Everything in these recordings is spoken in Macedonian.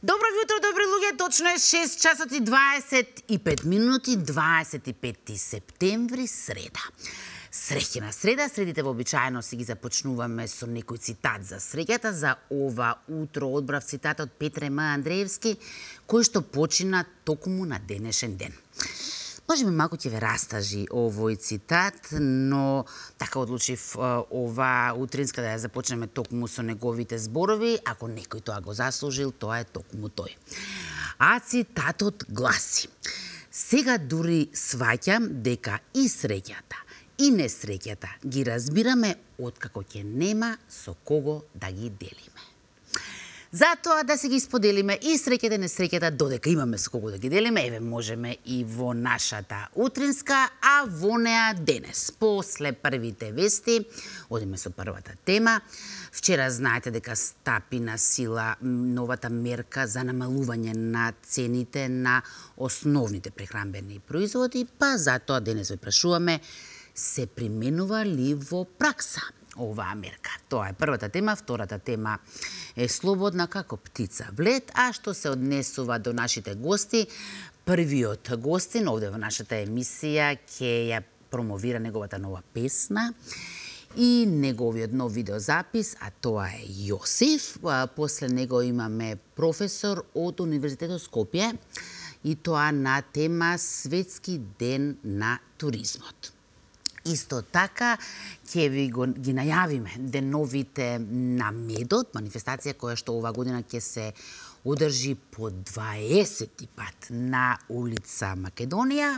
Добро јутро, добри луѓе, точно е 6 часот и 25 минути, 25 септември, среда. Среќна среда, средите вообичаено си ги започнуваме со некој цитат за среќата. За ова утро одбрав цитат од Петре М. Андреевски, кој што почина токму на денешен ден. Може би малку ќе ве растажи овој цитат, но така одлучив ова утринска да ја започнеме токму со неговите зборови. Ако некој тоа го заслужил, тоа е токму тој. А цитатот гласи: сега дури сваќам дека и среќата, и несреќата ги разбираме откако ќе нема со кого да ги делиме. Затоа да се ги споделиме и среќата и несреќата, додека имаме со кого да ги делиме, еве можеме и во нашата утринска, а во неа денес. После првите вести, одиме со првата тема. Вчера знаете дека стапи на сила новата мерка за намалување на цените на основните прехранбени производи, па затоа денес ве прашуваме, се применува ли во пракса оваа мерка? Тоа е првата тема. Втората тема е слободна како птица в лед. А што се однесува до нашите гости, првиот гостин овде во нашата емисија ќе ја промовира неговата нова песна и неговиот нов видеозапис, а тоа е Јосиф. После него имаме професор од Универзитетот Скопје и тоа на тема Светски ден на туризмот. Исто така ќе ви ги најавиме деновите на медот, манифестација која што ова година ќе се одржи по 20 пат на улица Македонија,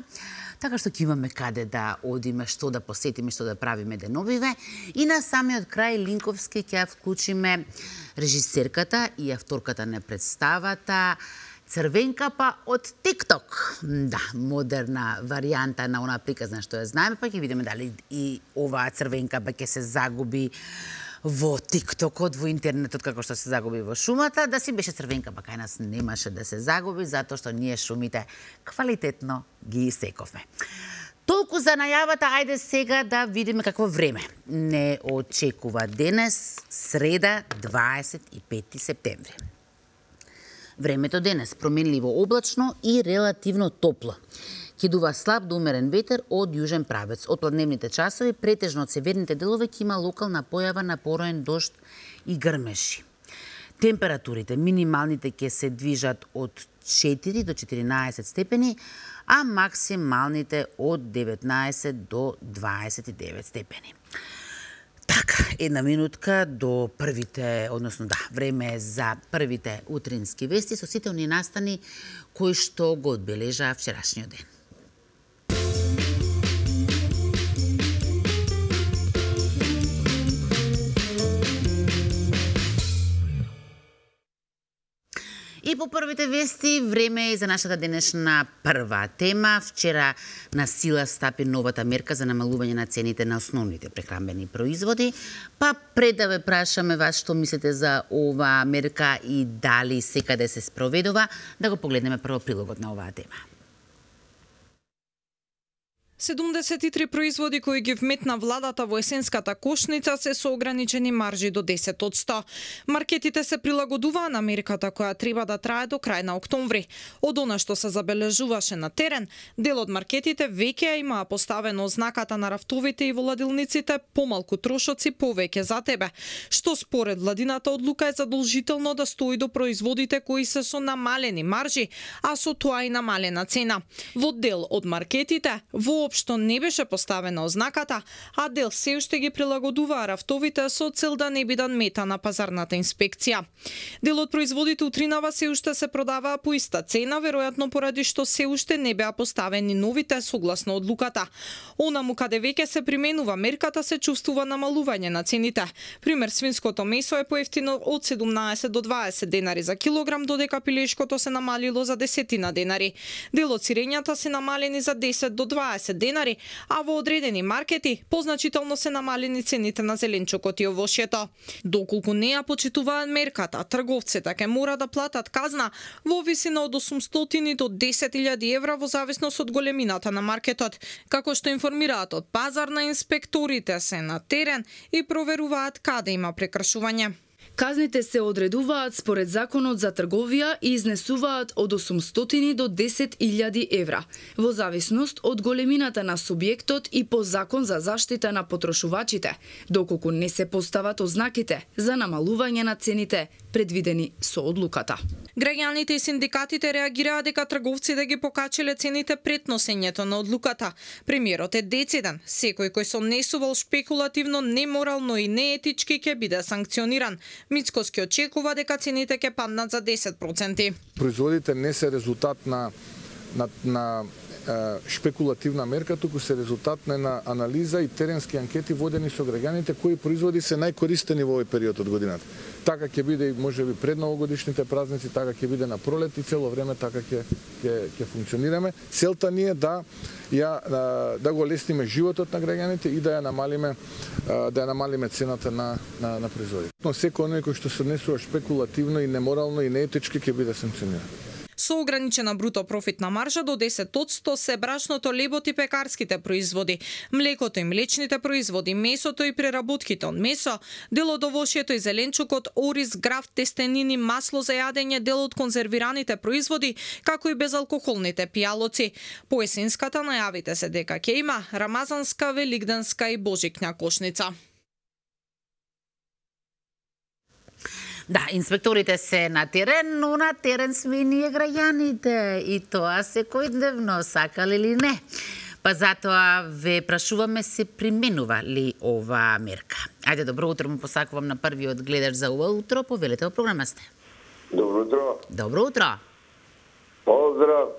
така што ќе имаме каде да одиме, што да посетиме, што да правиме деновиве. И на самиот крај Линковски ќе ја вклучиме режисерката и авторката на представата Црвенка па од TikTok. Да, модерна варијанта на она приказна што ја знаеме, па ќе видиме дали и оваа Црвенка па ќе се загуби во TikTokот, во интернетот, како што се загуби во шумата. Да си беше Црвенка, па кај нас немаше да се загуби, затоа што ние шумите квалитетно ги сековме. Толку за најавата, ајде сега да видиме какво време не очекува денес, среда, 25 септември. Времето денес променливо облачно и релативно топло. Ќе дува слаб до умерен ветер од јужен правец. Од пладневните часови претежно од северните делови ќе има локална појава на пороен дожд и грмеши. Температурите минималните ќе се движат од 4 до 14 степени, а максималните од 19 до 29 степени. Така, една минутка до првите, односно да, време е за првите утрински вести со сите оние настани кои што го одбележаа вчерашниот ден. И по првите вести, време е за нашата денешна прва тема. Вчера на сила стапи новата мерка за намалување на цените на основните прехранбени производи. Па пред да ве прашаме вас што мислите за оваа мерка и дали секаде се спроведува, да го погледнеме прво прилогот на оваа тема. 73 производи кои ги вметна владата во есенската кошница се со ограничени маржи до 10%. Маркетите се прилагодуваа на мерката која треба да трае до крај на октомври. Од она што се забележуваше на терен, дел од маркетите веќе имаа поставено знаката на рафтовите и во ладилниците помалку трошоци, повеќе за тебе, што според владината одлука е задолжително да стои до производите кои се со намалени маржи, а со тоа и намалена цена. Во дел од маркетите воопшто не беше поставена ознаката, а дел се уште ги прилагодуваа рафтовите со цел да не бидат мета на пазарната инспекција. Дел од производите утринава се уште се продаваа по иста цена, веројатно поради што се уште не беа поставени новите согласно одлуката. Онаму каде веќе се применува мерката се чувствува намалување на цените. Пример, свинското месо е поевтино од 17 до 20 денари за килограм, додека пилешкото се намалило за 10 денари. Дел од сирењата се намалени за 10 до 20 денари, а во одредени маркети позначително се намалени цените на зеленчукот и овошјето. Доколку не ја почитуваат мерката, трговците ќе мора да платат казна во висина од 800 до 10.000 евра во зависност од големината на маркетот. Како што информираат од пазарна, инспекторите се на терен и проверуваат каде има прекршување. Казните се одредуваат според Законот за трговија и изнесуваат од 800 до 10.000 евра, во зависност од големината на субјектот и по Закон за заштита на потрошувачите, доколку не се постават ознаките за намалување на цените предвидени со одлуката. Граѓаните и синдикатите реагираа дека трговците ги покачиле цените пред носењето на одлуката. Премиерот е дециден. Секој кој се однесувал шпекулативно, неморално и неетички ќе биде санкциониран. Мицкоски очекува дека цените ќе паднат за 10%. Производите не се резултат на шпекулативна мерка, туку се резултат на анализа и теренски анкети водени со граѓаните кои производи се најкористени во овој период од годината. Така ќе биде и можеби пред новогодишните празници, така ќе биде на пролет и цело време така ќе функционираме. Целта ни е да го лесниме животот на граѓаните и да ја намалиме цената на производите. Но секој оној кој што се однесува шпекулативно и неморално и неетички ќе биде санкциониран. Со ограничена бруто профитна маржа до 10% се брашното, лебот и пекарските производи, млекото и млечните производи, месото и преработките од месо, дел од овошјето и зеленчукот, ориз, граф, тестенини, масло за јадење, дел од конзервираните производи, како и безалкохолните пијалоци. По есенската најавите се дека ќе има рамазанска, великденска и божикња кошница. Да, инспекторите се на терен, но на терен сме и ние граѓаните. И тоа секојдневно, сакале или не. Па затоа ве прашуваме, се применува ли ова мерка? Ајде, добро утро му посакувам на првиот гледач за ова утро. Повелете, во програма сте. Добро утро. Добро утро. Поздрав.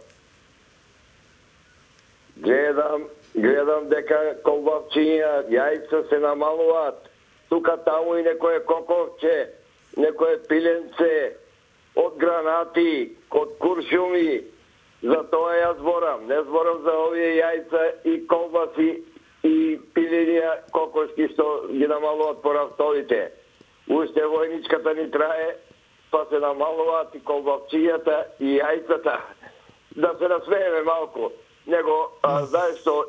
Гледам дека колбавчиња, јајца се намалуваат. Тука таму и некое коковче, некое пиленце, од гранати, од куршуми. За тоа ја зборам. Не зборам за овие јајца и колбаси и пиленија кокошки што ги намалуваат по рафтовите. Уште војничката ни трае, па се намалуваат и колбавчијата и јајцата. Да се насмееме малку. Него, знаеш што,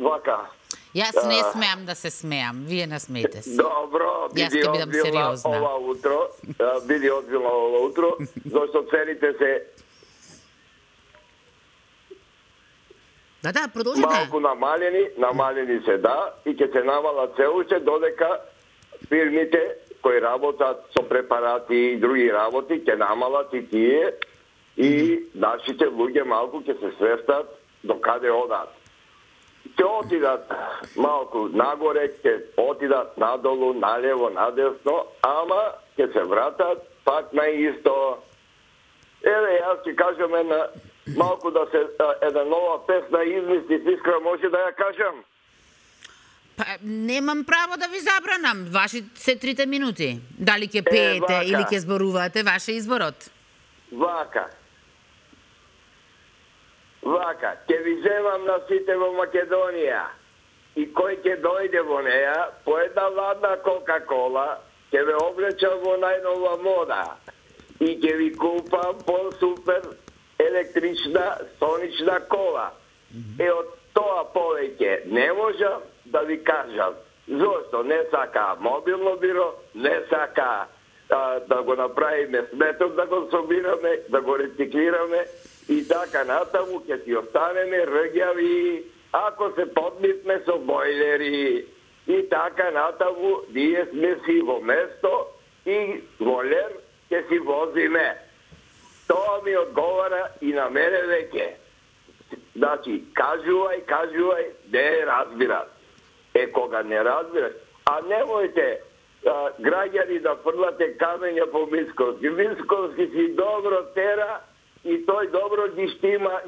вака. Јас не смеам да се смеам, вие насмеете се. Добро, биди одбилна ова утро, зашто цените се Да, продолжите. Малку намалени се, да, и ќе се намалат се уште додека фирмите кои работат со препарати и други работи ќе намалат и тие и нашите луѓе малку ќе се свестат до каде одат. Ќе отидат малку нагоре, ќе отидат надолу, налево, надесно, ама ќе се вратат пак на исто. Еве, јас ќе кажам малку да се една нова песна измисли, Искра, може да ја кажам? Па, немам право да ви забранам. Ваши се 3 минути. Дали ќе пеете или ќе зборувате, ваше изборот. Вака, ќе ви земам на сите во Македонија и кој ќе дојде во неја, по една ладна Кока-Кола, ќе ве облечам во најнова мода и ќе ви купам по-супер електрична сонична кола. Од тоа повеќе не можам да ви кажам. Зошто не сака мобилно биро, не сака да го направиме сметок, да го собираме, да го рециклираме и така натаму ќе си останеме рѓави, ако се подмитме со бойлери и така натаму, ние сме си во место и во лер ќе си возиме. Тоа ми одговара и на мене веќе. Значи, кажувај, не разбират. Кога не разбираш, а немојте граѓани да фрлате камења по Мицковски. Мицковски си добро тера и тој добро ги штима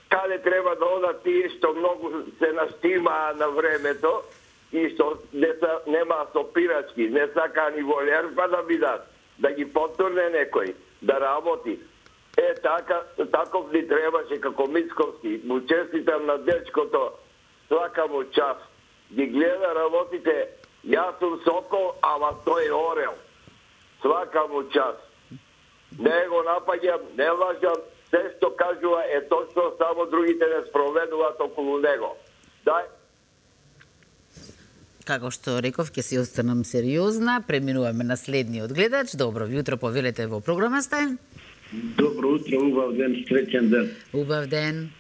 каде треба да одат тие што многу се наштимаа на времето и што нема сопирачки, не сака ни волер па да бидат, да ги потурне некој, да работи. Таков ни требаше како Мицковски. Му честитам на дечкото, свака му час. Ги гледа работите, јас сум сокол, ама тој орел. Свака му час. Не го напаѓам, не лажам, се што кажува е точно, само другите не спроведуваат околу него. како што реков, ќе си останам сериозна. Преминуваме на следниот гледач. Добро јутро, повелете во програма сте. Добро утро, убав ден, среќен ден. Убав ден.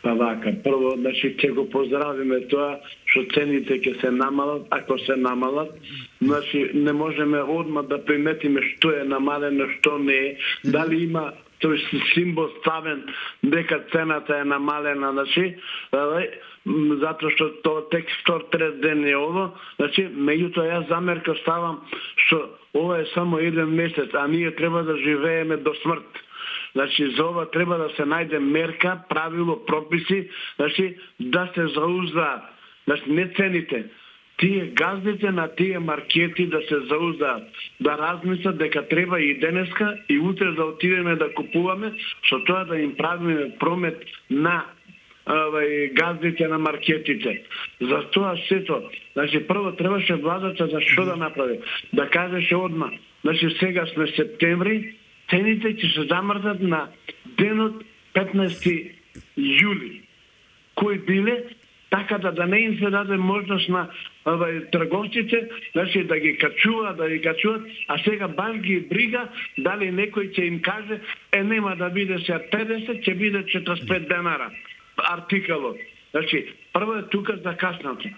Па вака, прво, значи, ќе го поздравиме тоа што цените ќе се намалат, ако се намалат. Значи, не можеме одма да приметиме што е намалено, што не е. Дали има тој символ ставен дека цената е намалена, значи, затоа што тоа тек 103 ден е ово, значи, меѓутоа јас замерка ставам што ова е само еден месец, а ние треба да живееме до смрт. Значи, за ова треба да се најде мерка, правило, прописи, значи, да се зауздаат. Значи, не цените. Тие газдите на тие маркети да се зауздаат, да размислат дека треба и денеска и утре да отидеме да купуваме, со тоа да им правиме промет на газдите на маркетите. За тоа сето, значи прво требаше владата за што да направи? Да кажеше одма, значи сега сме септември, цените ќе се замрзнат на денот 15 јули. Кои биле? Така да не им се даде можност на трговците, значи да ги качуваат, а сега баш ги брига дали некој ќе им каже нема да биде се 50, ќе биде 45 денара артикалот. Значи, прво е тука закаснато.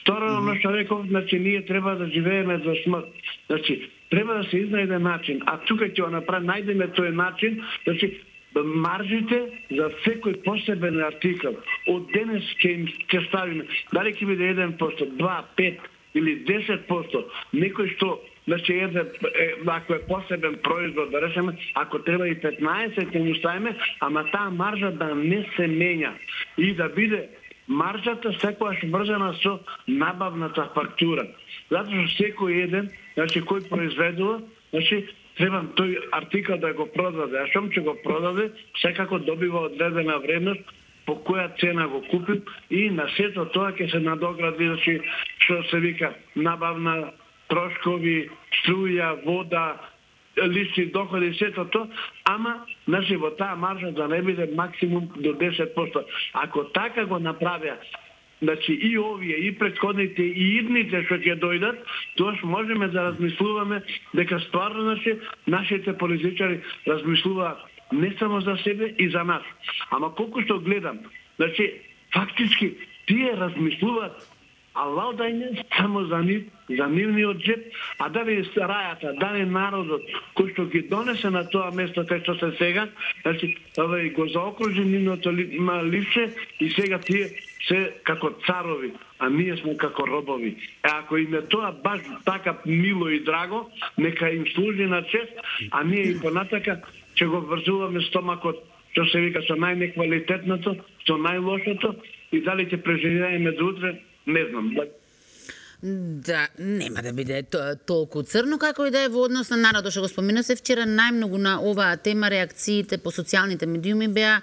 Второ, што реков, значи ние треба да живееме до смрт. Значи, треба да се изнајде начин, а тука ќе го направи, најдеме тој начин, значи маржите за секој посебен артикал од денес ќе ставиме, дали ќе биде 1%, 2, 5 или 10%, некој што, значи, ако е посебен производ, да речеме, ако треба и 15 ќе му ставиме, ама таа маржа да не се менја и да биде маржата секогаш врзана со набавната фактура. Затоа што секој еден, значи, кој произведува, значи, треба тој артикал да го продаде, а шом ќе го продаде, секако добива одредена вредност по која цена го купил и на сето тоа ќе се надогради, значи, што се вика набавна, трошкови, струја, вода, лични доходи, сето тоа, ама, значи, во таа маржа да не биде максимум до 10%. Ако така го направија, значи и овие, и претходните, и идните што ќе дојдат, тоа можеме да размислуваме дека стварно, значи, нашите политичари размислуваат не само за себе и за нас. Ама колку што гледам, значи, фактички, тие размислуваат, а валдајне само за нивниот джеп, а дали рајата, дали народот, кој што ги донесе на тоа место кај што се сега, значи, го заокружи нивното ливче и сега тие се како царови, а ние сме како робови. Ако им е тоа баш така мило и драго, нека им служи на чест, а ние и понатака ќе го врзуваме стомакот, што се вика, со најнеквалитетното, со најлошото, и дали ќе преживееме до утре, не знам. Да, нема да биде толку црно како и да е во однос на народот, што го спомина се вчера, најмногу на оваа тема реакциите по социјалните медиуми беа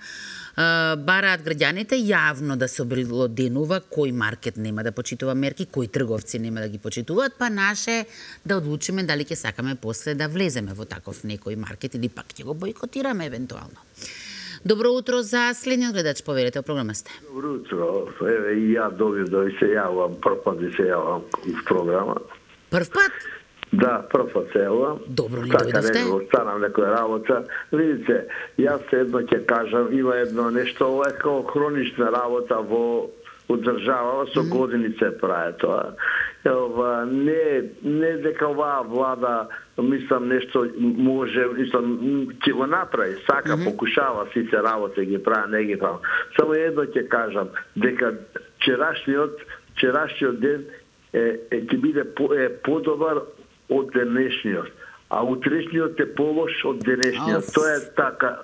бараат граѓаните јавно да се обелоденува кој маркет нема да почитува мерки, кои трговци нема да ги почитуваат, па наше да одлучиме дали ќе сакаме после да влеземе во таков некој маркет или пак ќе го бойкотираме евентуално. Добро утро за следниот гледач, повелете, во програма сте. Добро утро. Еве и ја довидов и се јавам, прв пат се јавам в програма. Прв пат? Да, прв пат се јавам. Добро ни дојдовте. Така не станам некоја работа. Видите, јас едно ќе кажам, има едно нешто, ова е како хронична работа во држава, со години се прави тоа. Не дека оваа влада, мислам, нешто може, мислам, ќе го направи, сака, покушава, сите работи ги прави, не ги прави. Само едно ќе кажам, дека вчерашниот ден ќе биде подобар од денешниот, а утрешниот е полош од денешниот. Тоа е така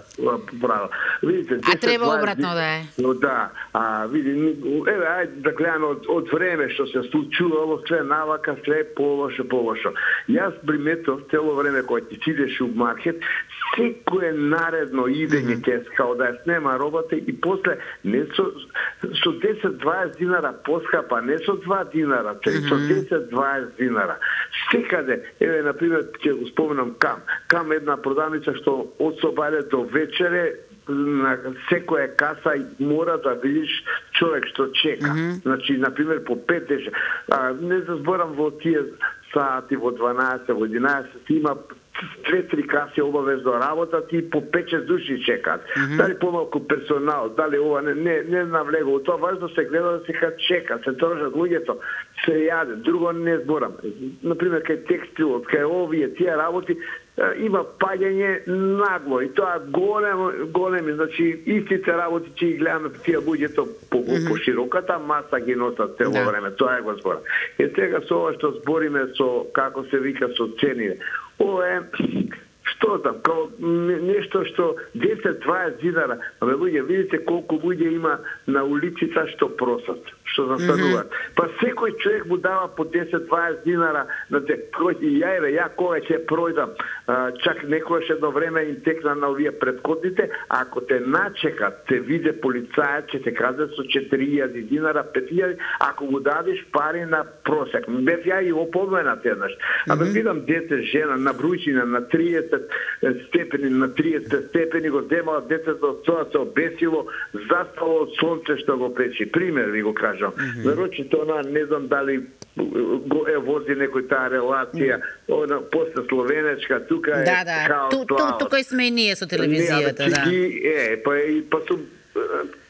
право. Видите, а треба обратно да е. Да, види, еве, ајде да гледаме од време што се случувало, све навака, све полошо. Јас приметов цело време кога ти идеш у маркет, секое наредно идење ќе као да ја снема робата и после не со 10-20 динара поскапа, не со 2 динара, со 10-20 динара. Секаде, еве, например, ќе го споменам Кам една продавница што од собајле до вечере на секоја каса мора да видиш човек што чека. Значи, например, по 5 деша. Не заборам во тие сати, во 12, во 11, има 2-3 каси обавезно работат и по 5-6 души чекаат. Дали помалку персонал, дали ова не навлегува. Тоа важно се гледа да се чека, се тржат луѓето, се јаде. Друго не зборам. Например, кај текстилот, кај овие тие работи има паѓање нагло и тоа големи, значи истите работи ќе ги гледаме тие луѓето по широката маса ги носат цело време. Тоа е го зборам. И сега со ова што збориме со како се вика со цени. Ова е што там, као нешто што 10-20 динара. Абе луѓе, видите колку луѓе има на улиците што просат, што застануваат. Па секој човек му дава по 10-20 динара на ја кога ќе пројдам. Чак некојаш едно време им текна на овие предходните, ако те начекат, те виде полицајот, ќе те каза со 4.000 динара, 5.000, ако му дадеш пари на просек. Бев ја и опоменат еднаш. Абе видам дете, жена, на брујчина, на 30 степени, на 30 степени го земала детето, тоа се обесило, застало од сонце што го печи. Пример ви го кажам. Веројчето она, не знам дали го вози некој таа релација, после словенечка, тука е тука и сме и ние со телевизијата, па сум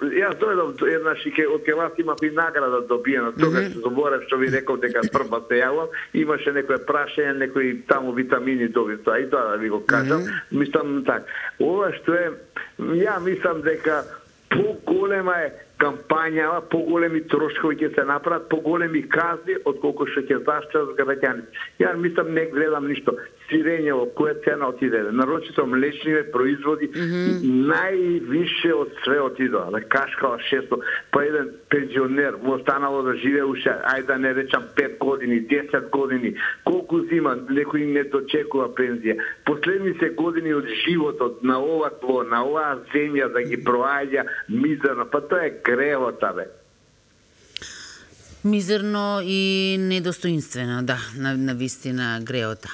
јас дојдов еднаш и од ке вас имав и награда добиена, тогаш се заборев што ви реков дека прва се јавам, имаше некој прашање, некои таму витамини добив, тоа и тоа да ви го кажам, мислам так. Ова што е, ја мислам дека поголема е кампањава, поголеми трошкови ќе се направат, поголеми казни отколку што ќе заштитат граѓаните. Ја мислам не гледам ништо. Сирењево, која цена отиде? Нарочито млечниве производи највише од све отидоа. На кашкала 600, па еден пензионер му останало да живее уште, ајде да не речам 5 години, 10 години. Колку зима, некој не дочекува пензија. Последни се години од животот на ова тло, на оваа земја да ги проаѓа мизерно, па тоа е гревота, бе. Мизерно и недостоинствено, да, на вистина греота.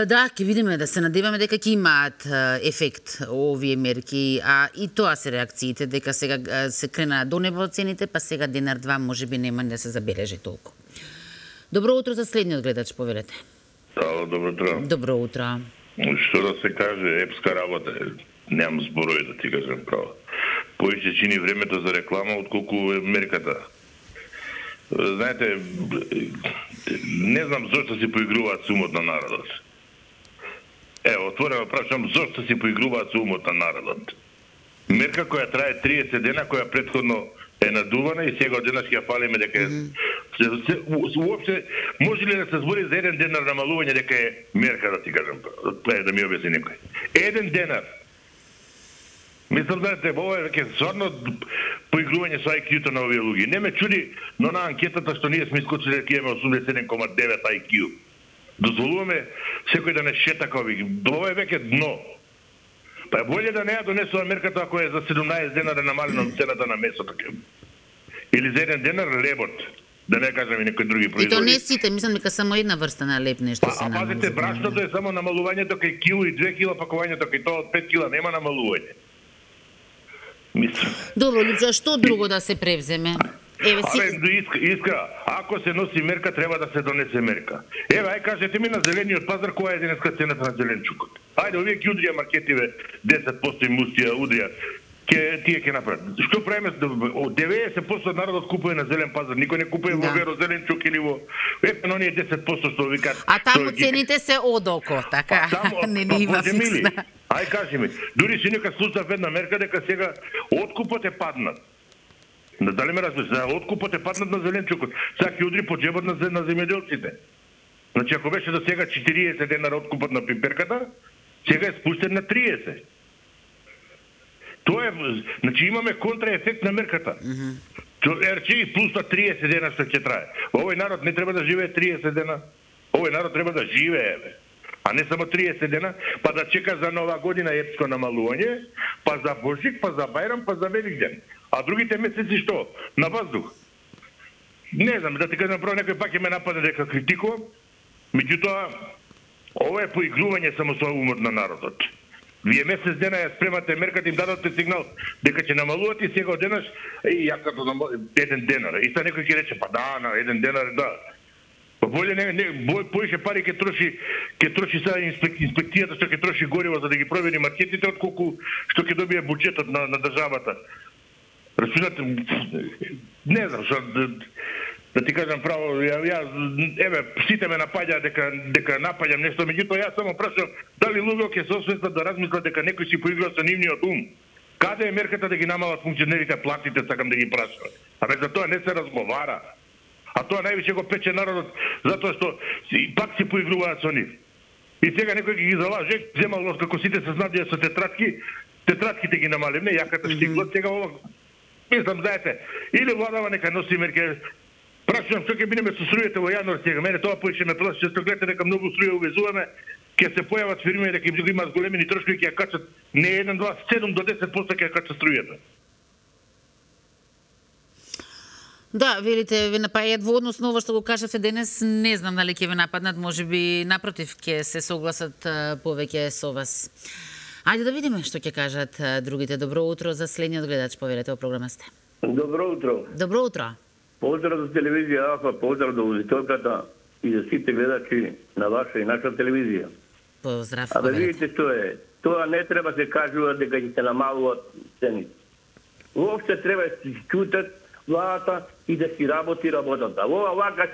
Да, ќе видиме, да се надеваме дека ќе имаат ефект овие мерки, а и тоа се реакциите, дека сега се крена до небо цените, па сега денар-два можеби нема да се забележи толку. Добро утро за следниот гледач, повелете. Ало, добро утро. Добро утро. Што да се каже, епска работа, немам зборови да ти кажам право. Поише чини времето за реклама отколку мерката. Знаете, не знам зошто си поигруваат со умот на народот. Ево, отворено прашам, зошто си поигруваат со умот на народот? Мерка која трае 30 дена, која претходно е надувана и сега од денес ќе ја фалиме дека уопште може ли да се збори за еден денар намалување дека е мерка, да ти кажам, да ми објасни некој. Еден денар. Мислам да ова е веќе стварно поигрување со IQ-то на овие луѓе. Не ме чуди, но на анкетата што ние сме искочили дека имаме 87,9 IQ. Дозволуваме секој да не шета како ви. Ова е веќе дно. Па е болje да не ја донесува мерката ако е за 17 денара намалена цената на месото. Или за еден денар лебот. Да не кажам и некои други производи. И то не сите, мислам дека само една врста на леб нешто се намалува. Пазите, брашното е само намалувањето кај кило и 2 кила пакувањето кај тоа од 5 кила нема намалување. Мислам. Добро, Лјупчо, што друго да се превземе? Еве си Иска, ако се носи мерка, треба да се донесе мерка. Еве, ај кажете ми на зелениот пазар која е денеска цената на зеленчукот. Ајде, овие ќе удрија маркетиве 10% им устија удрија. Тие ќе направат. Што правиме? 90% од народот купува на зелен пазар. Никој не купува во веро зеленчук или во епено оние 10% што викаат. А таму цените се одоко, така. Не има фиксна. Ај кажи ми, дури си нека слушав една мерка дека сега откупот е паднат. Дали ме разбираш? Откупот е паднат на зеленчукот. Сега ќе удри по џебот на земјоделците. Значи ако беше до сега 40 денара откупот на пиперката, сега е спустен на 30. Тоа е, значи имаме контраефект на мерката. РЧИ плюс 30 дена што ќе трае. Овој народ не треба да живее 30 дена. Овој народ треба да живее, бе. А не само 30 дена, па да чека за нова година епско намалување, па за Божик, па за Бајрам, па за Великден. А другите месеци што? На воздух. Не знам, да ти кажам право, некој пак ќе ме нападе дека критикувам. Меѓутоа, ова е поигрување само со умот на народот. Вие месец дена ја спремате мерката, им дадоте сигнал дека ќе намалувате и сега одеднаш и јас като еден денар. И сега некој ќе рече па да, на еден денар да. Па боле поише пари ќе троши сега инспекцијата што ќе троши гориво за да ги провери маркетите отколку што ќе добие буџетот на државата. Рачунате, не знам што да ти кажам право, еве, сите ме напаѓа дека напаѓам нешто, меѓутоа јас само прашам дали луѓе ќе се освестат да размислат дека некој си поигра со нивниот ум. Каде е мерката да ги намалат функционерите платите, сакам да ги прашам. Абе за тоа не се разговара. А тоа највише го пече народот затоа што пак си поигруваат со нив. И сега некој ги залаже, земал како сите се снабдија со тетратките ги намалим, не јаката штиглот, сега ова мислам знаете, или владава нека носи мерки. Прашувам што ќе бидеме со струјата во јануар сега. Мене тоа поише ме плаши, што гледате дека многу струја увезуваме, ќе се појават фирми дека им имаат големини трошкови ќе ја качат не 1, 2, 7 до 10% ќе ја качат струјата. Да, велите ве напаѓаат во однос на ова што го кажавте денес, не знам дали ќе ве нападнат, можеби напротив ќе се согласат повеќе со вас. Ајде да видиме што ќе кажат другите. Добро утро за следниот гледач, повелете во програма сте. Добро утро. Добро утро. Поздрав за телевизија Алфа, поздрав до аудиторката и за сите гледачи на ваша и наша телевизија. Поздрав. А да видите што е, тоа не треба се кажува дека ќе се намалуват цените. Воопште треба да се чутат владата и да си работи работата. Ова вака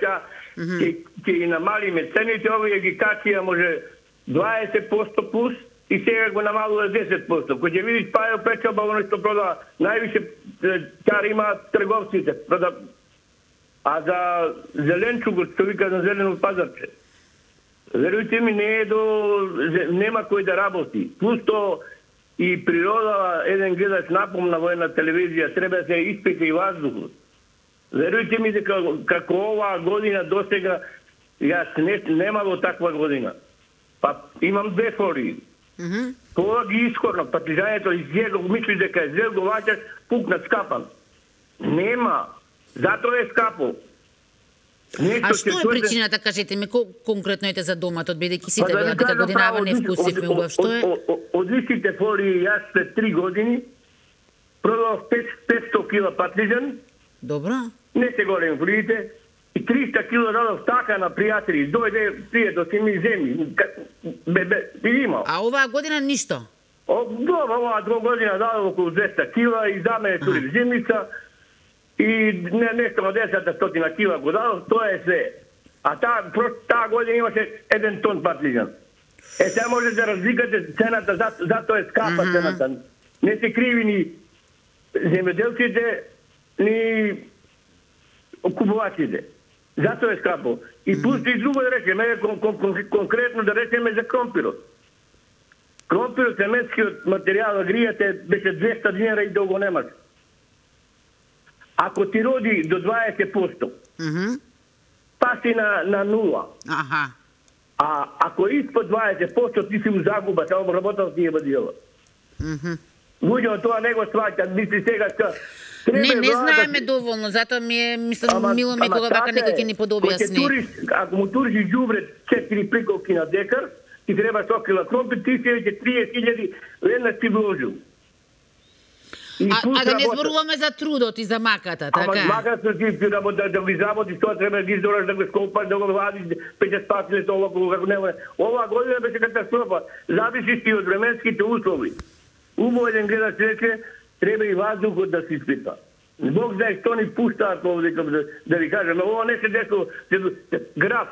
ќе ги намалиме цените, овие ги качија може 20% плюс и сега го намалува 10%. Кој ќе видиш пајо печалба, оно што продава, највише кари имаат трговците. А за зеленчугот, што вика на зелено пазарче, верујте ми, нема кој да работи. Плюс то и природа, еден гледач напомна во една телевизија, треба да се испита и воздухот. Верујте ми дека како оваа година досега, јас немало таква година. Па имам две фории. Кога ги искорнав, партизањето изјего, мисли дека е зел, го ваќаш, пукнат скапан. Нема. Затоа е скапо. А што е причината, кажете ми, конкретно ете за доматот, бидејќи сите великата година не вкусивме убав, што е? Од истите фолии јас пред 3 години продавав 500 кила патлижан. Добро. Не се голем фолиите. И 300 кила дадов така на пријатели. Дојде пријател си ми земи. Имал. А оваа година ништо? Оваа 2 година дадов околу 200 кила и за мене тури земница. И нешто на 10 кила го дадов, тоа е све. А таа година имаше 1 тон патлижан. Сега може да разликате цената, затоа е скапа цената. Не се криви ни земјоделците, ни купувачите. Затоа е скапо. И пусти и друго да речеме, конкретно да речеме за кромпирот. Кромпирот, семенскиот материјал, гријате, беше 200 динара и долго немаш. Ако ти роди до 20%, паси на 0. А ако испод 20%, ти си у загуба, само работал ти е бадила. Луѓето тоа не го сваќат, мисли сега Не знаеме доволно, затоа ми е, мислам, мило ме кога вака некој ќе ни подобјасни. Ако му туриш ѓубре 4 приковки на декар, ти треба 100 кила кромпир, ти се 30.000 веднаш ти вложил. А да не зборуваме за трудот и за маката, така? Ама маката ти работа да ви заботиш, тоа треба да ги издораш, да го скопаш, да го вадиш, пече спасиле тоа како нема. Оваа година беше катастрофа. Зависи и од временските услови. Убаво еден гледач рече, треба и воздухот да се испита. Бог знае што ни пуштаат овде, да ви кажем, ова не се десува град.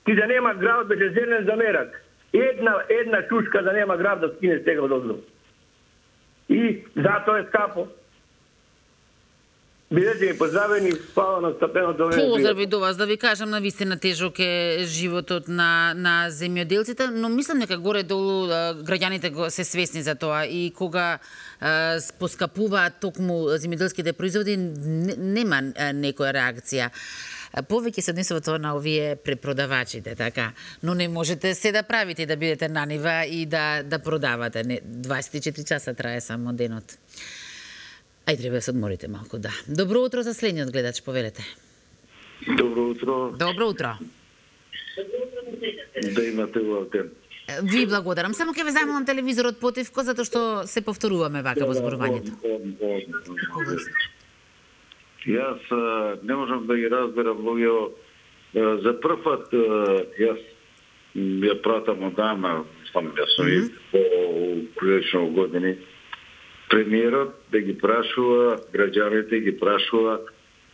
Ти да нема град, беше зелен замерак. Една чушка да нема град да скине сега од оздо. И затоа е скапо. Бидете ми поздравени, спава на стапеното време. Поздрави до вас, да ви кажам, навистина тежок е животот на земјоделците, но мислам дека горе-долу граѓаните се свесни за тоа и кога поскапуваат токму земјоделските производи, нема некоја реакција. Повеќе се однесува тоа на овие препродавачите, така. Но не можете се да правите, да бидете на нива и да продавате. 24 часа трае само денот. Ај, треба да се одморите малку, да. Добро утро за следниот гледач, повелете. Добро утро. Добро утро. Да имате овде. Ви благодарам. Само ќе ве замолам телевизорот потивко, затоа што се повторуваме вака во зборувањето. Јас не можам да ги разберам луѓе. За прв пат јас ја пратам одамна, јас сум и прилично години. Премиерот да ги прашува, граѓаните ги прашува,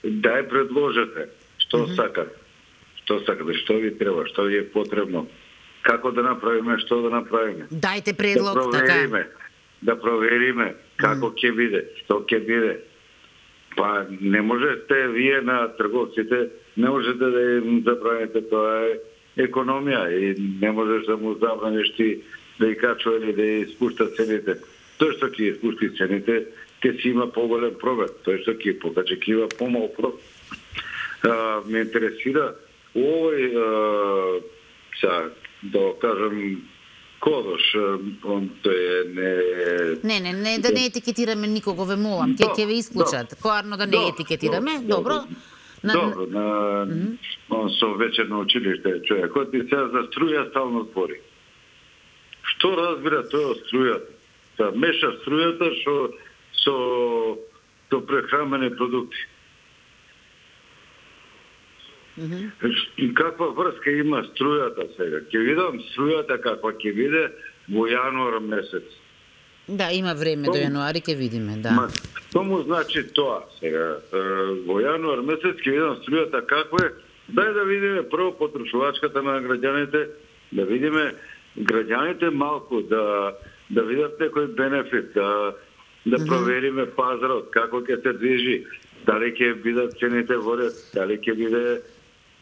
дај предложете, што сакате, што ви треба, што ви е потребно, како да направиме, што да направиме. Дајте предлог, така. Да провериме како ќе биде, што ќе биде. Па не можете вие на трговците, не можете да им забраните, тоа е економија и не можеш да му забраниш ти да ги качува или да ги спушта цените. Тој што ќе спусти цените, ќе си има поголем пробет. Тој што ќе покачи, ќе има помал пробет. Ме интересира овој, да кажем, Кодош, тој е Не, да не етикетираме никого, ве молам, ќе ве исклучат. Коарно да не етикетираме, добро. Добро, он со вечерно училиште човекот и сега за струја стално збори. Што разбира тој од струјата? Да меша струјата со прехранбени продукти. И каква врска има струјата сега? Ќе видам струјата каква ќе биде во јануар месец. Да, има време до јануари, ќе видиме, да. Што му значи тоа сега? Во јануар месец ќе видам струјата каква е. Дај да видиме прво потрошувачката на граѓаните, да видиме граѓаните малку, да видат некој бенефит, да провериме пазарот, како ќе се движи, дали ќе бидат цените во ред, дали ќе биде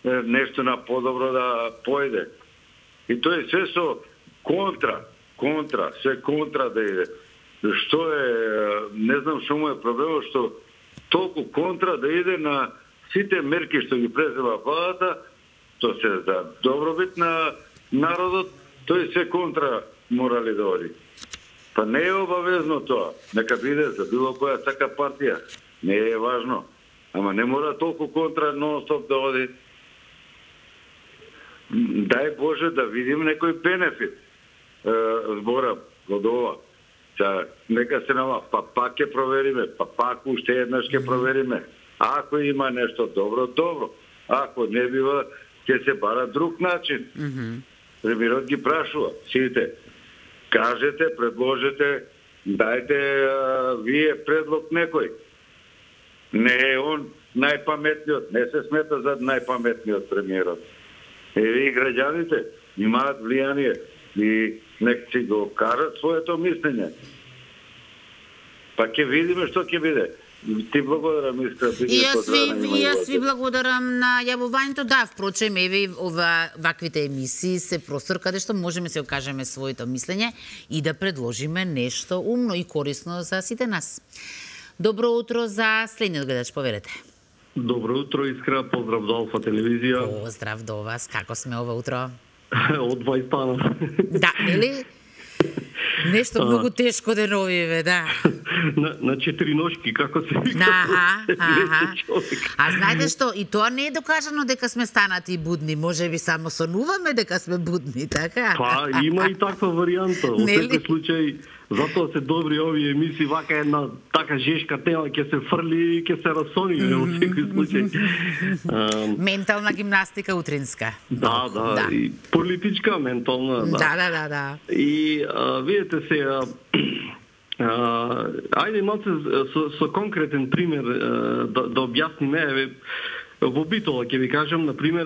нешто на подобро да појде. И тој се со контра, се контра да иде. Што е, не знам што му е проблемот, што толку контра да иде на сите мерки што ги презема владата, тоа се за добробит на народот, тој се контра морали да оди. Па не е обавезно тоа, нека биде за било која така партија, не е важно. Ама не мора толку контра нон-стоп да оди. Дај Боже да видим некој бенефит. Зборам од ова. Нека се нама, па пак ќе провериме, па пак уште еднаш ќе провериме. Ако има нешто добро, добро. Ако не бива, ќе се бара друг начин. Премиерот ги прашува, сите. Кажете, предложете, дајте вие предлог некој. Не е он најпаметниот, не се смета за најпаметниот премиерот. И граѓаните имаат влијание и нека си го кажат своето мислење. Па ќе видиме што ќе биде. Ти благодарам, Искра. И јас ви благодарам на јавувањето. Да, впрочем, еве ваквите емисии се простор каде што можеме се окажеме своето мислење и да предложиме нешто умно и корисно за сите нас. Добро утро за следниот гледач, поверете. Добро утро, Искра, поздрав до Алфа телевизија. Поздрав до вас, како сме ова утро? Од 20 станов. Да, нели? Нешто многу тешко деновиве, да. На 4 ножки, како се вика. А знаете што, и тоа не е докажано дека сме станати будни, може би само сонуваме дека сме будни, така? Па, има и таква варијанта. Во секој случај, затоа се добри овие емисии, вака една така жешка тема ќе се фрли и ќе се расони во секој случај. Ментална гимнастика утринска. Да, и политичка, ментална, да. Да. И видите сега, ајде малце со конкретен пример да објасниме, во Битола ќе ви кажам, на пример,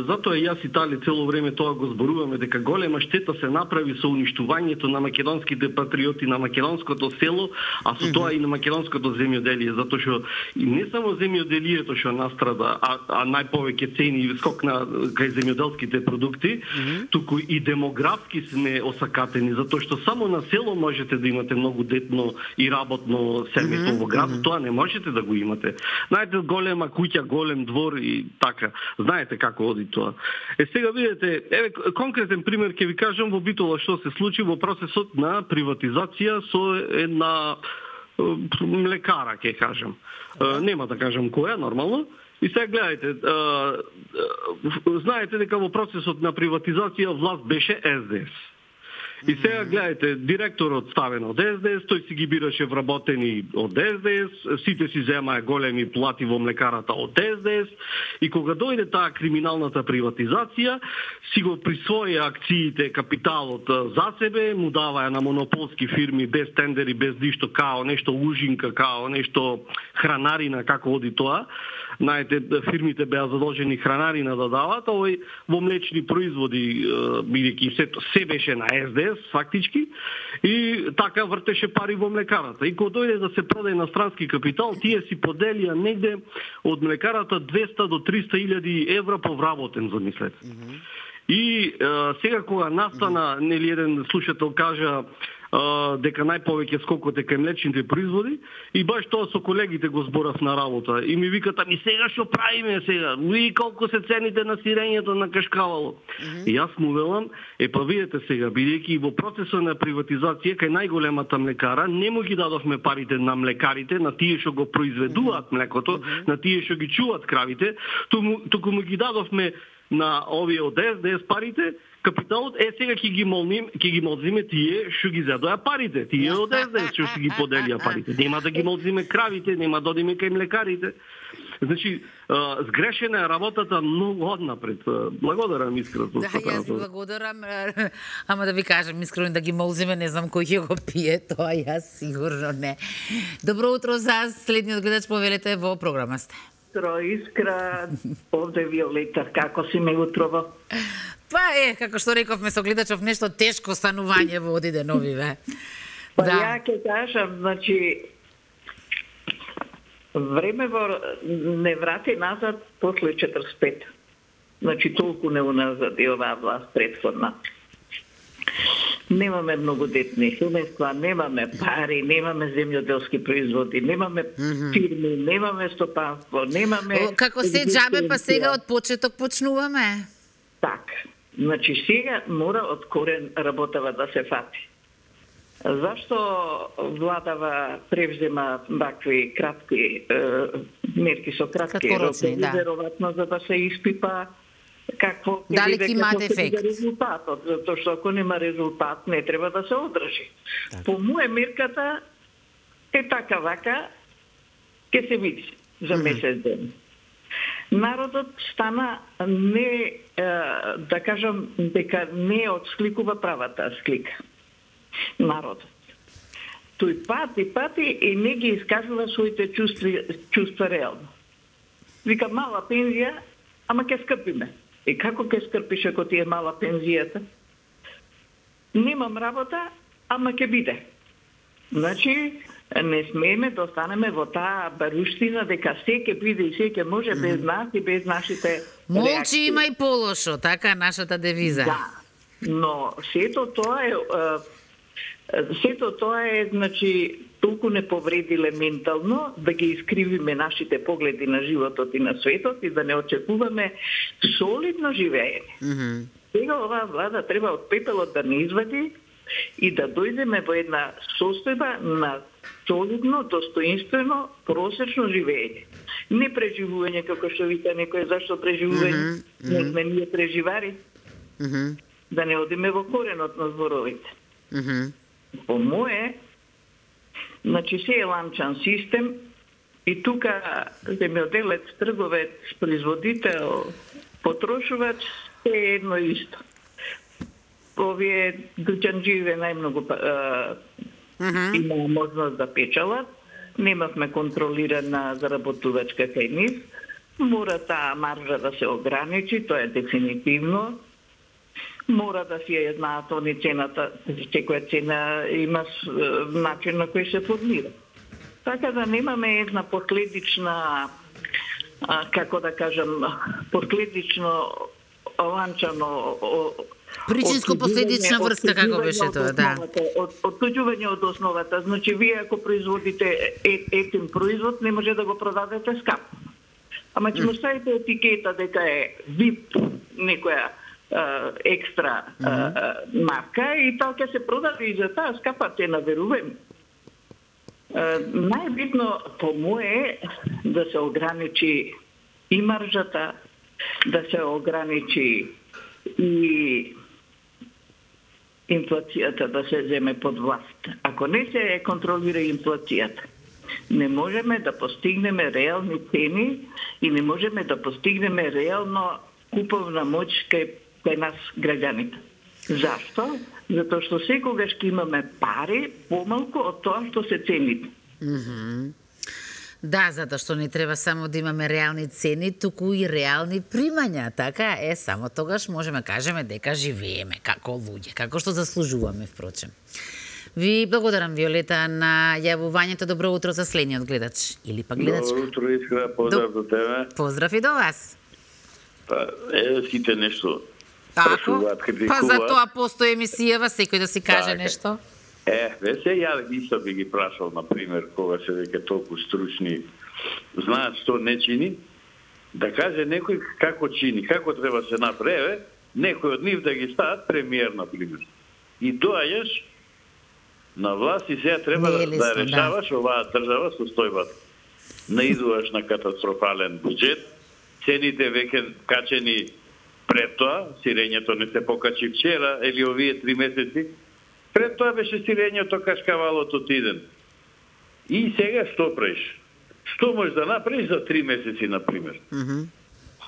затоа јас и Тали цело време тоа го зборуваме, дека голема штета се направи со уништувањето на македонските патриоти, на македонското село, а со тоа и на македонското земјоделие, затоа што не само земјоделието што настрада, а најповеќе цени и скок на кај земјоделските продукти, туку и демографски сме осакатени, затоа што само на село можете да имате многу детно и работно семејство. Во град тоа не можете да го имате. Знаете, голема куќа, голем двор и така. Знаете како оди тоа. Сега видите, еве конкретен пример ќе ви кажам во Битола што се случи во процесот на приватизација со една млекара, ќе кажам. Нема да кажам која, нормално. И сега гледајте, знаете дека во процесот на приватизација власт беше СДС. И сега гледајте, директорот ставен од СДС, тој си ги бираше вработени од СДС, сите си земаа големи плати во млекарата од СДС, и кога дојде таа криминалната приватизација, си го присвоја акциите, капиталот за себе, му даваја на монополски фирми без тендери, без ништо, као нешто ужинка, као нешто хранарина, како оди тоа. Знаете, фирмите беа задолжени хранарина да дават, а овој во млечни производи, бидејќи се беше на СДС, фактички, и така вртеше пари во млекарата. И кога дојде да се продаде на странски капитал, тие си поделија негде од млекарата 200 до 300 илјади евра по вработен, замислете. И сега кога настана, нели еден слушател кажа дека најповеќе скокот е кај млечните производи, и баш тоа со колегите го зборав на работа. И ми викат, ами сега што правиме сега? И колку се цените на сирењето на кашкавало? И јас му велам, па видете сега, бидејќи во процесот на приватизација кај најголемата млекара не му ги дадовме парите на млекарите, на тие што го произведуваат млекото, на тие што ги чуваат кравите, туку му ги дадовме на овие од СДС парите, капиталот, сега ќе ги молзиме тие што ги задоја парите, тие од СДС што ги поделија парите. Нема да ги молзиме кравите, нема да одиме кај млекарите. Значи, сгрешена е работата многу однапред. Благодарам искрено. Да, јас благодарам, ама да ви кажам искрено да ги молзиме, не знам кој ќе го пие, тоа јас сигурно не. Добро утро за следниот гледач, повелете во програма сте. Утро, Искра, овде Виолета, како си ме утрово? Па како што рековме со гледачов, нешто тешко станување во оди деновиве. Па да. Ја ќе кажам, значи, времево не врати назад после 45. Значи, толку не уназад и оваа власт предходна. Немаме многодетни семејства, немаме пари, немаме земјоделски производи, немаме фирми, немаме стопанство, немаме... Како се џабе, па сега од почеток почнуваме? Так. Значи, сега мора од корен работава да се фати. Зашто владава превзема вакви кратки мерки со кратки рокови, веројатно за да се испипа какво дали ќе имаат ефект? Резултатот, затоа што ако нема резултат, не треба да се одржи. Так. По моја мерката е така вака, ќе се види за месец ден. Народот стана не, да кажам, дека не отсликува правата слика. Народот. Тој пати и не ги искажува своите чувства реално. Вика, мала пензија, ама ќе скрпиме. И како ќе скрпиш ако ти е мала пензијата? Немам работа, ама ќе биде. Значи, не смееме да останеме во таа баруштина дека се ќе биде и се ќе може без нас и без нашите молчи реакции. Има и полошо, така е нашата девиза. Да, но сето тоа е, значи, толку не повредиле ментално да ги искривиме нашите погледи на животот и на светот и да не очекуваме солидно живење. Сега оваа влада треба од пепелот да не извади и да дојдеме во една состојба на солидно, достоинствено, просечно живење. Не преживување, како што вика некој, зашто преживување? Не сме ние преживари. Да не одиме во коренот на зборовите. По мое, значи се е ланчан систем и тука земјоделец, трговец, производител, потрошувач, се е едно исто. Овие дуќанџиеве најмногу има можност да печалат, немавме контролирана заработувачка кај нив, мора таа маржа да се ограничи, тоа е дефинитивно. Мора да си ја знаат они цената, секоја цена има начин на кој се формира. Така да немаме една последична, како да кажам, последично ланчано причинско-последична врска, како беше тоа, да. Оттуѓување од основата. Значи, вие ако производите ефтин производ, не може да го продадете скапо. Ама ќе му ставите етикета дека е VIP, некоја екстра марка и тоа ќе се продаде и за таа скапа цена, верувам. Најбитно по мое да се ограничи и маржата, да се ограничи и инфлацијата да се земе под власт. Ако не се контролира инфлацијата, не можеме да постигнеме реални цени и не можеме да постигнеме реално куповна моќ кај нас граѓаните. Зашто? Затоа што секогаш ќе имаме пари помалку од тоа што се цените. Да, затоа што не треба само да имаме реални цени, туку и реални примања, така е, само тогаш можеме кажеме дека живееме како луѓе, како што заслужуваме, впрочем. Ви благодарам, Виолета, на јавувањето. Добро утро за следниот гледач или па гледачка. Добро утро, Искра, поздрав до тебе. Поздрав и до вас. Па, сите нешто Тако? Па за тоа постои емисијава, секој да си каже нешто. Весе, ја исто би ги прашал, например, кога се веќе толку стручни, знаат што не чини, да каже некој како чини, како треба се направи, некој од нив да ги стават премиер, например. И доаѓаш на власт и сега треба да решаваш оваа држава состојбата. Наидуваш на катастрофален буџет, цените веќе качени пред тоа, сирењето не се покачи вчера или овие 3 месеци, пред тоа беше сирењето кашкавалот од иден. И сега што правиш? Што можеш да направиш за 3 месеци, например?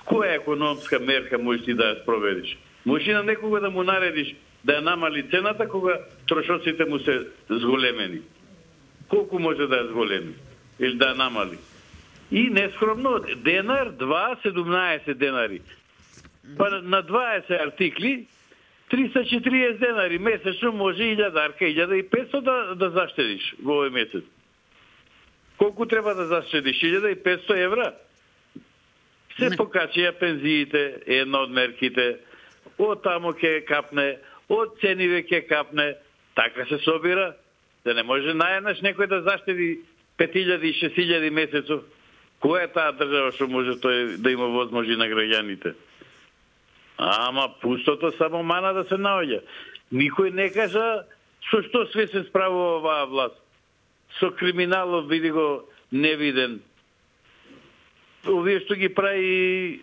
Која економска мерка можеш ти да ја спроведиш? Можеш и на некога да му наредиш да ја намали цената кога трошоците му се зголемени. Колку може да ја зголеми? Или да ја намали? И нескромно, денар, 17 денари. Па на 20 артикли, 340 денари месечно може 1000-арка, 1500 да заштедиш во овој месец. Колку треба да заштедиш? 1500 евра? Се покачија пензиите, една од мерките, од тамо ќе капне, од цениве ќе капне, така се собира, да не може наеднаш некој да заштеди 5000 и 6000 месецов. Која е таа држава што може тој да има возможи на граѓаните? Ама пустото само мана да се наоѓа. Никој не кажа со што све се справува оваа власт. Со криминалот биди го невиден. Овие што ги прави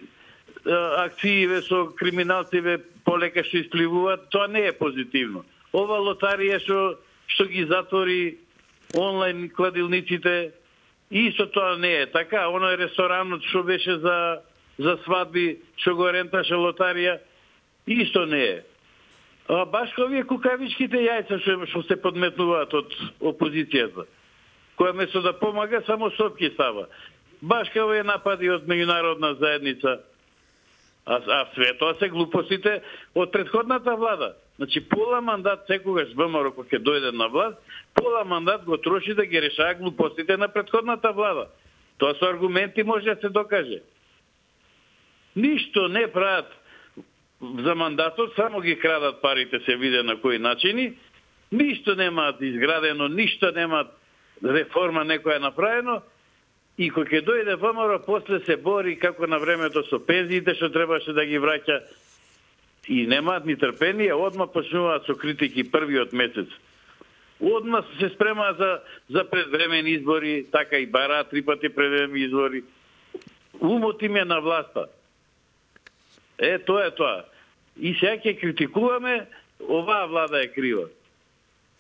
акцииве со криминалциве полека што испливуваат, тоа не е позитивно. Ова лотарија што ги затвори онлайн кладилниците, исто тоа не е така. Оној ресторанот што беше за свадби, што го ренташе лотарија, исто не е. А баш овие кукавичките јајца што се подметнуваат од опозицијата, која место да помага, само сопки става. Баш као овие напади од меѓународна заедница. А све тоа се глупостите од претходната влада. Значи, пола мандат секогаш ВМРО кога ќе дојде на власт, пола мандат го троши да ги решава глупостите на претходната влада. Тоа со аргументи може да се докаже. Ништо не прават за мандатот, само ги крадат парите, се виде на кои начини. Ништо немаат изградено, ништо немаат реформа некоја направено. И кога ќе дојде ВМРО, после се бори како на времето со пензиите што требаше да ги враќа. И немаат ни трпение, одма почнуваат со критики првиот месец. Одма се спремаат за предвремени избори, така и бара 3 пати предвремени избори. Умот им е на власта. Тоа е тоа. И сега ќе критикуваме, оваа влада е крива.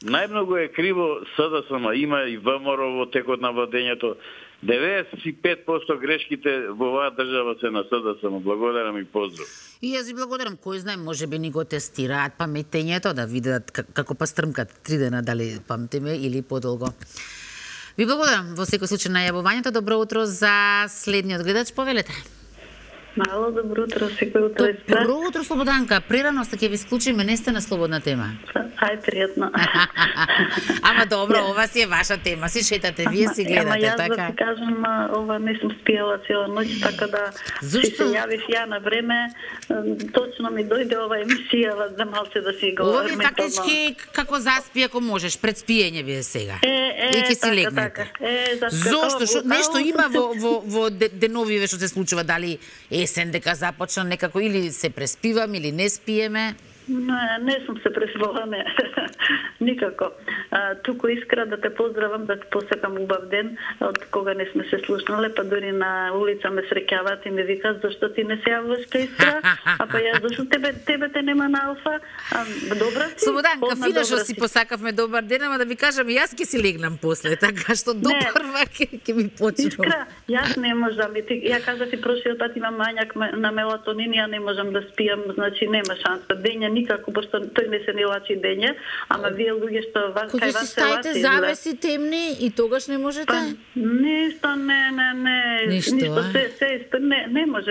Најмногу е криво СДСМ, има и ВМРО во текот на владењето. 95% грешките во оваа држава се на СДСМ. Благодарам и поздрав. И јас ви благодарам. Кој знае, може би ни го тестираат паметењето, да видат како па стрмкат 3 дена, дали памтиме или подолго. Ви благодарам во секој случај на јавувањето. Добро утро за следниот гледач, повелете. Мало добро утро, секој утро. Добро утро, Слободанка. Прерано сте, ќе ви исклучиме, не сте на слободна тема. Ај, пријатно. Ама добро, ова си е ваша тема, си шетате, вие си гледате, така? така? Ама јас да ти кажам, ова не сум спијала цела ноќ, така да се јавив ја на време, точно ми дојде ова емисија за малце да си го ова ви фактички како заспи ако можеш, пред спиење вие сега. И ќе си легнете. Зошто? Нешто има во деновиве што се случува, дали есен дека започна некако, или се преспивам, или не спиеме? Не сум се пресвала, не. Никако. Туку искра да те поздравам, да те посекам убав ден, од кога не сме се слушнале, па дури на улица ме среќаваат и ме викаат зашто ти не се јавуваш кај Искра, а па јас зашто тебе те нема на Алфа. Добра си? Слободанка, фина што си посакавме добар ден, ама да ви кажам, јас ќе си легнам после, така што допрва ќе ми почнам. Искра, јас не можам, ја кажа ти прошиот пат имам мањак на мелатонин, ја не можам да спијам, значи нема шанса. Дења никако, пошто тој не се не лачи дење, ама вие луѓе што вас кај вас се лачи. Кога си стаите завеси темни и тогаш не можете? Ништо, не. Ништо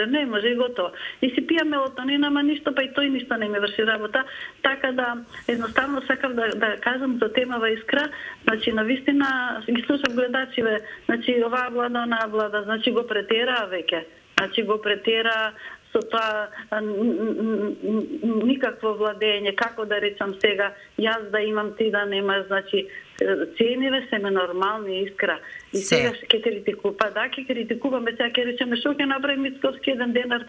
не може и готово. И си пијам мелатонин, ама ништо, па и тој ништо не ми врши работа. Така да, едноставно сакав да кажам за темава Искра, значи навистина ги слушам гледачиве, значи оваа влада, онаа влада, значи го претераа веќе. Значи го претера со тоа никакво владење, како да речам сега, јас да имам, ти да немаш, значи цениве се ме нормални, Искра. И сега ќе критикувам, па да, ќе критикуваме, сега ќе речеме што ќе направи Мицковски 1 денар.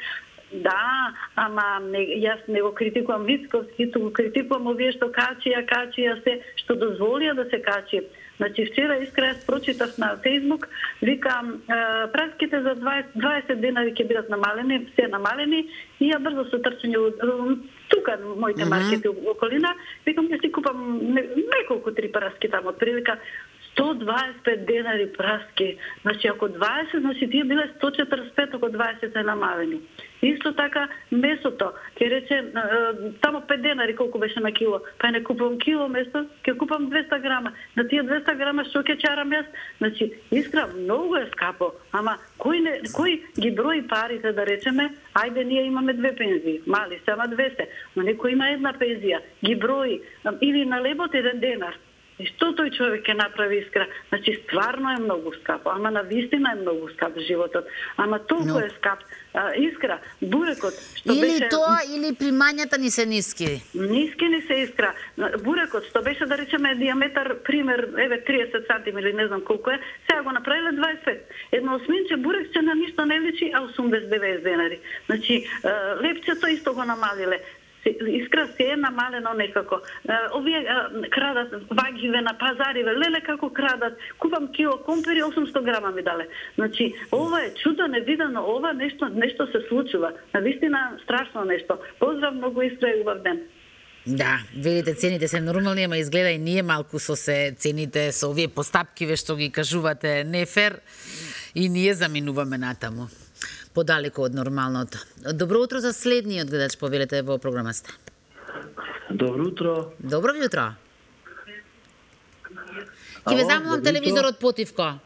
Да, ама јас не го критикувам Мицковски, туку критикувам овие што качија се, што дозволија да се качи. Значи, вчера Искра јас прочитав на Фејсбук, викам, праските за 20 денари ќе бидат намалени, се намалени, и ја брзо се трчање тука моите маркети околина, викам ќе си купам неколку 3 праски таму, отприлика 125 денари праски. Значи, ако 20, значи тие биле 145, ако 20 се намалени. Исто така, месото, ќе рече, тамо 5 денари колку беше на кило, па не купувам кило месо, ќе купам 200 грама. На тие 200 грама што ќе чарам јас? Значи, Искра, многу е скапо, ама кој ги брои парите, да речеме, ајде ние имаме 2 пензии, мали се, ама 2 се, но некој има 1 пензија, ги брои, или на лебот 1 денар. И што тој човек ќе направи, Искра? Значи, стварно е многу скапо, ама на вистина е многу скап животот. Ама толку е скап. Искра, бурекот, што или беше... тоа, или примањата ни се ниски. Ниски ни се, Искра. Бурекот, што беше, да речеме, диаметар, пример, 30 сантим или не знам колку е, сега го направиле 25. Едно осминче бурек се на ништо не личи, а 80-90 денари. Значи, лепчето исто го намалиле. Искра се е намалено некако. Овие крадат вагиве на пазариве, леле како крадат. Купам кило компири, 800 грама ми дале. Значи, ова е чудо невидено, ова нешто се случува. Навистина страшно нешто. Поздрав многу, Искра, и убав ден. Да, видите, цените се нормални, ама изгледа и ние малку со се цените, со овие постапкиве што ги кажувате нефер, и ние заминуваме натаму подалеку од нормалното. Добро утро за следниот гледач, повелете во програмата. Добро утро. Добро ви утро. Ќе ве замолам телевизорот потивко.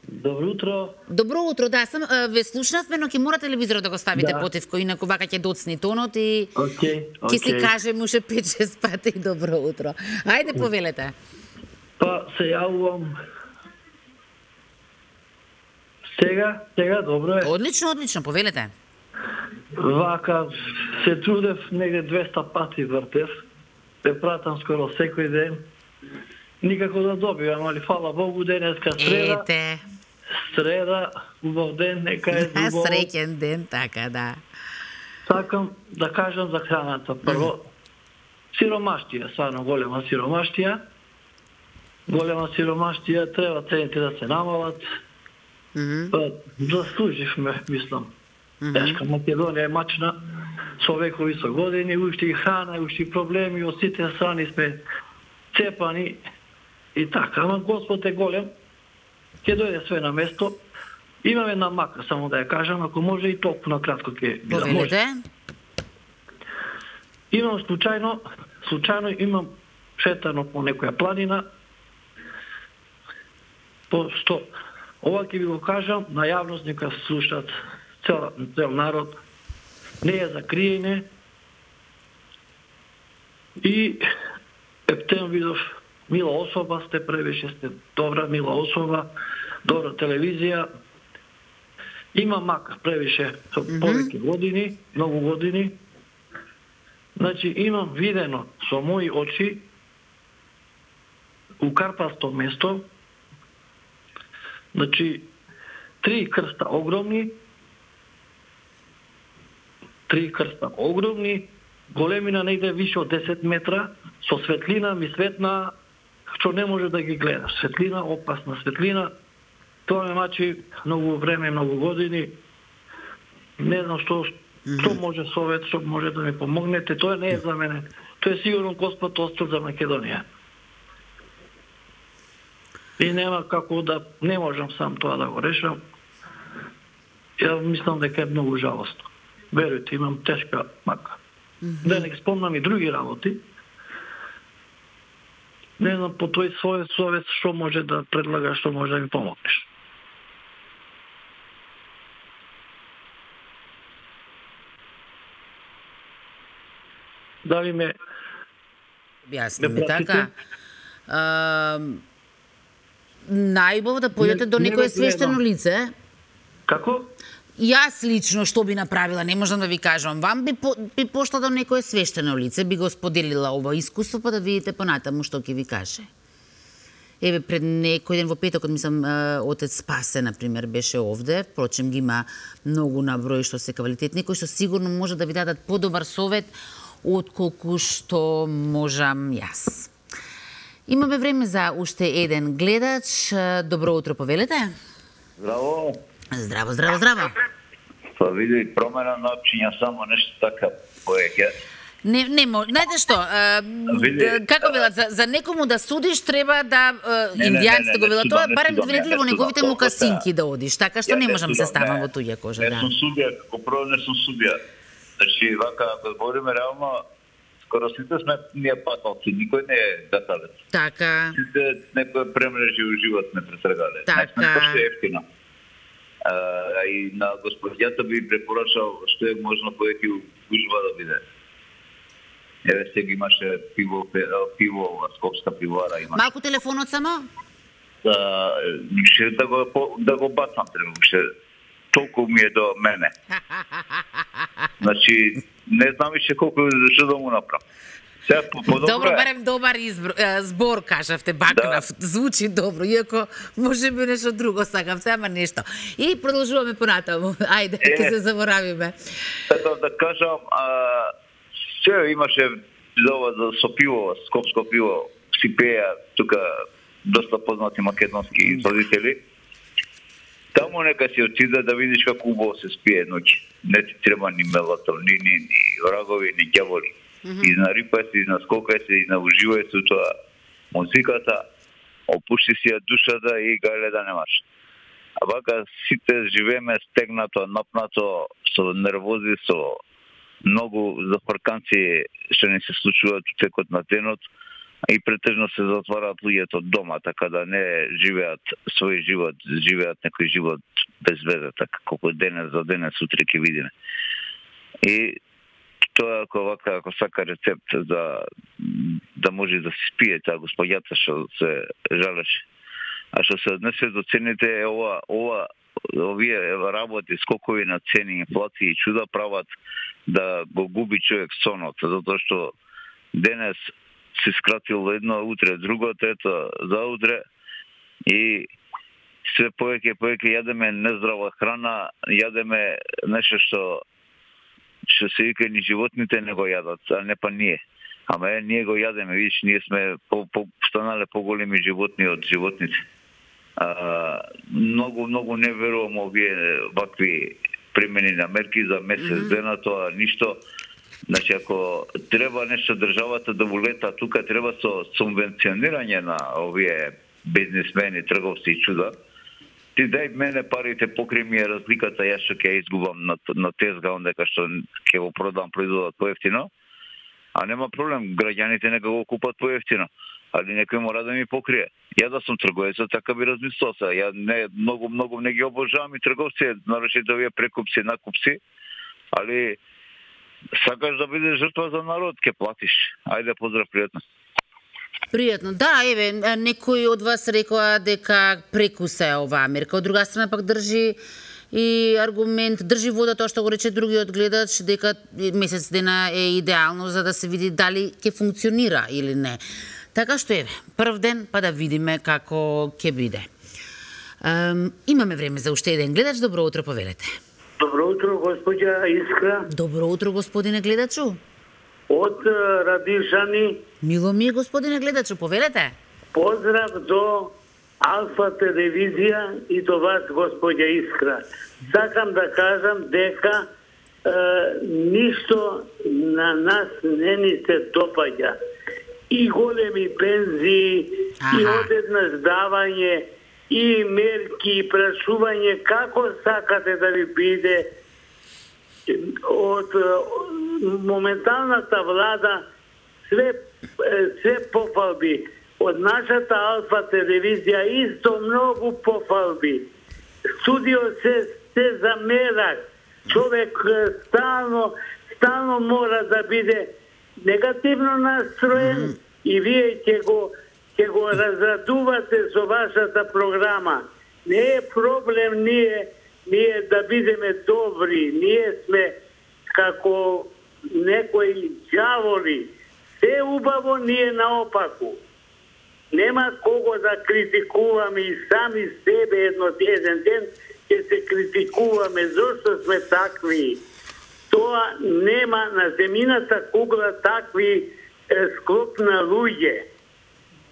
Добро утро. Добро утро, да, сам ве слушнавме, но ќе мора телевизорот да го ставите потивко, инаку вака ќе доцни тонот и ќе си кажем уште 5-6 пати добро утро. Ајде, повелете. Па се јавувам. Сега добро е. Одлично, повелете. Вака се трудев негде 200 пати вртев. Те пратам скоро секој ден. Никако да добивам, али фала Богу, денеска среда. Среда, убав ден, нека е убаво. Среќен ден, така, да. Сакам да кажам за храната. Прво, сиромаштија, стварно голема сиромаштија. Голема сиромаштија, треба цените да се намалат. Заслуживме, мислам. Тешка Македонија е мачна, со векови, со години, уште и храна, уште и проблеми, од сите страни сме цепани и така. Ама Господ е голем, ќе дојде све на место. Имам една мака, само да ја кажам, ако може и толку на кратко ќе би да може. Имам случајно имам шетано по некоја планина, што ова ќе ви го кажам, на јавност нека слушат цел народ, не е за криење. И ептен видов, мила особа сте, превише сте добра, мила особа, добра телевизија. Има мака, превише, со повеќе години, многу години. Значи, имам видено со мои очи у Карпатско место, значи, 3 крста огромни, големина не иде више од 10 метра, со светлина ми светна, што не може да ги гледаш. Светлина, опасна светлина. Тоа ме мачи многу време, многу години. Не знам што може совет, што може да ми помогнете. Тоа не е за мене. Тоа е сигурно Господ остил за Македонија. И нема како да, не можам сам тоа да го решам. Ја мислам дека е многу жалостно. Верујте, имам тешка мака. Да не спомнам и други работи. Не знам по тој свој совет што може да предлагаш, што може да ми помогнеш. Дали ме објасни така? Најубаво да појдете до некое свештено лице. Како? Јас лично што би направила, не можам да ви кажам. Вам би пошла до некое свештено лице, би го споделила ова искуство, па да видите понатаму што ќе ви каже. Еве, пред некој ден во петокот, мислам, отец Спасе, например, беше овде. Впрочем, ги има многу наброј што се квалитетни, кои што сигурно може да ви дадат подобар совет отколку што можам јас. Имаме време за уште еден гледач. Добро утро, повелете. Здраво. Здраво, здраво, здраво. Па види, промена на опчиња само нешто така поеќе. Не може. Знаете што? Како велат, за некому да судиш треба да индијанците го велат тоа, барем видите во неговите мукасинки да одиш, така што не можам се ставам во туѓа кожа. Не сум судија, како прво не сум судија. Значи, вака, ако збориме реално, скоро сите сме ние паталци, никој не е гаталец. Така. Сите некој премрежи у живот не пресрегале. Така. Не сме пошли ефтино. И на господјата би препорачал што е можно повеќе ужва да биде. Еве сега имаше пиво, скопска пивара има. Малку телефонот само? Ше да го бацам треба, ше толку ми е до мене. Значи, не знам више колку што да му направам. Добро, барем добар збор, кажавте, бакнав. Да. Звучи добро, иако може би нешто друго сакавте, ама нешто. И продолжуваме понатаму. Ајде, ќе се заборавиме. Да кажам, се имаше со пиво, скопско пиво, си пеја тука доста познати македонски изподители. Таму нека си отиде да видиш како убаво се спие ноќ. Не ти треба ни мелатонини, ни врагови, ни ѓаволи. Изнарипај се, изнаскокај се, изнауживај се тоа музиката, опушти си ја душата и гајле да немаш. А вака сите живееме стегнато, напнато, со нервози, со многу зафрканци што ни се случуваат у текот на денот и претежно се затвараат луѓето дома, така да не живеат свој живот, живеат некој живот без веза, така колку денес за денес утре ќе видиме. И тоа ако сака рецепт да може да се спие таа господјата што се жалеше. А што се однесе до цените, овие работи, скокови на цени, инфлација и чуда прават да го губи човек сонот, затоа што денес се скратило едно, утре друго, трето за утре и све повеќе јадеме нездрава храна, јадеме нешто што се вика ни животните не го јадат, а не па ние. Ама ние го јадеме, видиш, ние сме станале поголеми животни од животните. Многу не верувам овие вакви примени на мерки за месец дена, тоа ништо. Значи, ако треба нешто државата да улета тука, треба со субвенционирање на овие бизнисмени, трговци и чуда. Ти дај мене парите, покри ми е разликата, јас што ќе изгубам на тезга, ондека што ќе го продам производот поевтино. А нема проблем, граѓаните нека го купат поевтино. Али некој мора да ми покрие. Ја да сум трговецот, така би размислил се. Ја многу не ги обожавам и трговци, нарочито овие прекупци, накупци, али сакаш да бидеш жртва за народ, ќе платиш. Ајде, поздрав, пријатно. Пријатно. Да, еве, некој од вас рекоа дека прекуса е оваа мерка. Од друга страна пак држи и аргумент, држи вода тоа што го рече другиот гледач, дека месец дена е идеално за да се види дали ќе функционира или не. Така што еве, прв ден па да видиме како ќе биде. Имаме време за уште еден гледач. Добро утро, повелете. Добро утро, господја Искра. Добро утро, господине гледачу. од Радишани. Мило ми, господине гледачу, повелете. Поздрав до Алфа телевизија и до вас, господја Искра. Сакам да кажам дека ништо на нас не ни се допаѓа. И големи пензии, и одеднаш давање, и мерки, и прашување како сакате да ви биде од моменталната влада се пофалби. Од нашата Алфа телевизија исто многу пофалби. Студио се замерак. Човек стално мора да биде негативно настроен и вие ќе го разрадувате со вашата програма. Не е проблем ние да бидеме добри. Ние сме како некои ѓаволи. Се убаво, ние наопаку. Нема кого да критикуваме и сами себе еден ден ќе се критикуваме зошто сме такви. Тоа нема на земјината кугла такви склоп на луѓе.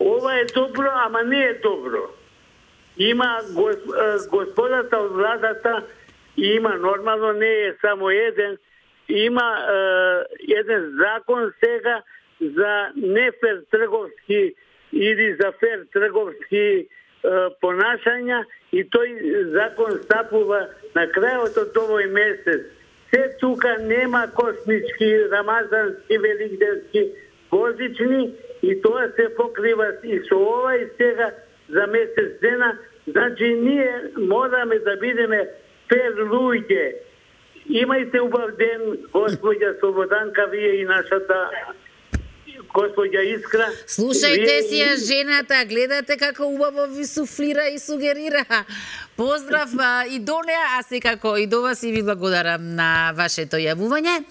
Ова е добро, ама не е добро. Има господата од владата, има нормално, не е само еден, има еден закон сега за нефер трговски или за фер трговски понашања и тој закон стапува на крајот од овој месец. Се тука нема космички, рамазански, великденски, божични и тоа се покрива и со ова и сега за месец дена. Значи ние мораме да бидеме фер луѓе. Имајте убав ден, господја Слободанка, вие и нашата господја Искра. Слушајте си ја жената, гледате како убаво ви суфлира и сугерира. Поздрав и до неа, а секако и до вас и ви благодарам на вашето јавување.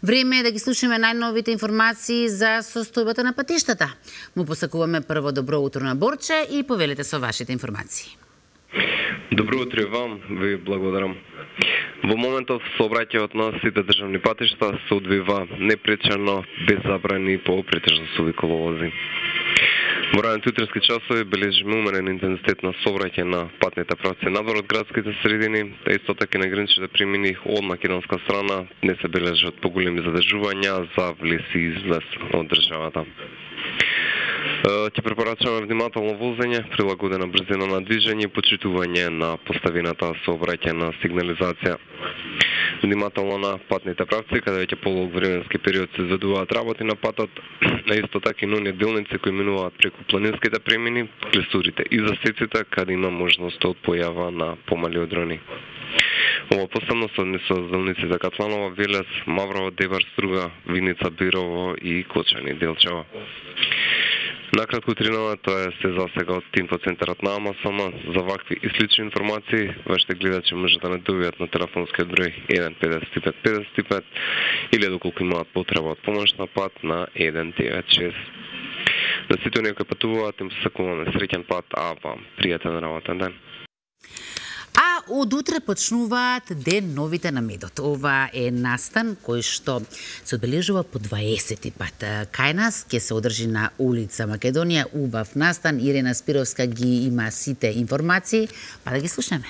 Време е да ги слушаме најновите информации за состојбата на патиштата. Му посакуваме прво добро утро на Борче и повелете со вашите информации. Добро утро и вам, ви благодарам. Во моментов сообраќајот на сите државни патишта се одвива непречено, без забрани по претежно суви коловози. Во раните утрински часови бележиме умерен интензитет на сообраќај на патните правци надвор од градските средини, та исто така на граничните премини од македонска страна не се бележат поголеми задржувања за влез и излез од државата. Ќе препорачуваме внимателно возење, прилагодена брзина на движење и почитување на поставената сообраќајна сигнализација. Внимателно на патните правци, каде веќе полог временски период се изведуваат работи на патот, а исто така и на оние делници кои минуваат преку планинските премини, клесурите и засеците, каде има можност од појава на помали одрони. Ова посебно се однесува за делниците Катланова, Велес, Маврово, Девар, Струга, Виница, Бирово и Кочани, Делчево. Накратко утринава, тоа е се за сега од инфоцентарот на АМСМ. За вакви и слични информации, вашите гледачи може да не добијат на телефонскиот број 15555 или доколку имаат потреба од помош на пат на 196. На сите оние кои патуваат, им се сакуваме среќен пат, а вам пријатен работен ден. А од утре почнуваат Ден новите на медот. Ова е настан кој што се одбележува по 20 пат. Кај нас ќе се одржи на улица Македонија, убав настан. Ирена Спировска ги има сите информации, па да ги слушнеме.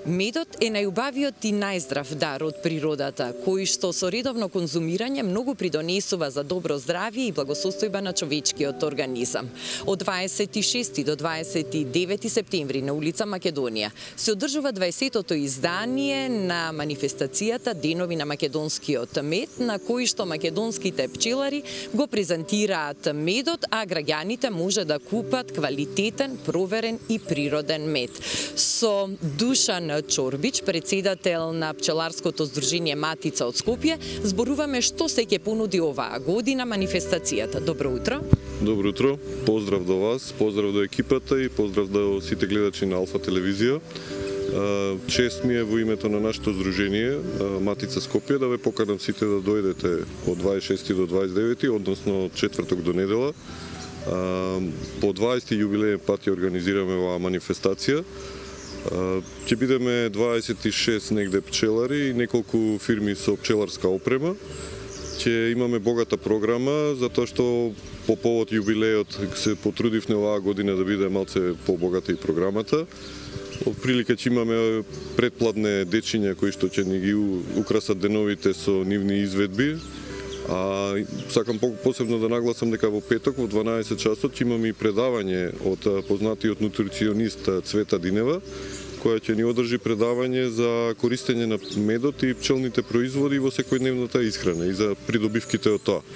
Медот е најубавиот и најздрав дар од природата, кој што со редовно конзумирање многу придонесува за добро здравје и благосостојба на човечкиот организам. Од 26 до 29 септември на улица Македонија се одржува 20-тото издание на манифестацијата Денови на македонскиот мед, на кој што македонските пчелари го презентираат медот, а граѓаните може да купат квалитетен, проверен и природен мед. Со Душан Чорбич, председател на пчеларското здружение Матица од Скопје, зборуваме што се ќе понуди оваа година манифестацијата. Добро утро. Добро утро. Поздрав до вас, поздрав до екипата и поздрав до сите гледачи на Алфа телевизија. Чест ми е во името на нашето здружение Матица Скопје да ве поканам сите да дојдете од 26 до 29, односно четврток до недела. По 20 јубилеен пат ја организираме оваа манифестација. Ќе бидеме 26 негде пчелари и неколку фирми со пчеларска опрема. Ќе имаме богата програма, затоа што по повод јубилејот се потрудивме оваа година да биде малце побогата и програмата. Од прилика ќе имаме предплатне дечиња кои што ќе ни ги украсат деновите со нивни изведби. А сакам посебно да нагласам дека во петок во 12 часот ќе имаме и предавање од познатиот нутриционист Цвета Динева, која ќе ни одржи предавање за користење на медот и пчелните производи во секојдневната исхрана и за придобивките од тоа.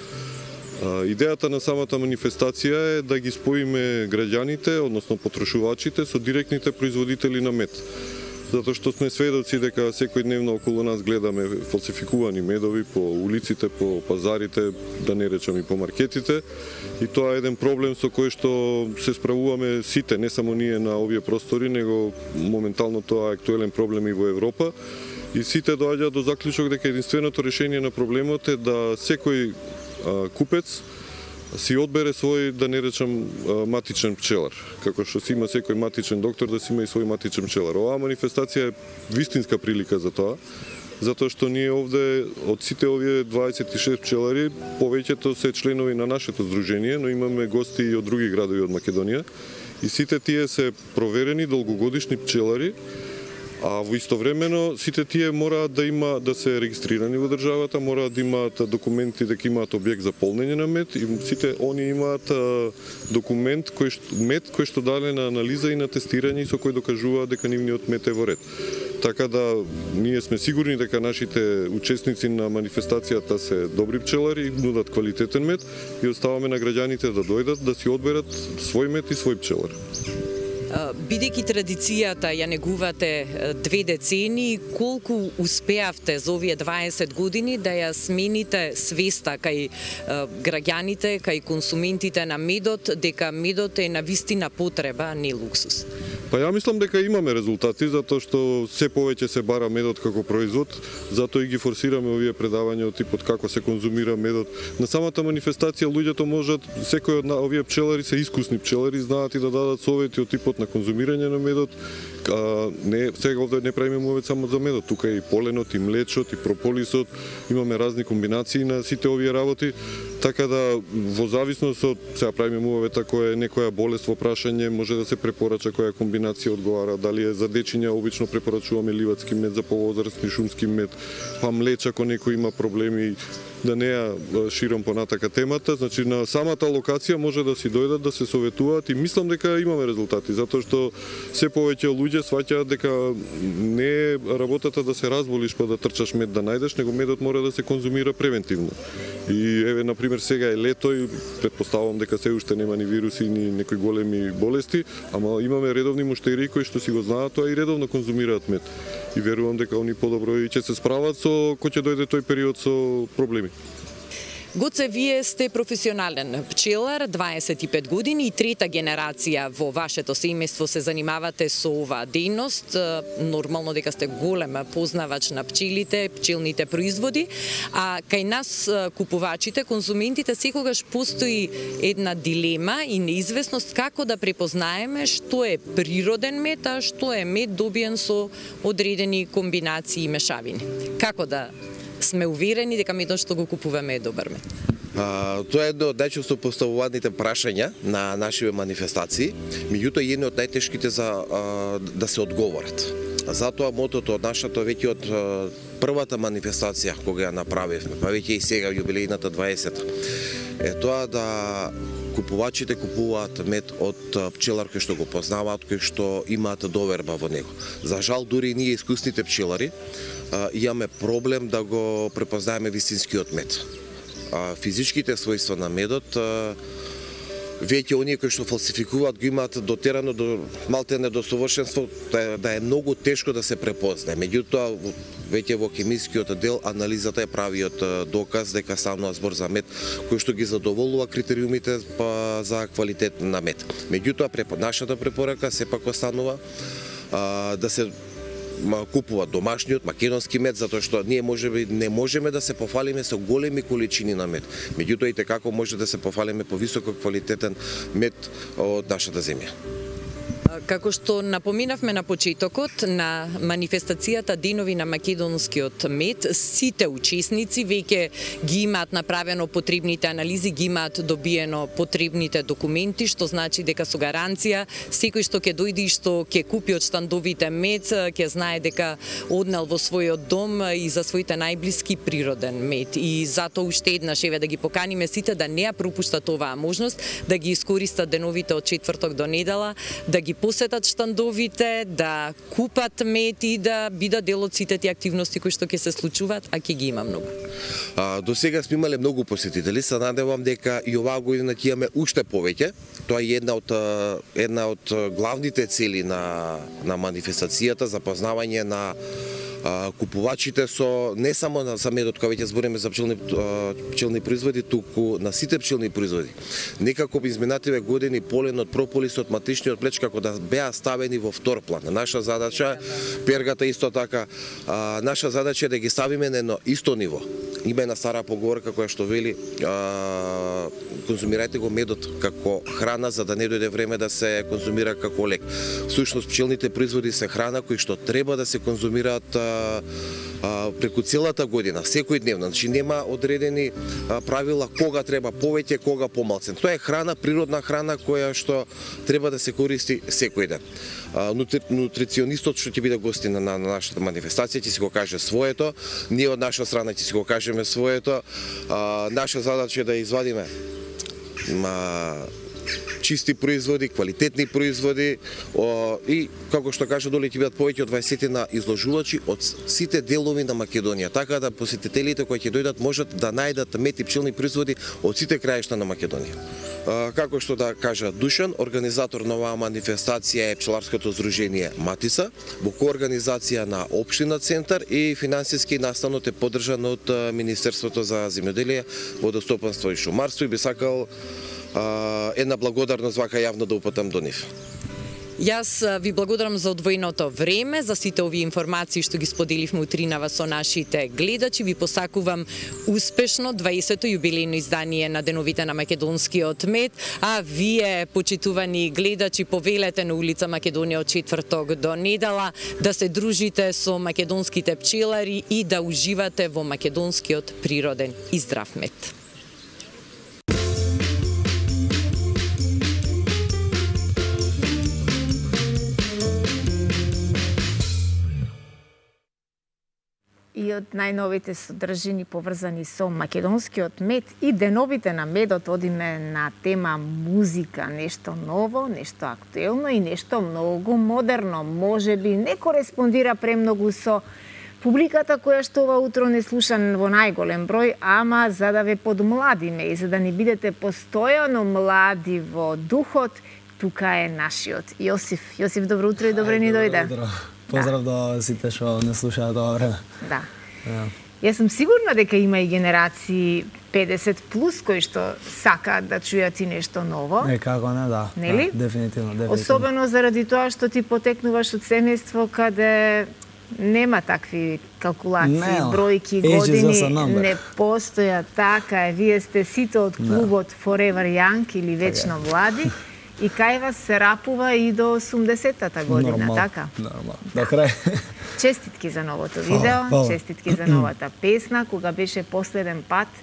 Идејата на самата манифестација е да ги споиме граѓаните, односно потрошувачите, со директните производители на мед. Затоа што сме сведоци дека секојдневно околу нас гледаме фалсификувани медови по улиците, по пазарите, да не речам и по маркетите. И тоа е еден проблем со кој што се справуваме сите, не само ние на овие простори, него моментално тоа е актуелен проблем и во Европа. И сите доаѓаат до заклучок дека единственото решение на проблемот е да секој купец си одбере свој, да не речам, матичен пчелар. Како што си има секој матичен доктор, да си има и свој матичен пчелар. Оваа манифестација е вистинска прилика за тоа, затоа што ние овде, од сите овие 26 пчелари, повеќето се членови на нашето здружение, но имаме гости и од други градови од Македонија. И сите тие се проверени долгогодишни пчелари, а во истовремено сите тие мораат да се регистрирани во државата, мораат да имаат документи дека имаат објект за полнење на мед и сите они имаат документ кој што даде на анализа и на тестирање со кој докажува дека нивниот мед е во ред. Така да ние сме сигурни дека нашите учесници на манифестацијата се добри пчелари и нудат квалитетен мед и оставаме на граѓаните да дојдат да си одберат свој мед и свој пчелар. Бидејќи традицијата ја негувате 2 децени, колку успеавте за овие 20 години да ја смените свеста кај граѓаните, кај консументите на медот, дека медот е навистина потреба, а не луксус? Па ја мислам дека имаме резултати, затоа што се повеќе се бара медот како производ, затоа и ги форсираме овие предавања од типот како се конзумира медот. На самата манифестација луѓето можат, секој од овие пчелари се искусни пчелари, знаат и да дадат совети од типот на конзумирање на медот. Сега овде не правиме мовет само за медот, тука и поленот, и млечот, и прополисот, имаме разни комбинации на сите овие работи, така да во зависност од, сега правиме мовет ако е некоја болест во прашање, може да се препорача која комбинација одговара, дали е за дечиња, обично препорачуваме ливадски мед, за повозрастни шумски мед, па млеч ако некој има проблеми, да не ја ширам понатака темата, значи на самата локација може да си дојдат, да се советуваат и мислам дека имаме резултати, затоа што се повеќе луѓе сваќаат дека не е работата да се разболиш па да трчаш мед да најдеш, него медот мора да се конзумира превентивно. И еве на пример сега е лето и претпоставувам дека се уште нема ни вируси ни некои големи болести, ама имаме редовни муштери кои што си го знаат тоа и редовно конзумираат мед. И верувам дека они подобро и ќе се справат со кој ќе дојде тој период со проблеми. Гоце, вие сте професионален пчелар, 25 години и трета генерација во вашето семејство се занимавате со оваа дејност. Нормално дека сте голем познавач на пчелите, пчелните производи, а кај нас купувачите, конзументите секогаш постои една дилема и неизвестност како да препознаеме што е природен мед, а што е мед добиен со одредени комбинации и мешавини. Како да сме уверени дека медот што го купуваме е добар мед? Тоа е едно од најчесто поставуваните прашања на нашите манифестации, меѓутоа е едно од најтешките за да се одговорат. Затоа мотото од нашата веќе од првата манифестација кога ја направивме, па веќе и сега јубилејната 20-та, е тоа да купувачите купуваат мед од пчелар кој што го познаваат, кој што имаат доверба во него. За жал, дури ние искусните пчелари имаме проблем да го препознаеме вистинскиот мед. Физичките својства на медот веќе оние кои што фалсификуваат го имаат дотерано до малтене до совршенство, да е многу тешко да се препознае. Меѓутоа веќе во хемискиот дел анализата е правиот доказ дека станува збор за мед кој што ги задоволува критериумите за квалитет на мед. Меѓутоа нашата препорака сепак останува да се купува домашниот македонски мед, затоа што ние можеби не можеме да се пофалиме со големи количини на мед. Меѓутоа и како може да се пофалиме по високо квалитетен мед од нашата земја. Како што напоминавме на почетокот на манифестацијата Денови на македонскиот мед, сите учесници веќе ги имаат направено потребните анализи, ги имаат добиено потребните документи, што значи дека со гаранција секој што ќе дојде и што ќе купи од штандовите мед, ќе знае дека однел во својот дом и за своите најблиски природен мед. И затоа уште еднаш еве да ги поканиме сите да не ја пропуштат оваа можност, да ги искористат деновите од четврток до недела, да ги посетат штандовите, да купат мед и да бидат дел од сите тие активности кои што ќе се случуваат, а ќе ги има многу. До сега сме имале многу посетители, се надевам дека и оваа година ќе имаме уште повеќе. Тоа е една од главните цели на манифестацијата, запознавање на купувачите со не само за медот, кога веќе збориме за пчелни производи, туку на сите пчелни производи. Некако би изминативе години поленот, прополисот, матичниот плеч како да беа ставени во втор план. Наша задача, пергата исто така, наша задача е да ги ставиме на едно исто ниво. Има една стара поговорка која што вели конзумирајте го медот како храна за да не дојде време да се конзумира како лек. Всушност пчелните производи се храна кои што треба да се конзумираат преку целата година, секојдневно. Значи нема одредени правила кога треба повеќе, кога помалку. Тоа е храна, природна храна која што треба да се користи секој ден. Нутриционистот што ќе биде гостин на нашата манифестација ќе си го каже своето, ние од наша страна ќе си го кажеме своето. Наша задача е да извадиме чисти производи, квалитетни производи и, како што кажа, доле ќе бидат повеќе од 20 на изложувачи од сите делови на Македонија, така да посетителите кои ќе дојдат можат да најдат мед и пчелни производи од сите краишта на Македонија. Како што да кажа Душан, организатор на оваа манифестација е пчеларското здружение Матица, во коорганизација на општина Центар и финансиски настанот е поддржан од Министерството за земјоделие, водостопанство и шумарство и би сакал една благодарност вака јавно да упатам до нив. Јас ви благодарам за одвоеното време, за сите овие информации што ги споделивме утринава со нашите гледачи. Ви посакувам успешно 20-то јубилејно издание на Деновите на македонскиот мед, а вие, почитувани гледачи, повелете на улица Македонија од четврток до недела да се дружите со македонските пчелари и да уживате во македонскиот природен и здрав мед. И од најновите содржини поврзани со македонскиот мед и деновите на медот одиме на тема музика, нешто ново, нешто актуелно и нешто многу модерно. Може би не кореспондира премногу со публиката која што ова утро не слуша во најголем број, ама за да ве подмладиме и за да не бидете постојано млади во духот, тука е нашиот Јосиф. Јосиф, добро утро и добре ни дојде. Поздрав до сите што не слушаат ова време. Да. Јас сум сигурна дека има и генерации 50 плюс кои што сакаат да чујат и нешто ново. Како не, да. Нели? Да, дефинитивно. Особено заради тоа што ти потекнуваш од семејство каде нема такви калкулации, бројки, години, не постоја. Така е, вие сте сите од клубот Forever Young или Вечно млади. И кај вас се рапува и до 80-та година, така? Нормално. До крај. Честитки за новото видео, честитки за новата песна. Кога беше последен пат,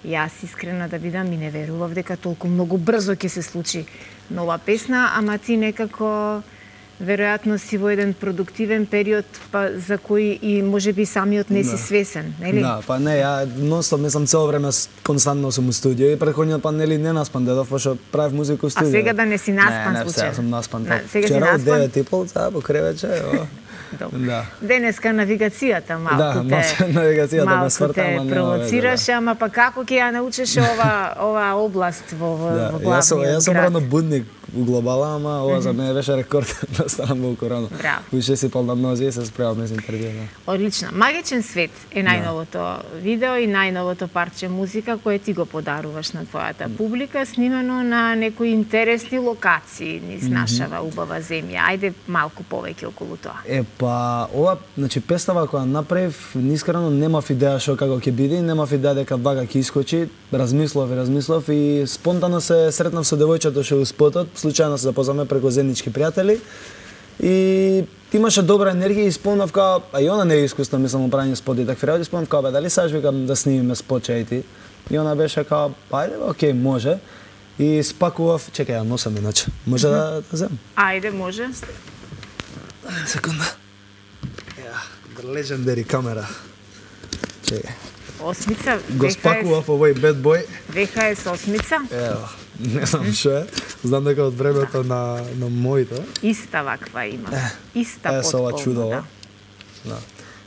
јас искрена да бидам и не верував дека толку многу брзо ќе се случи нова песна, ама ти некако веројатно си во еден продуктивен период, па за кој и можеби самиот не си свесен, нели? Да, па не, ја нонстоп мислам цело време константно сум у студио и претходниот пат нели не наспан дедов, пошто правев музика у студио. А сега да не си наспан случај? Не, сега сум наспан. Сега си наспан? Вчера од 9:30 по кревече, Да. Денеска навигацијата малку те провоцираше, ама па како ќе ја научеше ова област во главниот град? Јас сум рано будник у глобала, ама ова за мене беше рекорд да станам во корона. Уште си пол на нозе и се спремам за интервју. Одлично. Магичен свет е најновото видео и најновото парче музика кое ти го подаруваш на твојата публика, снимено на некои интересни локации низ нашава убава земја. Ајде малку повеќе околу тоа. Па ова, значи песната која направив, искрено немав идеја што како ќе биде, немав идеја дека вака ќе искочи. Размислов и спонтано се сретнав со девојчето што у спотот, случајно се запознавме преку заеднички пријатели и имаше добра енергија и спомнав као, а и она не е искусно, мислам, правење спот и такви работи, спомнав као, дали саш викам да снимиме спот ти? И она беше као, ајде, окей, може. И спакував, чекај, ја носам иначе. Може да земам? Ајде, може. Секунда. The legendary камера. Чекај. Осмица, го спакував овој bad boy. VHS осмица. Ево, не знам што е. Знам дека од времето на моите. Иста ваква има. Иста со ова чудово. Да.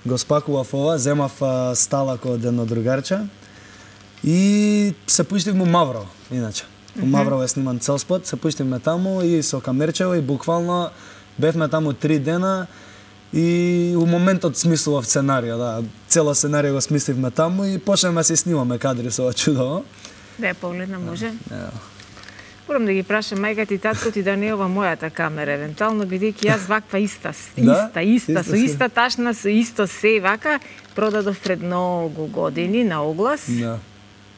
Го спакував ова, земав сталак од едно другарче и се пуштив му Мавро, иначе. У Мавро е сниман цел спот, се пуштивме таму и со камерчево и буквално бевме таму 3 дена и у моментот смислував сценарио, да. Цело сценарио го смисливме таму и почнеме се снимаме кадри со ова чудово. Да ја погледна, може? Морам да ги прашам мајка и татко ти да не е ова мојата камера, евентуално бидејќи јас ваква иста, со иста ташна, со исто се вака, продадов пред многу години на оглас.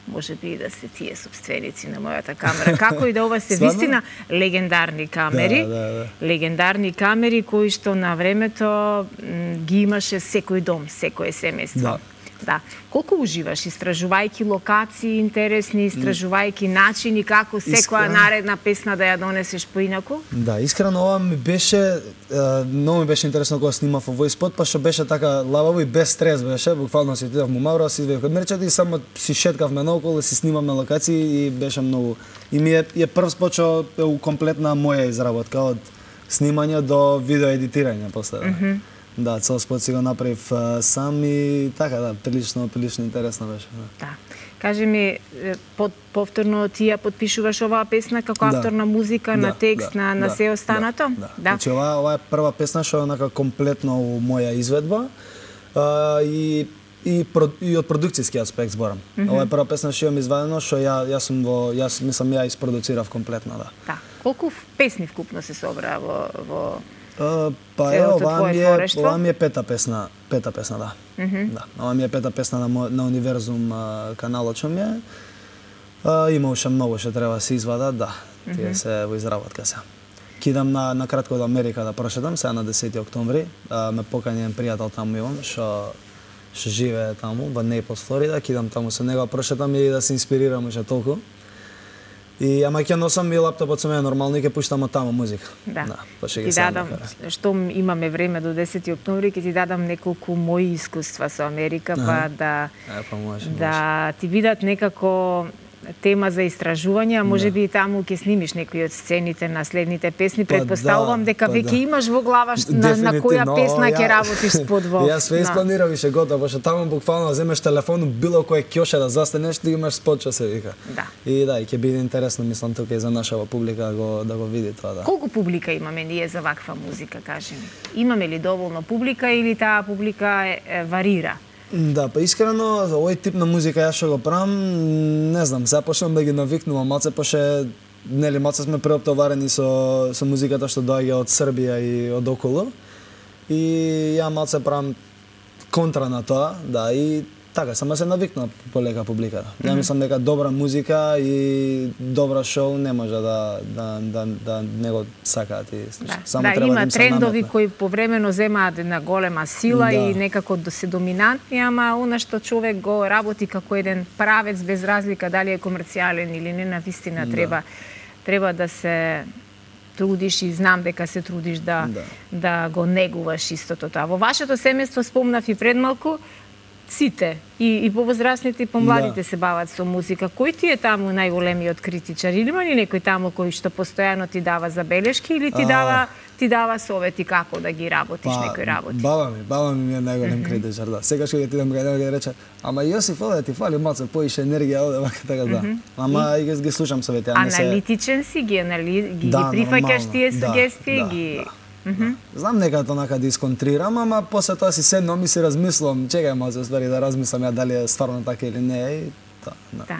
Може би и да се тие собственици на мојата камера. Како и да ова се вистина легендарни камери. Легендарни камери кои што на времето ги имаше секој дом, секое семејство. Да. Колку уживаш истражувајќи локации интересни, истражувајќи начини како секоја наредна песна да ја донесеш поинаку? Да, искрено ова ми беше многу ми беше интересно кога снимав овој спот, па што беше така лававо и без стрес беше, буквално си отидов му Мавро, си изведов од мерчето и само си шеткавме наоколу, си снимаме локации и беше многу. И ми е прв спот што е комплетна моја изработка од снимање до видео едитирање после. Да, цел спот си го направив сам и така, да, прилично интересно беше. Да. Кажи ми, повторно ти ја потпишуваш оваа песна како автор на музика, на текст, на се останато? Да. Значи, ова е прва песна што е онака комплетно моја изведба и од продукцијски аспект зборам. Ова е прва песна што имам извадено, што јас мислам ја испродуцирав комплетно, да. Да. Колку песни вкупно се собра во па ова ми е пета песна, да. Да, ова ми е пета песна на Универзум каналот што ми е. Има уште многу што треба да се извадат, да. Тие се во изработка се. Кидам на кратко до Америка да прошетам, сега на 10 октомври. Ме покани еден пријател таму имам, што живее таму, во Нейплс, Флорида. Кидам таму со него, прошетам и да се инспирирам уште толку. И ама ќе носам и лаптопот со мене нормално и ќе пуштам од таму музика. Да. Ти дадам, што имаме време до 10 октомври, ќе ти дадам неколку мои искуства со Америка, па да ти бидат некако тема за истражување, а може би и таму ќе снимиш некои од сцените на следните песни. Предпоставувам дека веќе имаш во глава на која песна ќе работиш спод во. Јас све испланирав и ше готово, пошто таму буквално земеш телефон, било кој ќоше да застанеш, ти имаш спот што се вика. Да. И да, и ќе биде интересно, мислам, тука и за нашава публика да го види тоа, да. Колку публика имаме ние за ваква музика, кажи ми? Имаме ли доволно публика или таа публика варира? Да, па искрено, за овој тип на музика јас што го правам, не знам, сега почнам да ги навикнувам малце, пошто нели малце сме преоптоварени со музиката што доаѓа од Србија и од околу. И ја малце правам контра на тоа, да, и така, само се навикнува полека публиката. Ја мислам дека добра музика и добра шоу не може да не го сакаат и само треба има трендови кои повремено земаат една голема сила и некако се доминантни, ама она што човек го работи како еден правец без разлика дали е комерцијален или не, навистина треба да се трудиш и знам дека се трудиш да го негуваш истото тоа. Во вашето семејство спомнав и предмалку, сите, и повозрастните и помладите се бават со музика. Кој ти е таму најголемиот критичар? Или има ли некој таму кој што постојано ти дава забелешки или ти дава совети како да ги работиш некои работи? Баба ми е најголем критичар, да. Секогаш кога ти идам кај него ќе рече: "Ама Јосиф, овде ти фали малку поише енергија овде вака така да." Ама и ги слушам совети, а не се аналитичен си, ги прифаќаш тие сугестии, ги Знам некако онака да исконтрирам, ама после тоа си седнам и си размислувам, чекај малку ствари да размислам ја дали е стварно така или не и тоа. Да.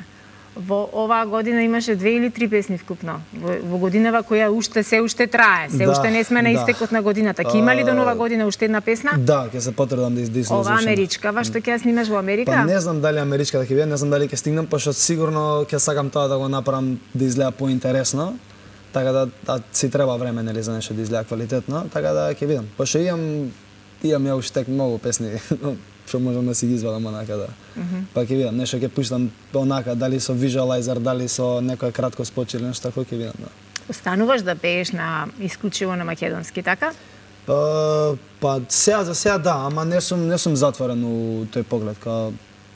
Во оваа година имаше 2 или 3 песни вкупно. Во годинава која се уште трае, уште не сме на истекот на годината. Ќе има ли до нова година уште една песна? Да, ќе се потрудам да излезам. Ова америчкава што ќе ја снимаш во Америка? Па не знам дали америчка ќе биде, не знам дали ќе стигнам, пошто сигурно ќе сакам тоа да го направам да изгледа поинтересно. така да си треба време нели за нешто да изгледа квалитетно, така да ќе видам. Пошто имам ја уште многу песни што можам да си ги извадам онака да. Па ќе видам, нешто ќе пуштам онака, дали со visualizer, дали со некој кратко спот или нешто такво ќе видам, да. Остануваш да пееш на исклучиво на македонски, така? Па сега за сега да, ама не сум затворен у тој поглед,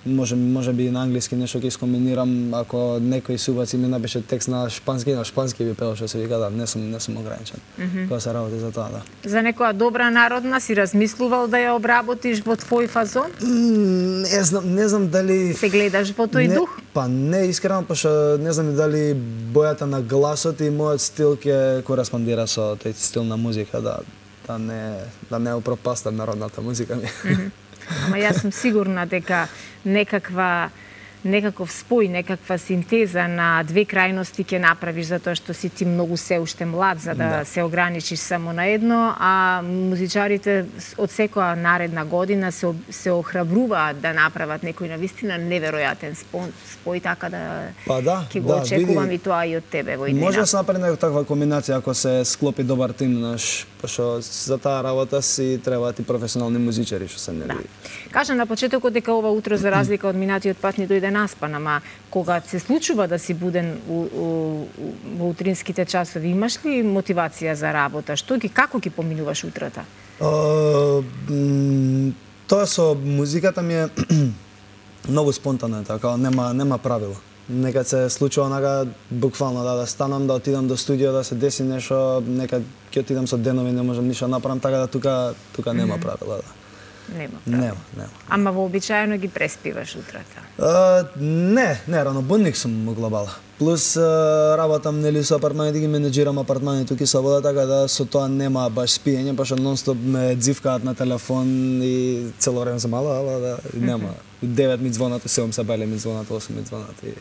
може би на англиски нешто ќе искомбинирам, ако некој субац ми напише текст на шпански би пеел, што се вика, да, не сум ограничен. Кога се работи за тоа, да. За некоја добра народна си размислувал да ја обработиш во твој фазон? Не знам дали се гледаш во тој дух? Па не, искрено, пошто не знам дали бојата на гласот и мојот стил ќе кореспондира со тој стил на музика, да не упропастам народната музика ми. Ама јас сум сигурна дека некаков спој, некаква синтеза на две крајности ќе направиш, затоа што си ти многу се уште млад за да се ограничиш само на едно, а музичарите од секоја наредна година се охрабруваат да направат некој навистина неверојатен спој, така да ќе го очекувам и тоа и од тебе во иднина. Може да се направи некоја таква комбинација ако се склопи добар тим, пошто за таа работа си требаат и професионални музичари што се нели. Кажа на почетокот дека ова утро за разлика од минатиот пат ни дојде наспан, ама кога се случува да си буден во утринските часови, имаш ли мотивација за работа? Како ги поминуваш утрата? Тоа со музиката ми е многу спонтано, така, нема правило. Некад се случува онака буквално да станам, да отидам до студио, да се деси нешто, некад ќе отидам со денови, не можам ништо направам, така да тука нема правила, да. Нема. Ама вообичаено ги преспиваш утрата? Не, ранобудник сум во глобала. Плюс работам нели со апартманите, ги менеџирам апартманите тука со вода, така да со тоа нема баш спиење, пошто нонстоп ме дзивкаат на телефон и цело време сум ала, да, нема. 9 ми звонат, 7 се бали ми звонат, 8 ми звонат и...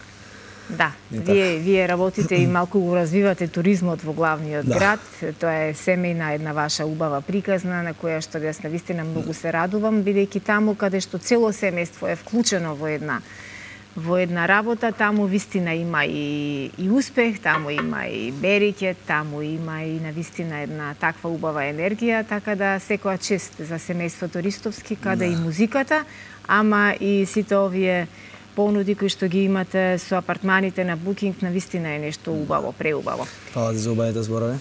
Да, вие работите и малку го развивате туризмот во главниот град. Тоа е семејна една ваша убава приказна на која што јас навистина многу се радувам, бидејќи таму каде што цело семејство е вклучено во една работа, таму вистина има и успех, таму има и береќе, таму има и навистина една таква убава енергија, така да секоја чест за семејството Ристовски, каде и музиката, ама и сите овие понуди кои што ги имате со апартманите на букинг, навистина е нешто убаво, преубаво. Фала ти за убавите зборови.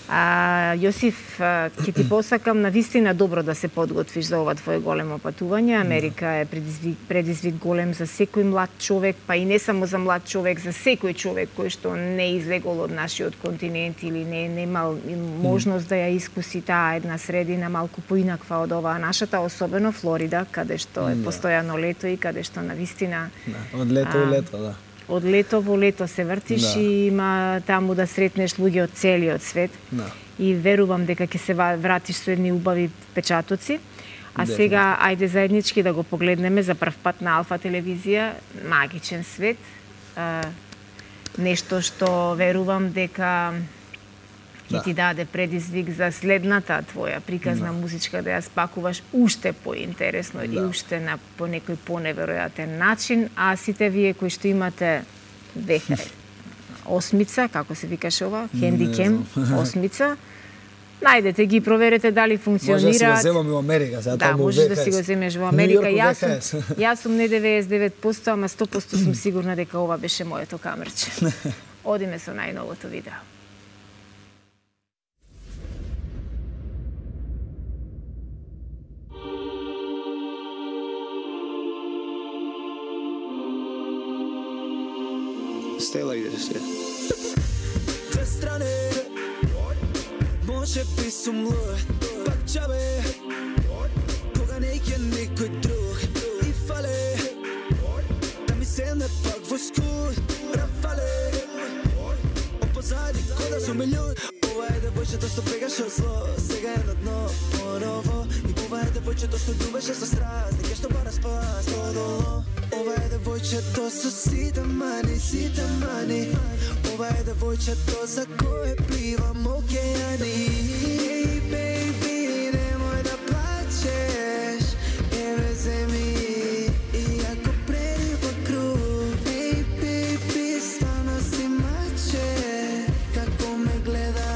Јосиф, ќе ти посакам навистина добро да се подготвиш за ова твое големо патување. Америка е предизвик голем за секој млад човек, па и не само за млад човек, за секој човек кој што не излегол од нашиот континент или не имал можност да ја искуси таа една средина малку поинаква од оваа нашата, особено Флорида, каде што е постојано лето и каде што навистина од лето во лето, да. Од лето во лето се вртиш и има таму да сретнеш луѓе од целиот свет. И верувам дека ќе се вратиш со едни убави впечатоци. А сега, ајде заеднички да го погледнеме за прв пат на Алфа телевизија, магичен свет. Нешто што верувам дека ќе ти даде предизвик за следната твоја приказна музичка да ја спакуваш уште поинтересно и уште по некој поневеројатен начин, а сите вие кои што имате осмица, како се викаше ова, хендикем, осмица, најдете ги, проверете дали функционираат. Може да си го земам во Америка, сега да, може да си го земеш во Америка. Јас сум не 99%, ама 100% сум сигурна дека ова беше моето камерче. Одиме со најновото видео. Stay like this, yeah. Две страни, може би сум луд, пак джабе, кога не е никој друг и фале, да ми седне пак во скут, рафале, опозади кода сум луд. Ова е девојчето што бегаше од зло, сега е на дно поново. И ова е девојчето што љубеше со страст, дека што бара спас подоло. Ова е девојчето со сите мани. Ова е девојчето за кое пливам океани. Ей, бейби, немој да плачеш, еве земи, иако преди во круг. Ей, бейби, стварно си маче, како ме гледаш.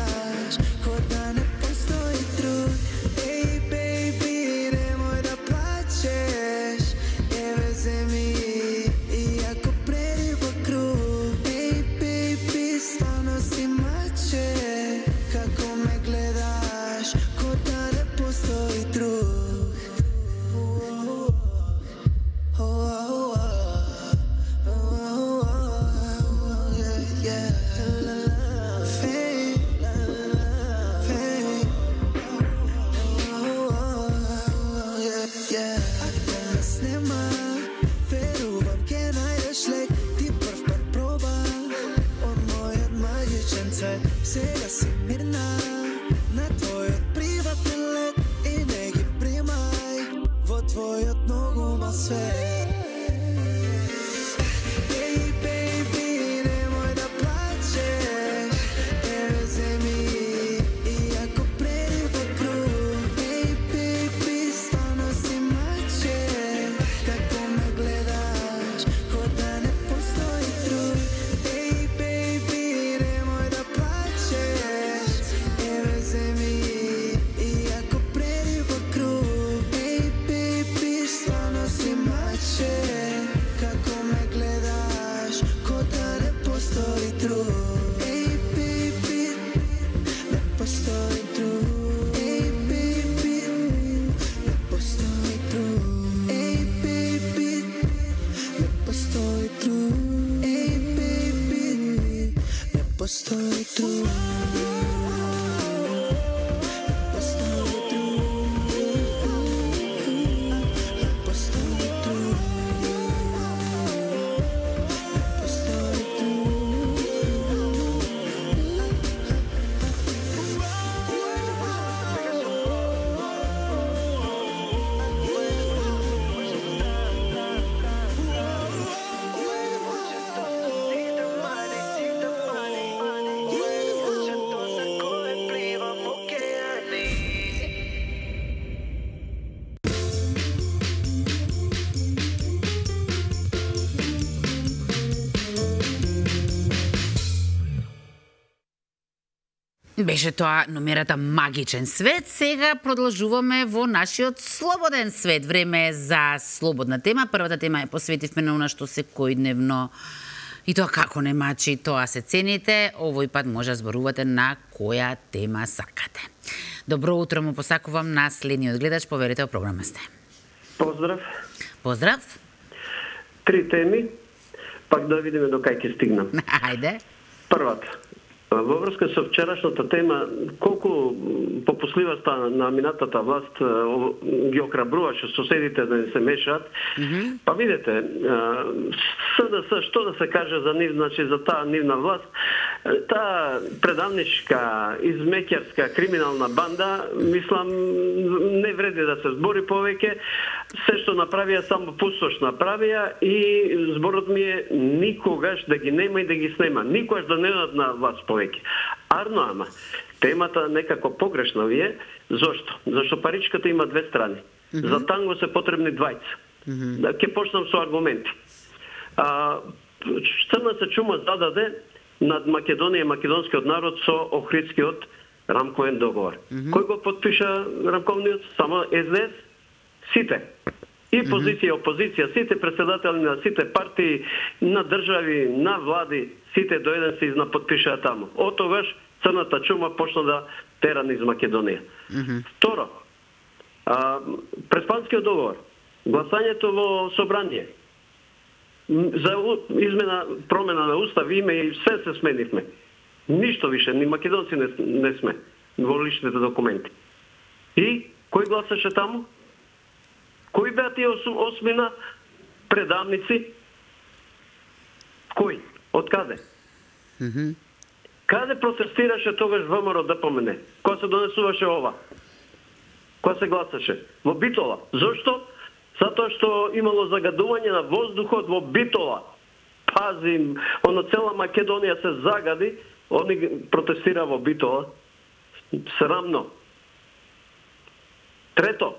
Сега си мирна на твојот приватен лет и не ги примај во твојот многу мал свет. Baby, немој да плачеш, еве земи и ако прери во круг. Baby, стварно си маче, како ме гледаш, ко да не постои друг. Baby, немој да плачеш, еве земи и ако прери во круг. Baby, стварно си маче, како ме гледаш, ко да не постои друг. Baby, не постои друг. Baby, не постои друг. Baby, не постои друг. Baby, не постои друг. Беше тоа номерата Магичен свет. Сега продолжуваме во нашиот слободен свет. Време е за слободна тема. Првата тема е посветивме на она што секојдневно и тоа како не мачи, тоа се цените. Овој пат може да зборувате на која тема сакате. Добро утро му посакувам на следниот гледач. Поверете, во програма сте. Поздрав. Поздрав. 3 теми, пак да видиме до кај ќе стигнам. Ајде. Првата. Во врска со вчерашната тема, колку попусливоста на минатата власт ги охрабруваше соседите да не се мешаат. Па видете, СДС, што да се каже за нив, значи за таа нивна власт, таа предавничка, измеќарска, криминална банда, мислам, не вреди да се збори повеќе. Се што направија, само пустош направија и зборот ми е никогаш да ги нема и да ги снема. Никогаш да не дадат на власт повеќе. Арно, ама, темата некако погрешна ви е. Зошто? Зашто паричката има две страни. За танго се потребни двајца. Да, ќе почнам со аргументи. Црна се чума зададе над Македонија и македонскиот народ со Охридскиот рамковен договор. Кој го подпиша рамковниот? Само СДС? Сите. И позиција, опозиција, сите председатели на сите партии, на држави, на влади, сите до еден се изнаподпишаа таму. Од тогаш црната чума почна да тера низ Македонија. Второ, Преспанскиот договор, гласањето во собрание, за измена, промена на устав, име и се сменивме. Ништо више, ни македонци не сме во личните документи. И кој гласаше таму? Кои беа тие осмина предавници? Кој? Од каде? Каде протестираше тогаш ВМРО ДПМН? Кога се донесуваше ова? Кога се гласаше? Во Битола. Зошто? Затоа што имало загадување на воздухот во Битола. Пази, оно цела Македонија се загади, они протестира во Битола. Срамно. Трето,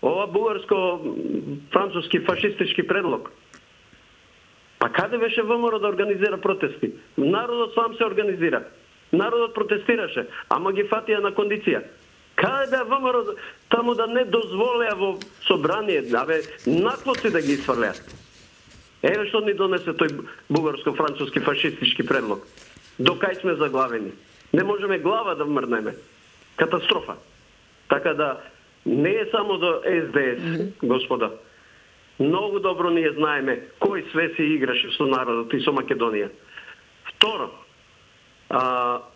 ова бугарско-француски фашистички предлог. Па каде беше ВМРО да организира протести? Народот сам се организира. Народот протестираше, ама ги фатија на кондиција. Каде беа ВМРО таму да не дозволеа во собрание, абе, наклоци да ги исфрлеат? Еве што ни донесе тој бугарско-француски фашистички предлог. До кај сме заглавени? Не можеме глава да вмрнеме. Катастрофа. Така да, не е само до СДС, господа. Многу добро ние знаеме кој све се играше со народот и со Македонија. Второ,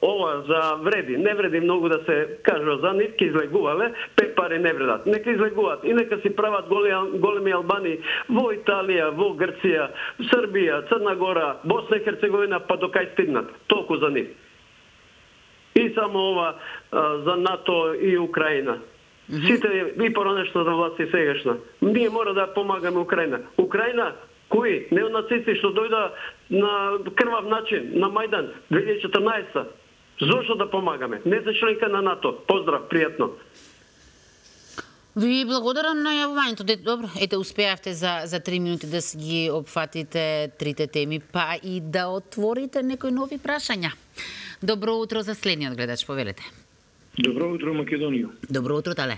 ова за вреди, не вреди многу да се кажува за нив, ке излегувале, 5 пари не вредат. Нека излегуваат и нека си прават големи албани во Италија, во Грција, Србија, Црна Гора, Босна и Херцеговина, па до кај стигнат. Толку за нив. И само ова за НАТО и Украина. Сите и поранешната власт и сегашна. Ние мора да помагаме Украина. Украина, кои неонацисти што дојда на крвав начин на Мајдан 2014. Зошто да помагаме? Не се членка на НАТО. Поздрав, пријатно. Ви благодарам на јавувањето. Добро, ете успеавте за 3 минути да си ги опфатите трите теми, па и да отворите некои нови прашања. Добро утро за следниот гледач, повелете. Добро утро, Македонија. Добро утро, Тале.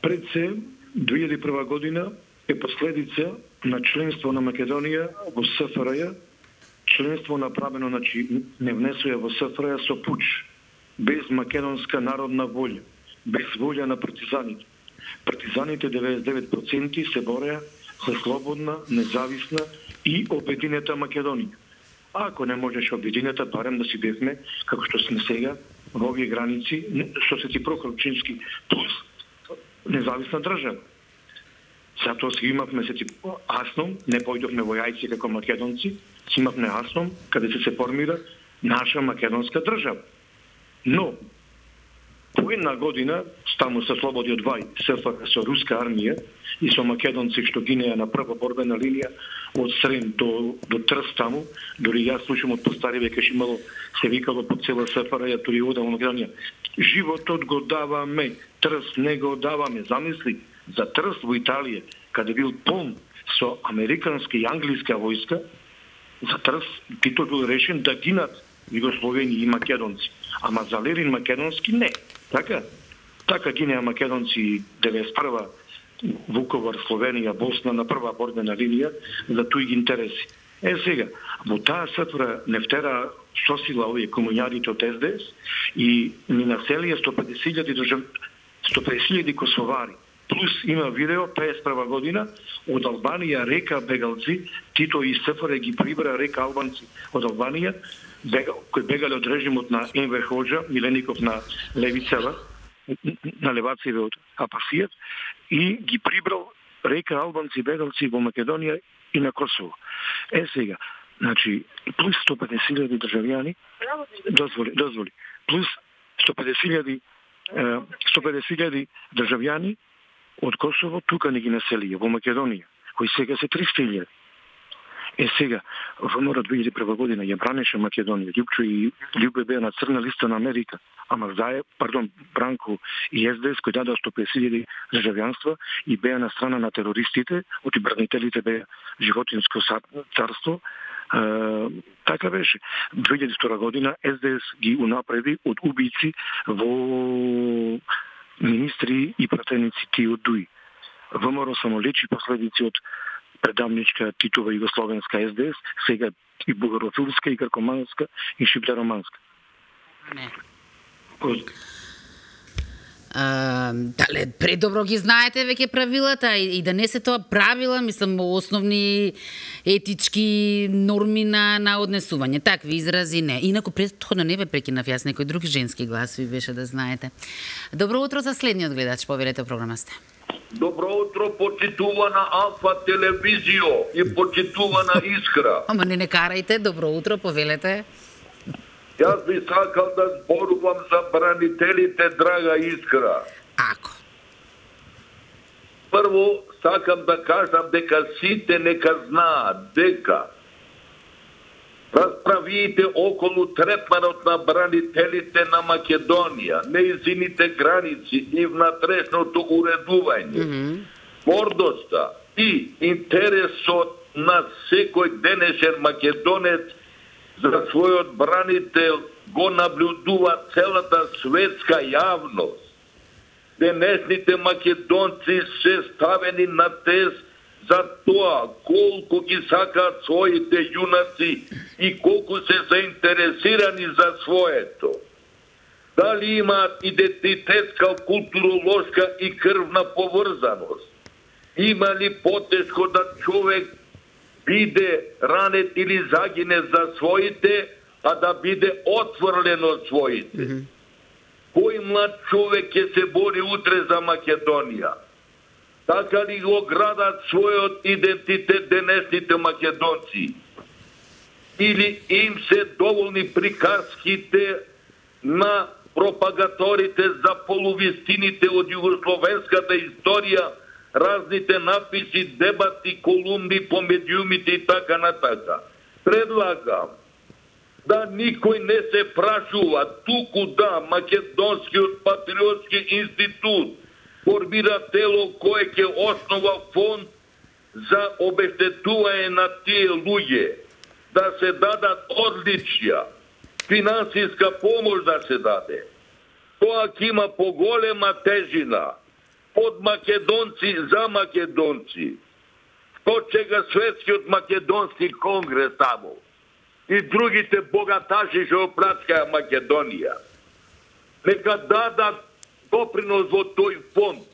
Пред се, 2001 година е последица на членство на Македонија во СФРЈ, членство направено, значи, не внесуја во СФРЈ со пуч, без македонска народна волја, без волја на партизаните. Партизаните 99% се бореа за слободна, независна и обединета Македонија. А ако не можеше обединета, барем да си бевме, како што сме сега, во овие граници, што се ти Прохорчински плюс независна држава. Затоа си имавме Асном, не појдовме во јајци како македонци, си имавме Асном, каде се формира наша македонска држава. Но, по една година, таму се слободи од Вај, СФР со руска армија и со македонци што гинеа на прва борбена линија од Срем до Трст таму, дори јас слушам од постари веќе имало, се викало по цела СФР, тури ода во Македонија. Животот го даваме, Трст не го даваме. Замисли, за Трст во Италија, каде бил полн со американска и англиска војска, за Трст Тито бил решен да гинат југословени и македонци, ама за Лерин македонски не. Така гинеа македонци 91 Вуковар, Словенија, Босна на прва борбена линија за туи интереси. Сега, во таа СФР не втера сосила овие комуњарите од СДС и ни населија 150.000 косовари. Плюс има видео 51 година од Албанија река бегалци, Тито и СФР ги прибра река албанци од Албанија, кои бегале од режимот на Енвер Хоџа, Милеников на Левицева, на леваците од Апасијат, и ги прибрал река албанци бегалци во Македонија и на Косово. Сега, значи, плюс 150.000 државјани, дозволи, плюс 150.000 државјани од Косово тука не ги населија во Македонија, кои сега се 300.000. Сега, ВМРО 2001 година ја бранеше Македонија, Љупчо и Љубе беа на црна листа на Америка, ама Бранко и СДС кои дадоа 150.000 државјанства и беа на страна на терористите, одбранителите беа животинско царство. Така беше. 2002 година СДС ги унапреди од убици во министри и пратеници ти од ДУИ. ВМРО само лечи последици од предавничка Титова југословенска СДС, сега и бугарофилска, и гркоманска, и шиплероманска. Не. Дале, предобро ги знаете веќе правилата и да не се тоа правила, мислам, основни етички норми на однесување. Такви изрази не. Инаку претходно не ве прекинав јас, некој друг женски глас ви беше да знаете. Добро утро за следниот гледач, повелете програма сте. Добро утро, почитувана Алфа телевизио и почитувана Искра. Ама не карајте, добро утро, повелете. Јас би сакал да зборувам за бранителите, драга Искра. Ако? Прво, сакам да кажам дека сите нека знаат дека расправиите околу третманот на бранителите на Македонија, нејзините граници и внатрешното уредување, гордоста и интересот на секој денешен македонец за својот бранител го наблюдува целата светска јавност. Денешните македонци се ставени на тест за тоа колку ги сакаат своите јунаци и колку се заинтересирани за своето. Дали имаат идентитетска, културолошка и крвна поврзаност? Има ли потешко да човек биде ранет или загине за своите, а да биде отфрлен од своите? Кој млад човек ќе се бори утре за Македонија? Така ли го градат својот идентитет денешните македонци? Или им се доволни приказките на пропагаторите за полувистините од југословенската историја, разните написи, дебати, колумни по медиумите и така натака? Предлагам да никој не се прашува, туку да Македонскиот патриотски институт формира тело кое ќе основа фонд за обештетување на тие луѓе, да се дадат одличја, финансиска помош да се даде. Тоа ќе има поголема тежина од македонци за македонци. Што чека Светскиот македонски конгрес таму и другите богаташи што оплачкаја Македонија. Нека дадат допринос во тој фонд,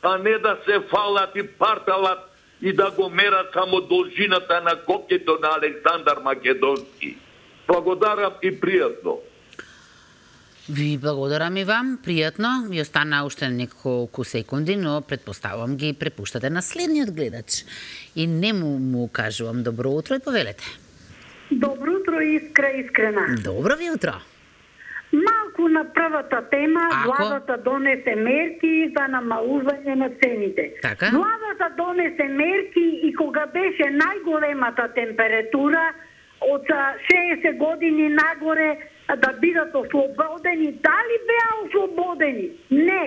а не да се фалат и парталат и да го мерат само должината на копјето на Александар Македонски. Благодарам и пријатно. Ви благодарам и вам, пријатно. Ви остана уште неколку секунди, но предпоставувам ги препуштате на следниот гледач. И не му кажувам добро утро и повелете. Добро утро, Искрена. Добро ви утро. Малку на првата тема, владата донесе мерки за намалување на цените. Така? Владата донесе мерки и кога беше најголемата температура од 60 години нагоре да бидат ослободени. Дали беа ослободени? Не.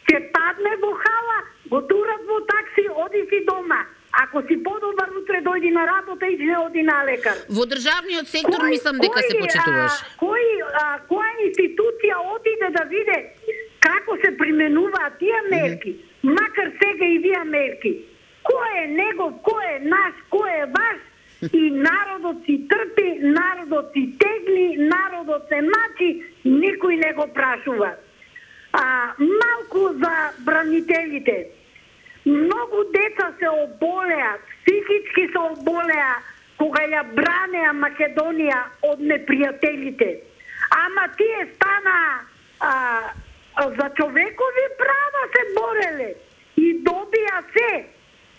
Ќе падне во хала, го турат во такси, оди си дома. Ако си подобар, утре дојди на работа и не оди на лекар. Во државниот сектор мислам дека се почитуваш. Која институција отиде да виде како се применуваат тие мерки, макар сега и вие мерки? Кој е негов, кој е наш, кој е ваш? И народот си трпи, народот си тегли, народот се мачи, никој не го прашува. Малку за бранителите. Многу деца се оболеа, психички се оболеа кога ја бранеа Македонија од непријателите. Ама тие стана за човекови права се бореле и добија се,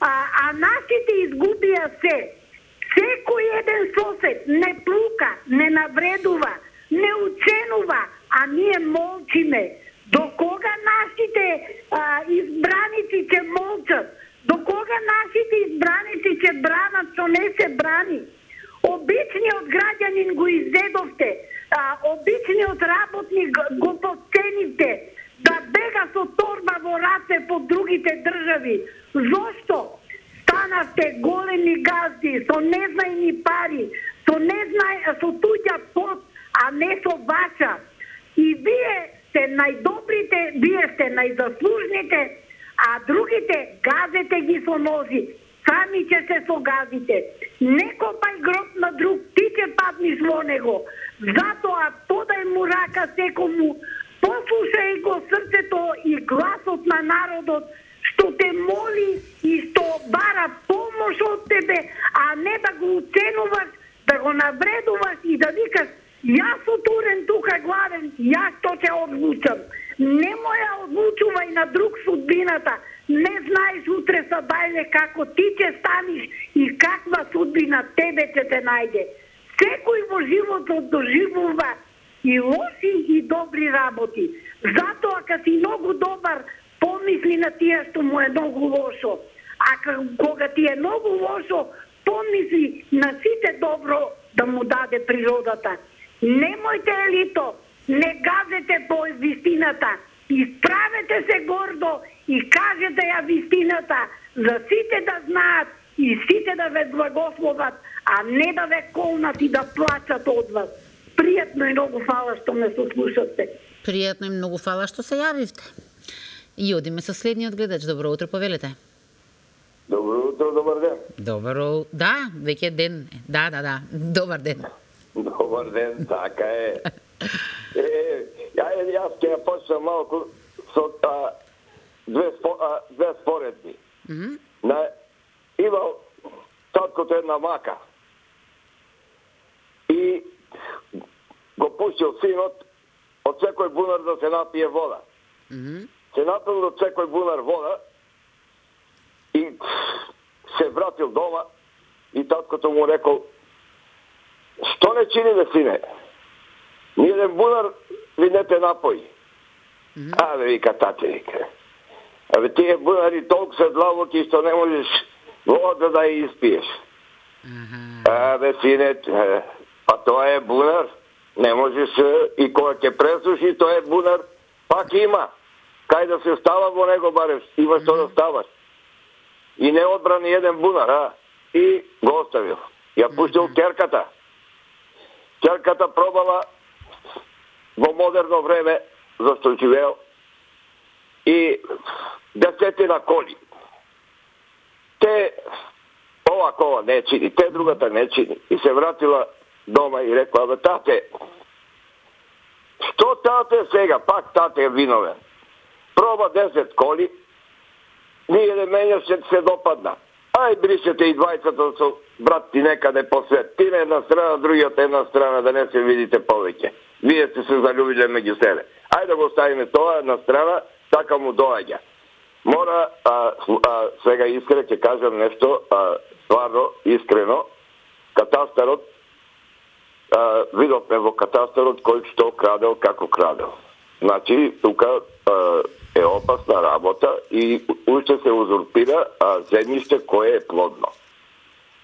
а нашите изгубија се. Секој еден сосед не плука, не навредува, не ученува, а ние молчиме. До кога нашите избраници ќе молчат? До кога нашите избраници ќе бранат што не се брани? Обичниот граѓанин го изедовте, обичниот работник го подценивте, да бега со торба во раце по другите држави. Зошто? Станавте големи газди со незнајни пари, со туѓа пот, а не со ваша. И вие сте најдобрите, вие сте најзаслужните, а другите газете ги со ножи. Сами ќе се согазите. Не копај гроб на друг, ти ќе падниш во него. Затоа подај му рака секому, послушај го срцето и гласот на народот, што те моли и што бара помош од тебе, а не да го уценуваш, да го навредуваш и да викаш јас отурен тука гладен, јас што ќе одлучам. Не моја одлучувај на друг судбината. Не знаеш утре са дајле како ти ќе станиш и каква судбина тебе ќе те најде. Секој во животот доживува и лоши и добри работи. Затоа ка си многу добар, помисли на тие што му е многу лошо. А кога ти е многу лошо, помисли на сите добро да му даде природата. Немојте елито, не газете по вистината, исправете се гордо и кажете ја вистината, за сите да знаат и сите да ве благословат, а не да ве колнат и да плачат од вас. Пријатно и многу фала што ме сослушате. Пријатно и многу фала што се јавивте. И одиме со следниот гледач. Добро утро, повелете. Добро утро, добар ден. Добро, да, веќе ден. Да, добар ден. Добар ден, така е. Јас ќе ја почнам малку со две споредби. Имал таткото една мака. И го пуштил синот од секој бунар да се напие вода. Се напил од секој бунар вода и се вратил дома и таткото му рекол: "Што не чините, сине? Ни еден бунар ви не те напои." Абе, вика тате, вика. Абе, тие бунари толку се длабоки што не можеш вода да ја испиеш. Абе, сине, па тоа е бунар. Не можеш и кога ќе пресуши, тоа е бунар, пак има. Кај да се става во него барем, има што да ставаш. И не одбрани еден бунар, и го оставил. Ја пуштил керката. Керката пробала во модерно време, зашто живеел, и 10 коли. Те ова кола не чини, те другата не чини. И се вратила дома и рекла: "Бе, тате, што тате сега, пак тате е виновен. Проба 10 коли, ни еден мене ще се допадна. Ај, бришете и двајцата со брат ти некаде по свет. Ти на една страна, другиот една страна, да не се видите повеќе. Вие сте се залюбиле меѓу себе. Ајде да го ставиме тоа на страна, така му доаѓа." Мора, сега искрено ќе кажам нешто, стварно, искрено, катастарот, видовме во катастарот кој што крадел, како крадел. Значи, тука е опасна работа и уште се узурпира земјиште кое е плодно.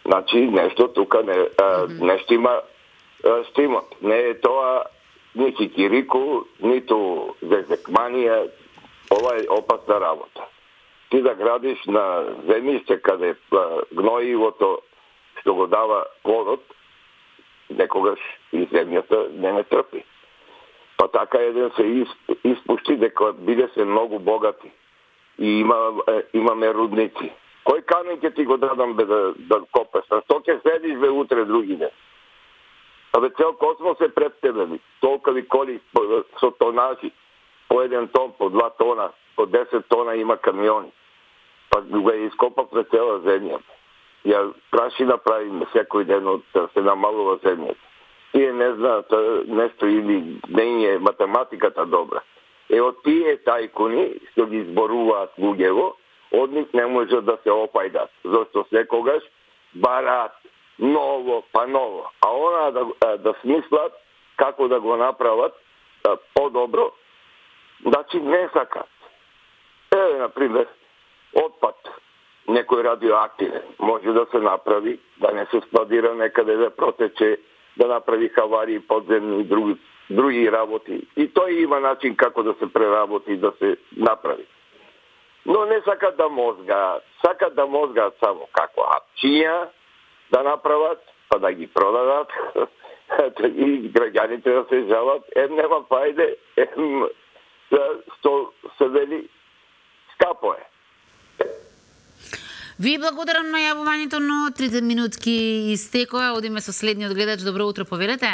Значи, нешто тука не штима штимот. Не е тоа ни кикирику, ниту зезекманија, ова е опасна работа. Ти да градиш на земјиште каде гноивото што го дава плодот, некогаш и земјата не трпи. Па така еден се испушти дека биде се многу богати и имаме рудници. Кој камен ќе ти го дадам бе да копеш? А што ќе седиш бе утре други ден? Абе цел космос е пред тебе. Толкови коли со тонажи, по 1 тон, по 2 тона, по 10 тона има камиони. Па го ја ископав пред цела земја. Ја прашина правиме секој ден од се намалува земјата. Тие не знаат нешто или не е математиката добра. Од тие тајкуни што ги изборуваат луѓево, од нив не може да се опајдат. Зашто секогаш бараат ново па ново. А она да смислат како да го направат по-добро, значи не сакат. Еве, например, отпад, некој радиоактивен, може да се направи, да не се складира некаде да протече, да направи хаварии подземни и други работи. И тој има начин како да се преработи, да се направи. Но не сакат да мозгаат само како апчиња да направат, па да ги продадат, и граѓаните да се жалат, нема фајде, што се вели, скапо е. Ви благодарам на јавувањето, но 3 минутки истекоа. Одиме со следниот гледач. Добро утро, повелете.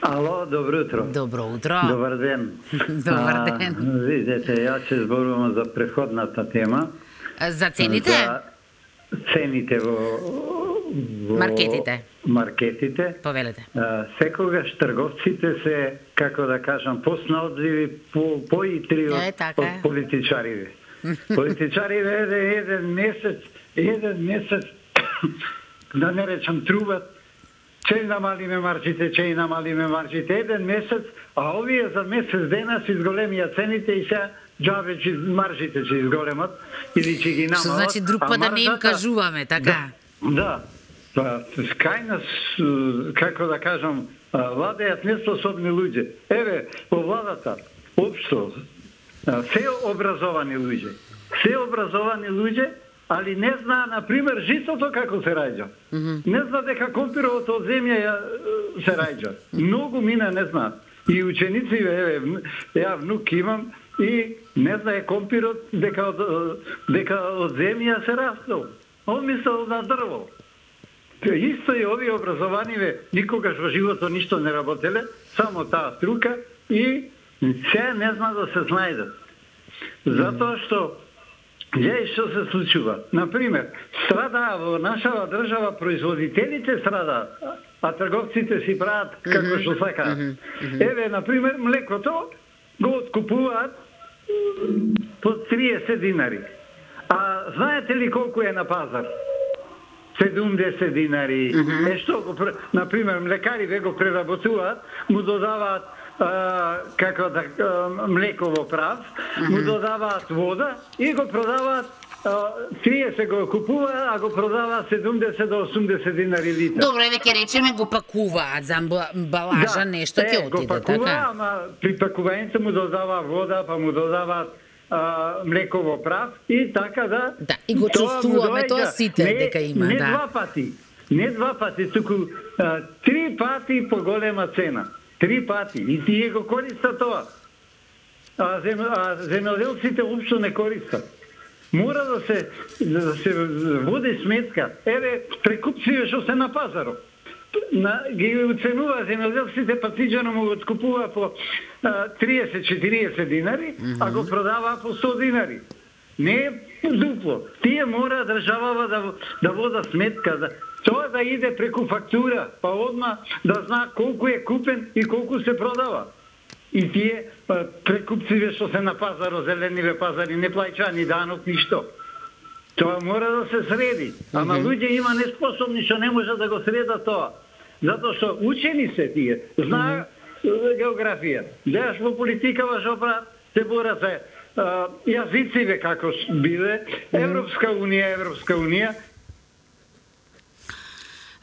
Ало, добро утро. Добро утро. Добар ден. Добар ден. Видете, ја ќе зборувам за преходната тема. За цените? За цените во маркетите. Повелете. Секогаш трговците се, како да кажам, поснаодливи, поитри од политичариве. Политичариве еден месец, да не речам трубат, че намалиме маржите, еден месец, а овие за месец дена се изголемија цените и сега џабе маржите ќе изголемат или ќе ги намалат. Што значи друг пат да не им кажуваме, така? Да. Кај нас, како да кажам, владеат неспособни луѓе. Еве, во владата, општо, се образовани луѓе, али не знаа, например, житото како се раѓа. Не знаа дека компировото од земја се раѓа. Многу мина не знаат. И ученици, еве, ја внук имам, и не знае компирот дека од земја се растел. Он мислел на дрво. Исто и овие образованиве никогаш во живото ништо не работеле, само таа струка и се не знаа да се знајдат. Затоа што Гледај што се случува. Например, страда во нашава држава производителите страдаат, а трговците си прават како што сакаат. Еве, например, млекото го откупуваат по 30 динари. А знаете ли колку е на пазар? 70 динари. Што го, например, млекари го преработуваат, му додаваат како да млеково прав, му додаваат вода и го продаваат 30 го купува, а го продава 70 до 80 динари литар. Добро, еве ќе речеме го пакуваат за амбалажа, нешто ќе отиде, го пакува, ама при пакувањето му додава вода, па му додаваат млеково прав и така да... Да, и го чувствуваме тоа сите дека има, да. Не два пати, туку 3 пати по голема цена. 3 пати. И тие го користат тоа. А земјоделците уопшто не користат. Мора да се води сметка. Еве, прекупците што се на пазарот. Ги уценува земјоделците, патиџано му го откупува по 30-40 динари, а го продава по 100 динари. Не е дупло. Тие мора државава да вода сметка, тоа да иде преку фактура, па одма да зна колку е купен и колку се продава. И тие прекупциве што се на пазарот, зелениве пазари, не плаќаат ни данок, ништо. Тоа мора да се среди. Ама луѓе има неспособни што не можат да го средат тоа. Затоа што учени се тие, знаат географија. Гледаш во политика во брат, се борат за јазициве како биле, Европска унија.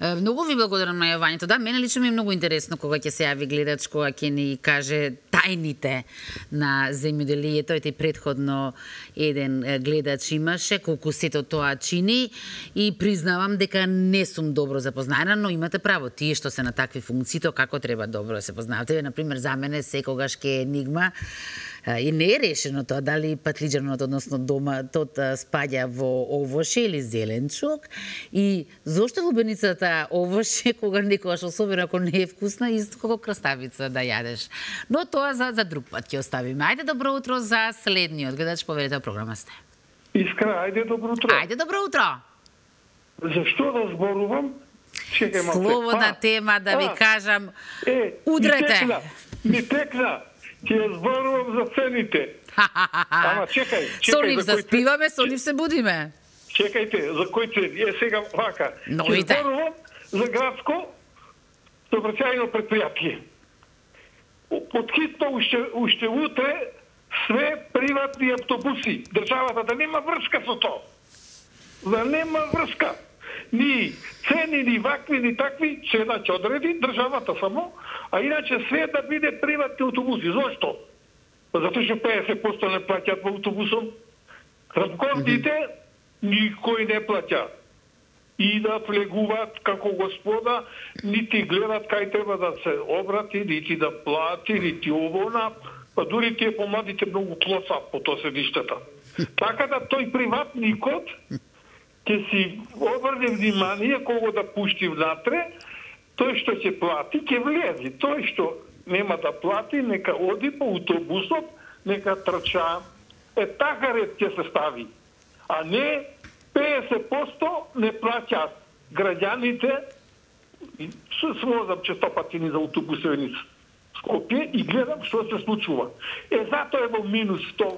Многу ви благодарам на јавањето. Да, мене лично ми е многу интересно кога ќе се јави гледач, кога ќе ни каже тајните на земјоделието. И предходно еден гледач имаше, колку сето тоа чини, и признавам дека не сум добро запознаена, но имате право, тие што се на такви функции, тоа како треба добро да се познавате. Например, за мене секогаш ке енигма и не е решено тоа дали патлиџанот, односно доматот, спаѓа во овоше или зеленчук, и зошто лубеницата овоше кога некогаш, особено ако не е вкусна, исто како краставица да јадеш. Но тоа за друг пат ќе оставиме. Ајде, добро утро за следниот гледач, поверете, програма сте. Искра, ајде, добро утро. Ајде, добро утро. Зашто да зборувам? Чекај малку. Слободна тема, да ви кажам, удрете. Ми текна. Ќе зборувам за цените. Ама чекај. Со нив заспиваме, со нив се будиме. Чекајте, за кои цени? Сега вака. Новите. Ќе зборувам за градско сообраќајно предпријатие. Подхитно уште утре све приватни автобуси. Државата да нема врска со тоа. Да нема врска. Ни цени, ни вакви, ни такви, цена ќе одреди државата само, а иначе све да биде приватни автобуси. Зошто? Затоа што 50% не плаќаат во автобусом. Рамковните никој не плаќа. И да влегуваат како господа, нити гледат кај треба да се обрати, нити да плати, нити овона, па дури тие помладите многу клоса по тоа седиштата. Така да тој приватникот ќе си обрне внимание кого да пушти внатре, тој што ќе плати, ќе влези. Тој што нема да плати, нека оди по автобусот, нека трча. Така ред ќе се стави. А не 50% не плаќаат граѓаните. Смозам честопати ни за автобусеве низ Скопје и гледам што се случува. Затоа е во минус 100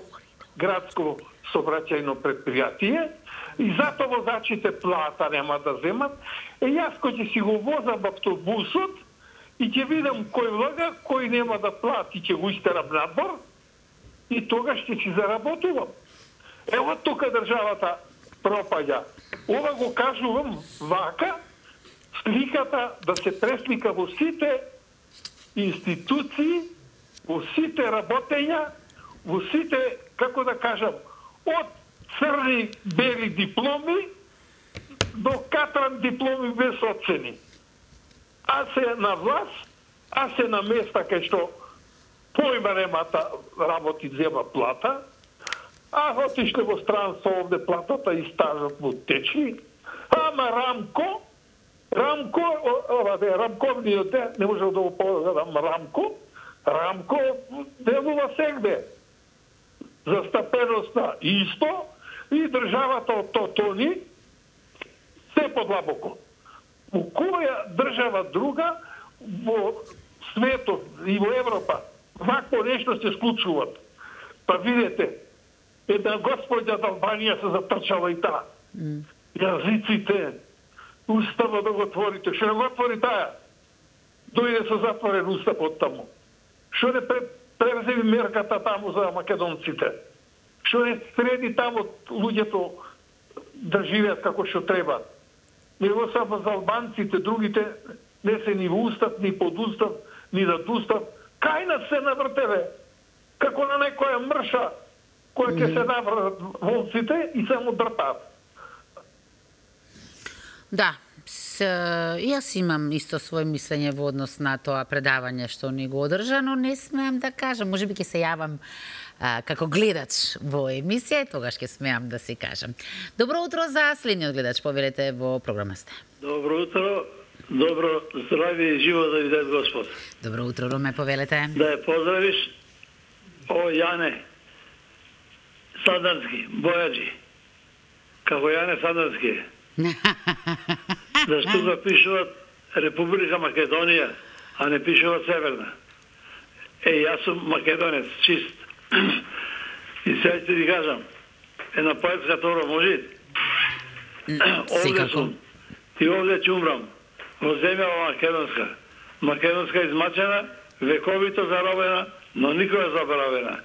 градско сообраќајно предпријатие, и затоа возачите плата нема да земат. Јас кој ќе си го возам в автобусот и ќе видам кој лага, кој нема да плати, ќе го истерам надвор и тогаш ќе си заработувам. Ево тука државата пропаѓа. Ова го кажувам вака, сликата да се преслика во сите институции, во сите работења, во сите, како да кажам, од црни, бели дипломи до катран дипломи без оцени. А се на власт, а се на места кај што појма немата работи, зема плата, а отишле во странство овде платата и стажот му течи. Ама Рамковниот не можел да го погадам Рамко делува сегде. Застапеноста исто, и државата од Тони се подлабоко. У која држава друга во светот и во Европа вакво нешто се склучуваат? Па видете, една господја од Албанија се затрчала и таа. Јазиците, уставот да го отворите, што не го отвори таа? Дојде со затворен устав од таму. Што не превземи мерката таму за македонците? Што не среди таму луѓето да живеат како што треба? Него само за албанците, другите не се ни во устав, ни под устав, ни над устав. Кај нас се навртеве? Како на некоја мрша која ќе се навртат волците и само дртаат. Да, јас имам исто своје мислење во однос на тоа предавање што ни го одржа, но не смеам да кажам. Можеби ќе се јавам како гледач во емисија и тогаш ќе смеам да си кажам. Добро утро за следниот гледач, повелете во програма сте. Добро утро, добро здравје и живо да ви даде Господ. Добро утро, Руме, повелете. Да ја поздравиш, о Јане Сандански, Бојаджи, како Јане Сандански. Зашто тука пишуват Република Македонија, а не пишуват Северна. Јас сум македонец, чист. И сега ќе ти кажам, една поетска тора може? Овде сум, и овде ќе умрам, во земја македонска. Македонска измачена, вековито заробена, но никога заборавена.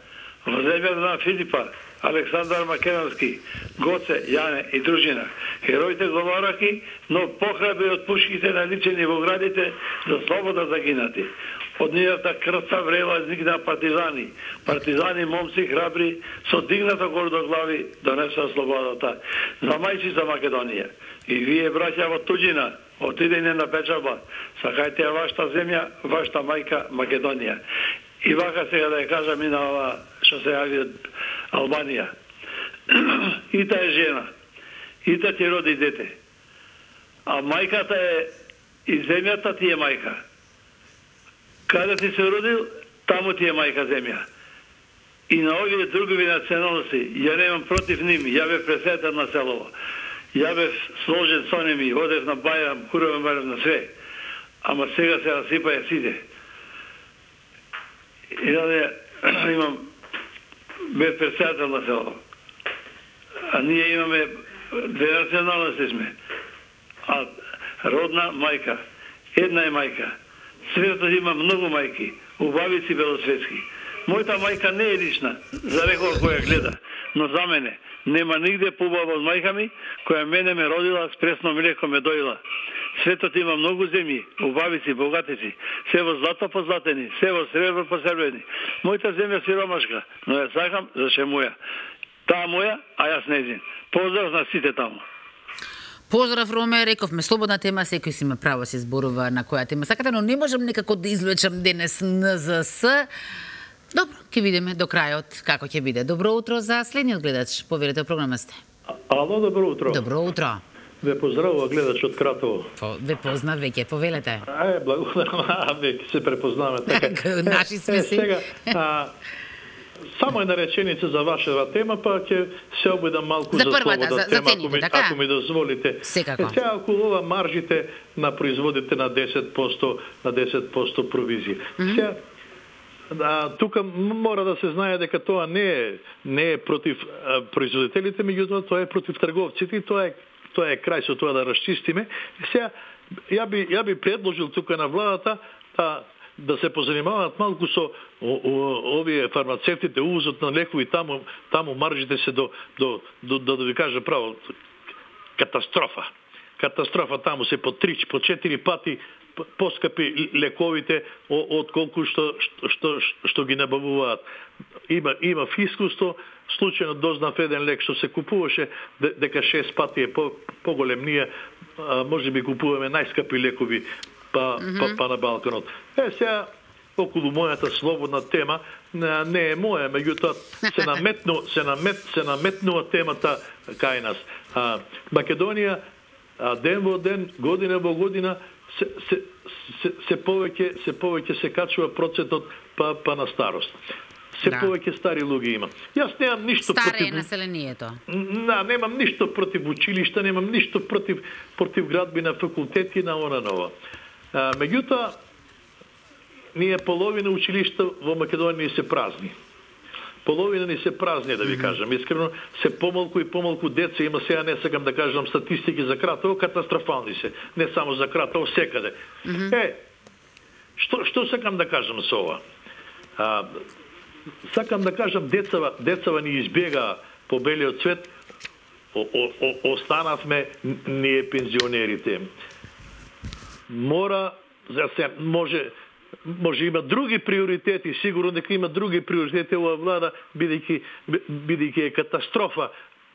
Во земјата на Филипа, Александар Македонски, Гоце, Јане и дружина. Хероите говораки, но похрабри од пушките наличени во градите за слобода загинати. Од нивната крвта врела изникна партизани. Партизани, момци храбри, со дигната гордоглави донеса слободата. За мајчица Македонија. И вие, браќа во туѓина, отидење на печалба, сакајте ја вашата земја, вашата мајка Македонија. И вака сега да ја кажам и на ова што се јави од Албанија. Ита е жена, ита ти роди дете. А мајката е, и земјата ти е мајка. Каде ти се родил, таму ти е мајка земја. И на овие други националности, ја немам против ними, ја бев пресетен на селово. Ја бев сложен со ними, одев на бајрам, куровен бајрам на све. Ама сега се расипаја сите. И да имам бев председател на село. А ние имаме две националности сме. А родна мајка, една е мајка. Светот има многу мајки, убавици белосветски. Мојата мајка не е лична, за некоја која гледа, но за мене нема нигде поубава од мајка ми, која мене ме родила, с пресно млеко ме доила. Светот има многу земји, убавици, богатици, се во злато позлатени, се во сребро посребрени. Мојата земја сиромашка, но ја сакам заше моја. Таа моја, а јас нејзин. Поздрав на сите таму. Поздрав, Роме, рековме слободна тема, секој си има право се зборува на која тема сакате, но не можам некако да извлечам денес НЗС. Добро, ќе видиме до крајот како ќе биде. Добро утро за следниот гледач. Поверете, програма сте. Ало, добро утро. Добро утро. Ве поздравува гледач од Кратово. Ве познав веќе, повелете. Благодарам, веќе се препознаваме така. Наши сме си. Сега, само една реченица за вашата тема, па ќе се обидам малку за слободна тема, ако ми дозволите. Секако. Сега околува маржите на производите на 10%, на 10% провизија. Сега, тука мора да се знае дека тоа не е против производителите, меѓутоа тоа е против трговците и тоа е крај со тоа да расчистиме. Сега, ја би предложил тука на владата да се позанимаваат малку со овие фармацевтите, увозот на лекови, таму маржите се да ви кажа право, катастрофа. Катастрофа, таму се по 3, по 4 пати поскапи лековите од колку што ги набавуваат. Има фискусто, случајно дознав еден лек што се купуваше, дека 6 пати е поголем. Ние може би купуваме најскапи лекови па на Балканот. Сега, околу мојата слободна тема, не е моја, меѓутоа се наметнува темата кај нас. Македонија, ден во ден, година во година, се повеќе се качува процентот па на старост. се повеќе стари луѓе има. Јас немам ништо против... Старе е населението. Немам ништо против училишта, немам ништо против градби на факултети на она нова. Меѓутоа, ние половина училишта во Македонија се празни. Половина ни се празни, да ви кажам. Искрено, се помалку и помалку деца има, сега не сакам да кажам статистики за Кратово, катастрофални се. Не само за Кратово, секаде. Што сакам да кажам со ова? Сакам да кажам, децава ни избега по белиот свет, останавме ние пензионерите. Може има други приоритети, сигурно дека има други приоритети ова влада, бидејќи е катастрофа,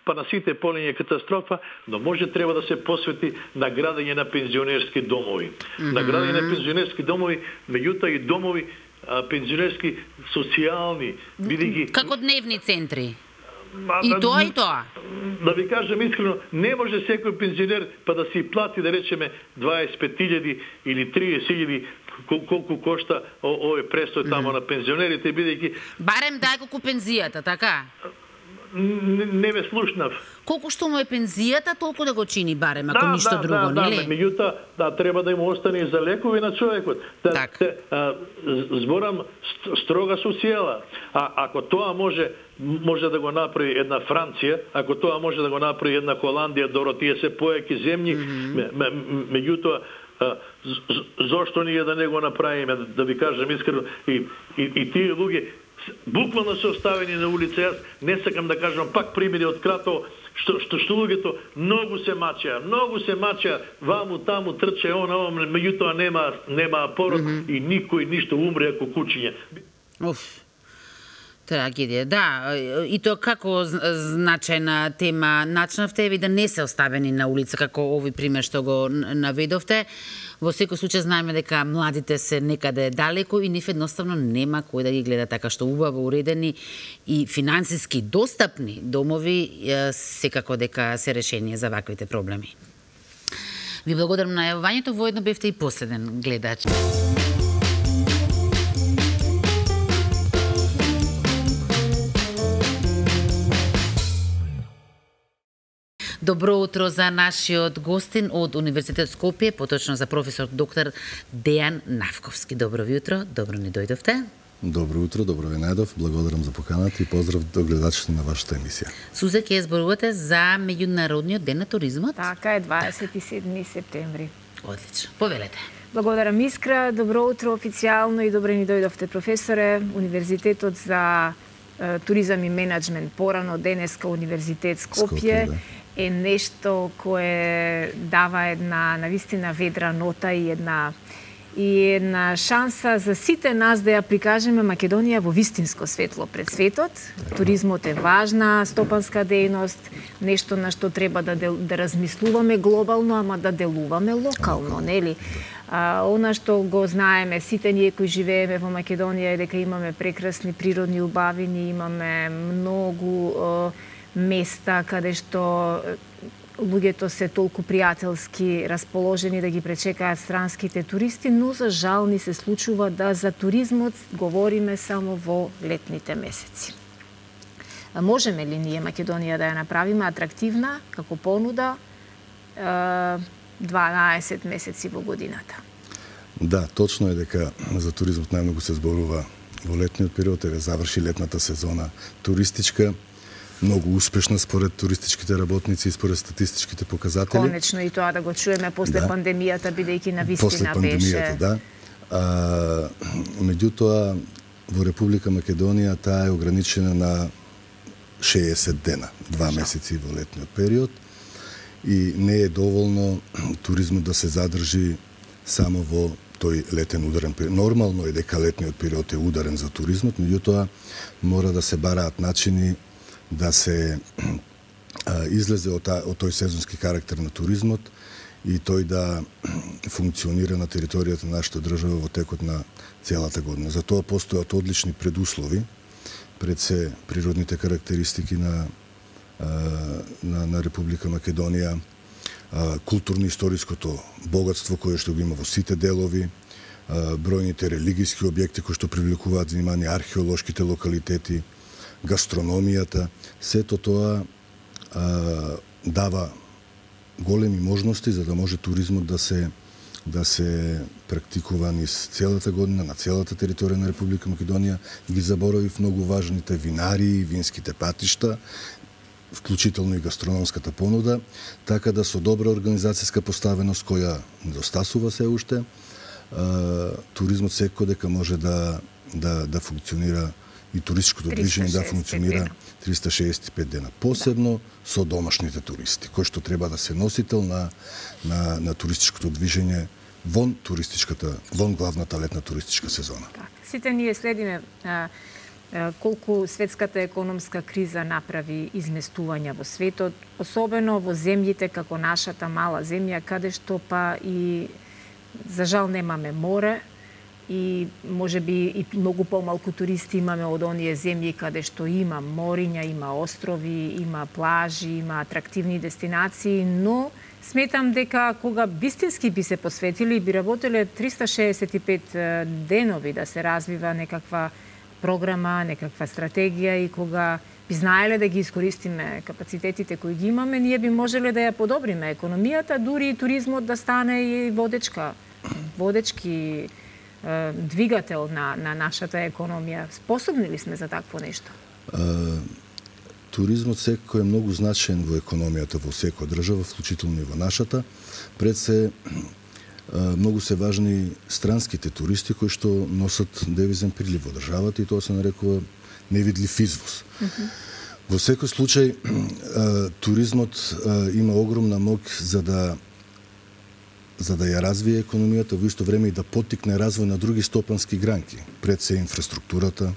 па на сите полиња е катастрофа, но може треба да се посвети на градење на пензионерски домови. На градење на пензионерски домови, меѓутоа и домови пензионерски социјални, бидејќи како дневни центри. И тоа. Да ви кажам искрено, не може секој пензионер па да си плати, да речеме, 25.000 или 30.000 колку кошта овој престој тамо на пензионерите, бидејќи барем дај колку пензијата, така? Не ме слушнав. Колку што му е пензијата, толку да го чини барем, ако ништо друго, нели? Меѓутоа, треба да му остане и за лекови на човекот. Зборам строга социјала. Ако тоа може да го направи една Франција, ако тоа може да го направи една Холандија, добро, тие се поеки земји, меѓутоа зошто ние да не го направиме, да ви кажам искрено, и тие луѓе буквално се оставени на улица. Јас не сакам да кажам пак примери од Кратово, што луѓето многу се мачеа, ваму таму трче она, меѓутоа нема пород и никој ништо умре ако кучиња. Трагедија, да. И тоа како значајна тема начнавте ви да не се оставени на улица, како овој пример што го наведовте. Во секој случај знаеме дека младите се некаде далеко и нив едноставно нема кој да ги гледа, така што убаво уредени и финансиски достапни домови секако дека се решение за ваквите проблеми. Ви благодарам на јавувањето, воедно бевте и последен гледач. Добро утро за нашиот гостин од Универзитет Скопје, поточно за професор доктор Дејан Навковски. Добро ви утро, добро ни дојдовте. Добро утро, добро ви најдов, благодарам за поканата и поздрав до гледачите на вашата емисија. Сузе, ќе зборувате за Меѓународниот ден на туризмот? Така е, 27 септември. Одлично, повелете. Благодарам, Искра, добро утро официјално и добро ни дојдовте, професоре. Универзитетот за туризам и менеджмент, порано денеска Универзитет Скопје, е нешто кое дава една навистина ведра нота и една шанса за сите нас да ја прикажеме Македонија во вистинско светло пред светот. Туризмот е важна стопанска дејност, нешто на што треба да размислуваме глобално, ама да делуваме локално, нели? Она што го знаеме сите ние кои живееме во Македонија е дека имаме прекрасни природни убавини, имаме многу места каде што луѓето се толку пријателски расположени да ги пречекаат странските туристи, но за жал ни се случува да за туризмот говориме само во летните месеци. Можеме ли ние Македонија да ја направиме атрактивна како понуда 12 месеци во годината? Да, точно е дека за туризмот најмногу се зборува во летниот период, е заврши летната сезона туристичка, многу успешна според туристичките работници и според статистичките показатели. Конечно и тоа да го чуеме после пандемијата, бидејќи навистина беше. После пандемијата, да. Меѓутоа, во Република Македонија таа е ограничена на 60 дена, 2 месеци во летниот период, и не е доволно туризмот да се задржи само во тој летен ударен период. Нормално е дека летниот период е ударен за туризмот, меѓутоа мора да се бараат начини да се излезе од тој сезонски карактер на туризмот и тој да функционира на територијата на нашата држава во текот на целата година. За тоа постојат одлични предуслови, пред се природните карактеристики на Република Македонија, културно-историското богатство кое што го има во сите делови, бројните религиски објекти кои што привлекуваат внимание, археолошките локалитети, гастрономијата, сето тоа дава големи можности за да може туризмот да се практикува низ целата година на целата територија на Република Македонија. Ги заборавив многу важните винарии, винските патишта, вклучително и гастрономската понуда, така да со добра организацијска поставеност која недостасува се уште, туризмот секој дека може да функционира и туристичкото движење да функционира 365 дена. Посебно со домашните туристи, кои што треба да се носител на туристичкото движење вон главната летна туристичка сезона. Сите ние следиме колку светската економска криза направи изместувања во светот, особено во земјите како нашата мала земја, каде што па и за жал немаме море и можеби и многу помалку туристи имаме од оние земји каде што има мориња, има острови, има плажи, има атрактивни дестинации, но сметам дека кога вистински би се посветили, би работеле 365 денови да се развива некаква програма, некаква стратегија и кога би знаеле да ги искористиме капацитетите кои ги имаме, ние би можеле да ја подобриме економијата, дури и туризмот да стане и водечки двигател на нашата економија. Способни ли сме за такво нешто? Туризмот секој е многу значаен во економијата во секоја држава, вклучително и во нашата. Пред се многу се важни странските туристи кои што носат девизен прилив во државата и тоа се нарекува невидлив извоз. Во секој случај туризмот има огромна моќ за да ја развие економијата, во исто време и да поттикне развој на други стопански гранки, пред се инфраструктурата,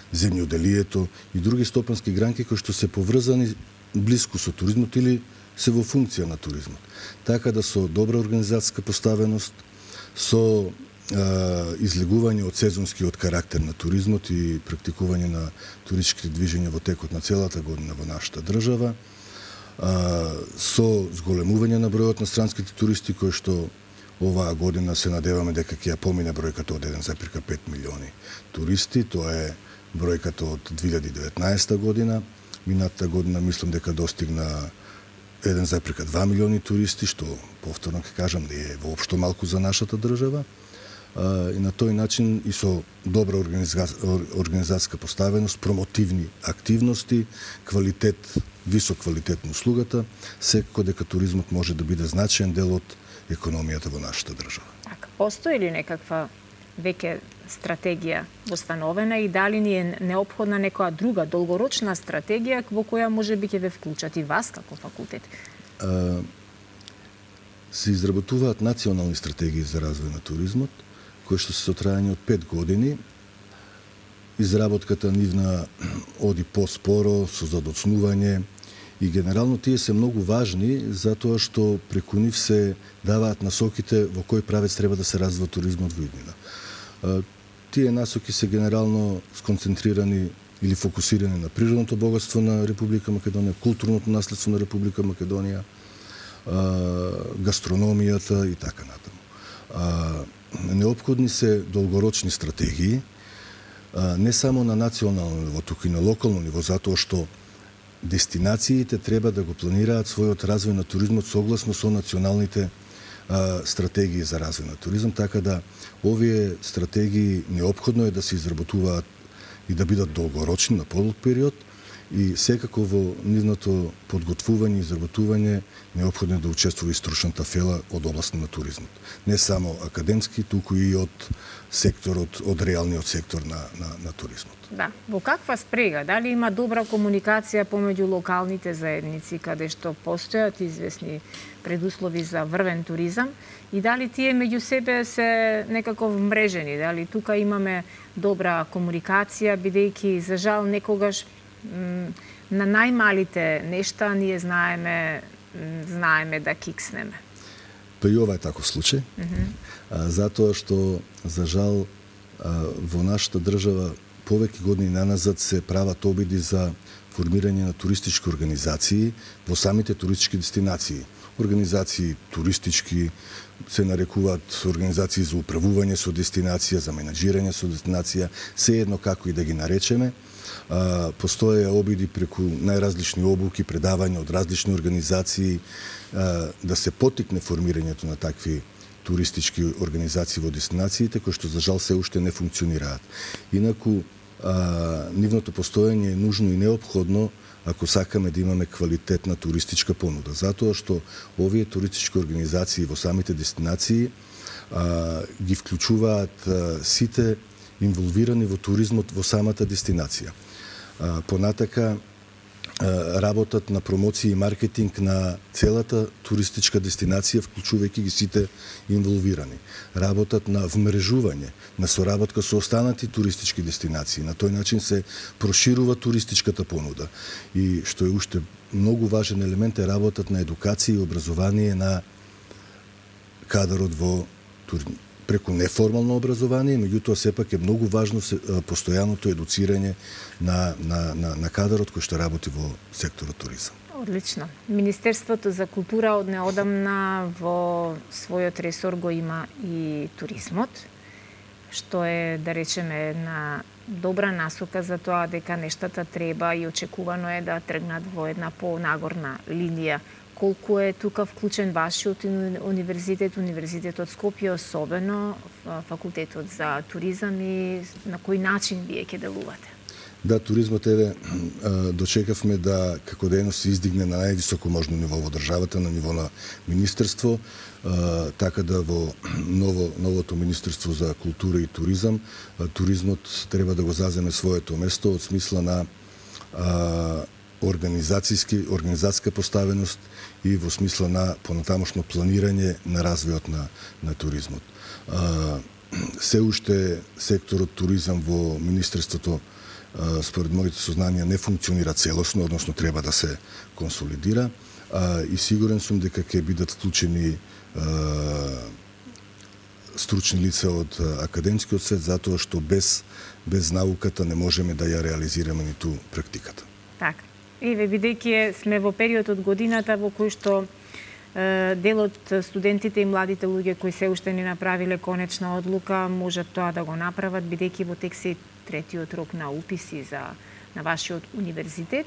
земјоделието и други стопански гранки кои што се поврзани блиску со туризмот или се во функција на туризмот. Така да со добра организацијска поставеност, со излегување од сезонскиот карактер на туризмот и практикување на туристичките движења во текот на целата година во нашата држава, со зголемување на бројот на странските туристи кои што оваа година се надеваме дека ќе ја помине бројката од 1,5 милиони туристи. Тоа е бројката од 2019 година. Минатата година мислам дека достигна 1,2 милиони туристи, што повторно ќе кажам не е воопшто малку за нашата држава. И на тој начин и со добра организацијска поставеност, промотивни активности, висок квалитет на услугата, секако дека туризмот може да биде значаен дел од економијата во нашата држава. Така, постои ли некаква веќе стратегија установена и дали ни е неопходна некоја друга долгорочна стратегија во која може би ќе ве вклучат и вас како факултет? Се изработуваат национални стратегии за развој на туризмот, кои што се со трајање од 5 години. Изработката нивна оди поспоро, со задоцнување и генерално тие се многу важни затоа што преку нив се даваат насоките во кој правец треба да се развива туризмот во иднина. Тие насоки се генерално сконцентрирани или фокусирани на природното богатство на Република Македонија, културното наследство на Република Македонија, гастрономијата и така натаму. Неопходни се долгорочни стратегии, не само на национално ниво, туку и на локално ниво, затоа што дестинациите треба да го планираат својот развој на туризмот согласно со националните стратегии за развој на туризам, така да овие стратегии неопходно е да се изработуваат и да бидат долгорочни на подолг период и секако во нивното подготвување и изработување неопходно е да учествува и стручната фела од област на туризмот. Не само академски, туку и од секторот, од реалниот сектор на туризмот. Да, во каква спрега? Дали има добра комуникација помеѓу локалните заедници каде што постојат известни предуслови за врвен туризам и дали тие меѓу себе се некако вмрежени? Дали тука имаме добра комуникација, бидејќи за жал некогаш на најмалите нешта ние знаеме да кикснеме. Па и ова е таков случај, затоа што за жал во нашата држава повеќе години наназад се прават обиди за формирање на туристички организации во самите туристички дестинации. организации туристички, се нарекуваат организации за управување со дестинација, за менаџирање со дестинација, се едно како и да ги наречеме. Постоја обиди преку најразлични обуки, предавања од различни организации, да се потикне формирањето на такви туристички организации во дестинациите, кои што за жал се уште не функционираат. Инаку, нивното постојање е нужно и неопходно ако сакаме да имаме квалитетна туристичка понуда. Затоа што овие туристички организации во самите дестинации ги вклучуваат сите инволвирани во туризмот во самата дестинација. Понатака работат на промоција и маркетинг на целата туристичка дестинација, вклучувајќи ги сите инволвирани. Работат на вмрежување, на соработка со останати туристички дестинации. На тој начин се проширува туристичката понуда. И што е уште многу важен елемент е работат на едукација и образование на кадарот во преку неформално образование, меѓутоа сепак е многу важно постојаното едуцирање на кадарот кој што работи во секторот туризам. Одлично. Министерството за култура од неодамна во својот ресор го има и туризмот, што е, да речеме, една добра насока за тоа дека нештата треба и очекувано е да тргнат во една понагорна линија. Колку е тука вклучен вашиот универзитет, Универзитетот Скопје, особено факултетот за туризам и на кој начин вие ќе делувате? Да, туризмот дочекавме да како дејност се издигне на највисоко можно ниво во државата, на ниво на министерство, така да во новото Министерство за култура и туризам, туризмот треба да го заземе своето место од смисла на организацијска поставеност и во смисла на понатамошно планирање на развојот на туризмот. Се уште секторот туризам во Министерството, според моите сознанија, не функционира целосно, односно треба да се консолидира, и сигурен сум дека ќе бидат вклучени стручни лица од академскиот свет, затоа што без науката не можеме да ја реализираме ниту практиката. Така. Еве, бидејќи сме во период од годината во кој што дел од студентите и младите луѓе кои се уште не направиле конечна одлука можат тоа да го направат, бидејќи во тек се третиот рок на уписи на вашиот универзитет.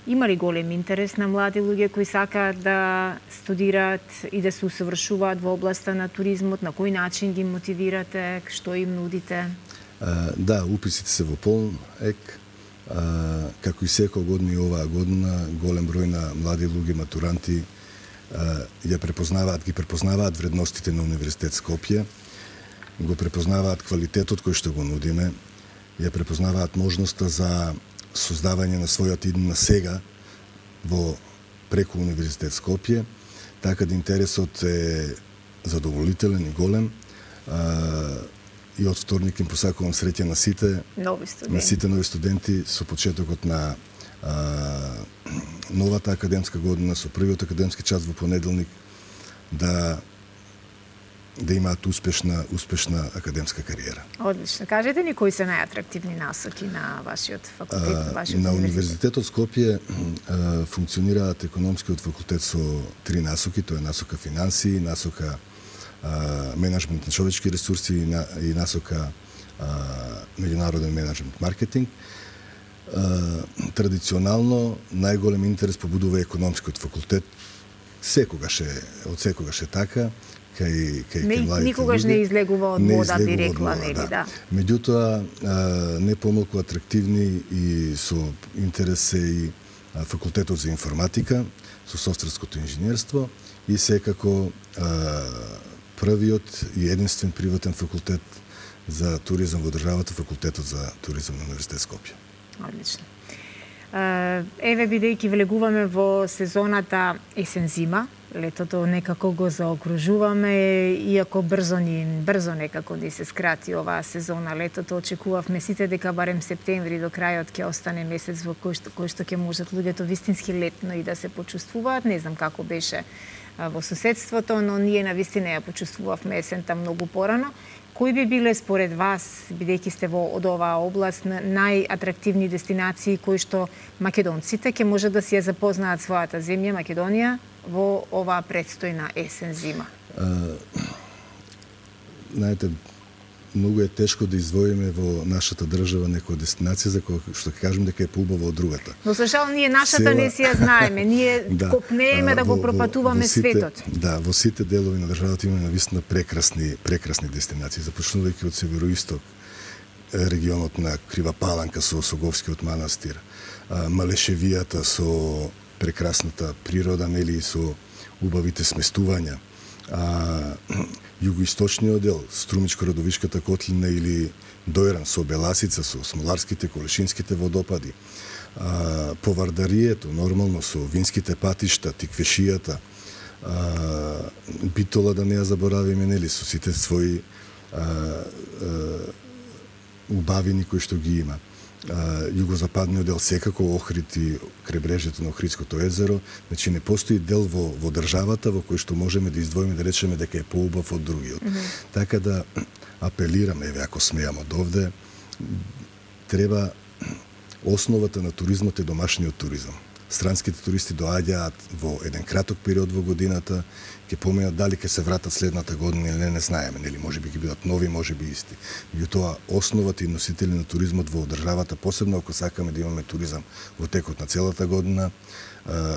Има ли голем интерес на млади луѓе кои сакаат да студираат и да се усовршуваат во областа на туризмот? На кој начин ги мотивирате? Што им нудите? Да, уписите се во полн ек. Како и секоја година и оваа година, голем број на млади луѓе матуранти ги препознаваат вредностите на Универзитет Скопје, го препознаваат квалитетот кој што го нудиме, ја препознаваат можноста за создавање на својот иднина сега преку Универзитет Скопје, така да интересот е задоволителен и голем. И од вторник им посакувам среќа на сите нови студенти со почетокот на новата академска година, со првиот академски час во понеделник, да имаат успешна академска кариера. Одлично. Кажете ни кои се најатрактивни насоки на вашиот факултет, вашиот на Универзитетот Скопје функционираат економскиот факултет со 3 насоки, тоа е насока финансии, насока менеджмент на човечки ресурси и насока меѓународен менеджмент маркетинг. Традиционално најголем интерес побудува економскиот факултет. Од секогаш е така. Никогаш не излегува од мода, би рекла, нели, да. Меѓутоа, не помалку атрактивни и со интерес е и факултетот за информатика, со софтверското инженерство и секако првиот и единствен приватен факултет за туризам во државата, факултетот за туризам на Универзитет Скопје. Одлично. Еве, бидејќи влегуваме во сезоната есен-зима, летото некако го заокружуваме, иако брзо некако ни се скрати оваа сезона. Летото очекувавме сите дека барем септември до крајот ќе остане месец во кој што ќе можат луѓето вистински летно и да се почувствуваат. Не знам како беше во соседството, но ние навистина ја почувствувавме есента многу порано. Кои би биле според вас, бидејќи сте во од оваа област, најатрактивни дестинации кои што македонците ќе може да си ја запознаат својата земја Македонија во оваа предстојна есен-зима? Знаете, многу е тешко да издвоиме во нашата држава некоја дестинација за која што ќе кажем дека е поубава од другата. Но за жал ние нашата не си ја знаеме, ние копнееме да го пропатуваме светот. Да, во сите делови на државата имаме навистина прекрасни дестинации, започнувајќи од североисток, регионот на Крива Паланка со Соговскиот манастир, Малешевијата со прекрасната природа, нели, со убавите сместувања, југоисточниот дел, Струмичко-Радовишката котлина или Дојран со Беласица, со Смоларските, Колешинските водопади, Повардарието, нормално со винските патишта, Тиквешијата, Битола, да не ја заборавиме, нели, со сите своји убавини кои што ги има. Југозападниот дел секако Охрид и крайбрежјето на Охридското езеро, значи не постои дел во државата во кој што можеме да издвоиме, да речеме дека е поубав од другиот. Така да апелираме, еве ако смеам од овде, треба основата на туризмот е домашниот туризам. Странските туристи доаѓаат во еден краток период во годината, ќе поминат дали ќе се вратат следната година или не знаеме, нели, можеби ќе бидат нови, можеби исти. Меѓутоа, основата и носители на туризмот во државата, посебно ако сакаме да имаме туризам во текот на целата година,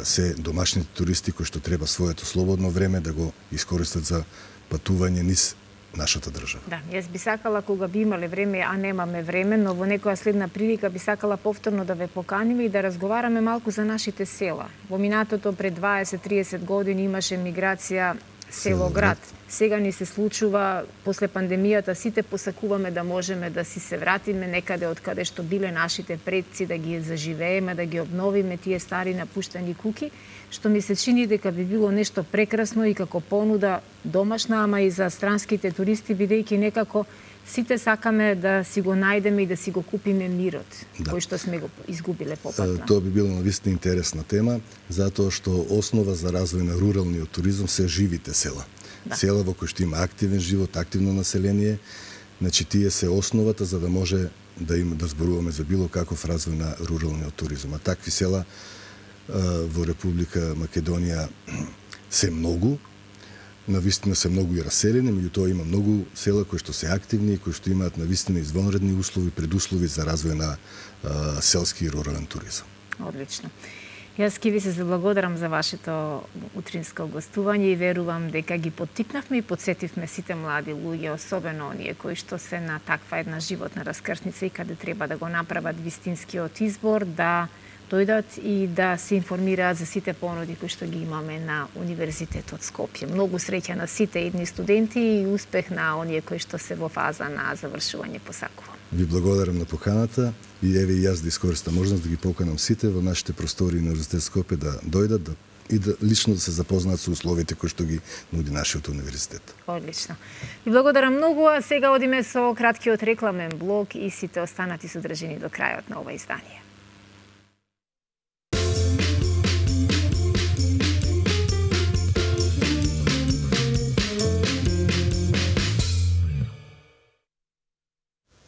се домашните туристи кои што треба своето слободно време да го искористат за патување низ нашата држава. Да, јас би сакала кога би имале време, а немаме време, но во некоја следна прилика би сакала повторно да ве поканиме и да разговараме малку за нашите села. Во минатото пред 20-30 години имаше миграција село-град. Сега ни се случува, после пандемијата, сите посакуваме да можеме да си се вратиме некаде од каде што биле нашите предци, да ги заживееме, да ги обновиме тие стари напуштени куки, што ми се чини дека би било нешто прекрасно и како понуда домашна, ама и за странските туристи, бидејќи некако сите сакаме да си го најдеме и да си го купиме мирот, кој што сме го изгубиле попатно. Тоа би било навистина интересна тема, затоа што основа за развој на руралниот туризам се живите села. Села во кои што има активен живот, активно население, значи тие се основата за да може да зборуваме за било каков развој на руралниот туризам. А такви села во Република Македонија се многу, навистина се многу и раселени, меѓутоа има многу села кои што се активни и кои што имаат навистина извонредни услови, предуслови за развој на селски и рурален туризам. Одлично. Јас ки ви се заблагодарам за вашето утринско гостување и верувам дека ги поттикнавме и подсетивме сите млади луѓе, особено оние кои што се на таква една животна раскрсница и каде треба да го направат вистинскиот избор, да дојдат и да се информираат за сите понуди кои што ги имаме на Универзитетот Скопје. Многу среќа на сите едни студенти и успех на оние кои што се во фаза на завршување посакувам. Ви благодарам на поканата и еве и јас да искористам можност да ги поканам сите во нашите простори на Универзитет Скопје да дојдат и да лично да се запознаат со условите кои што ги нуди нашиот универзитет. Одлично. Ви благодарам многу, а сега одиме со краткиот рекламен блок и сите останати содржини до крајот на ова издание.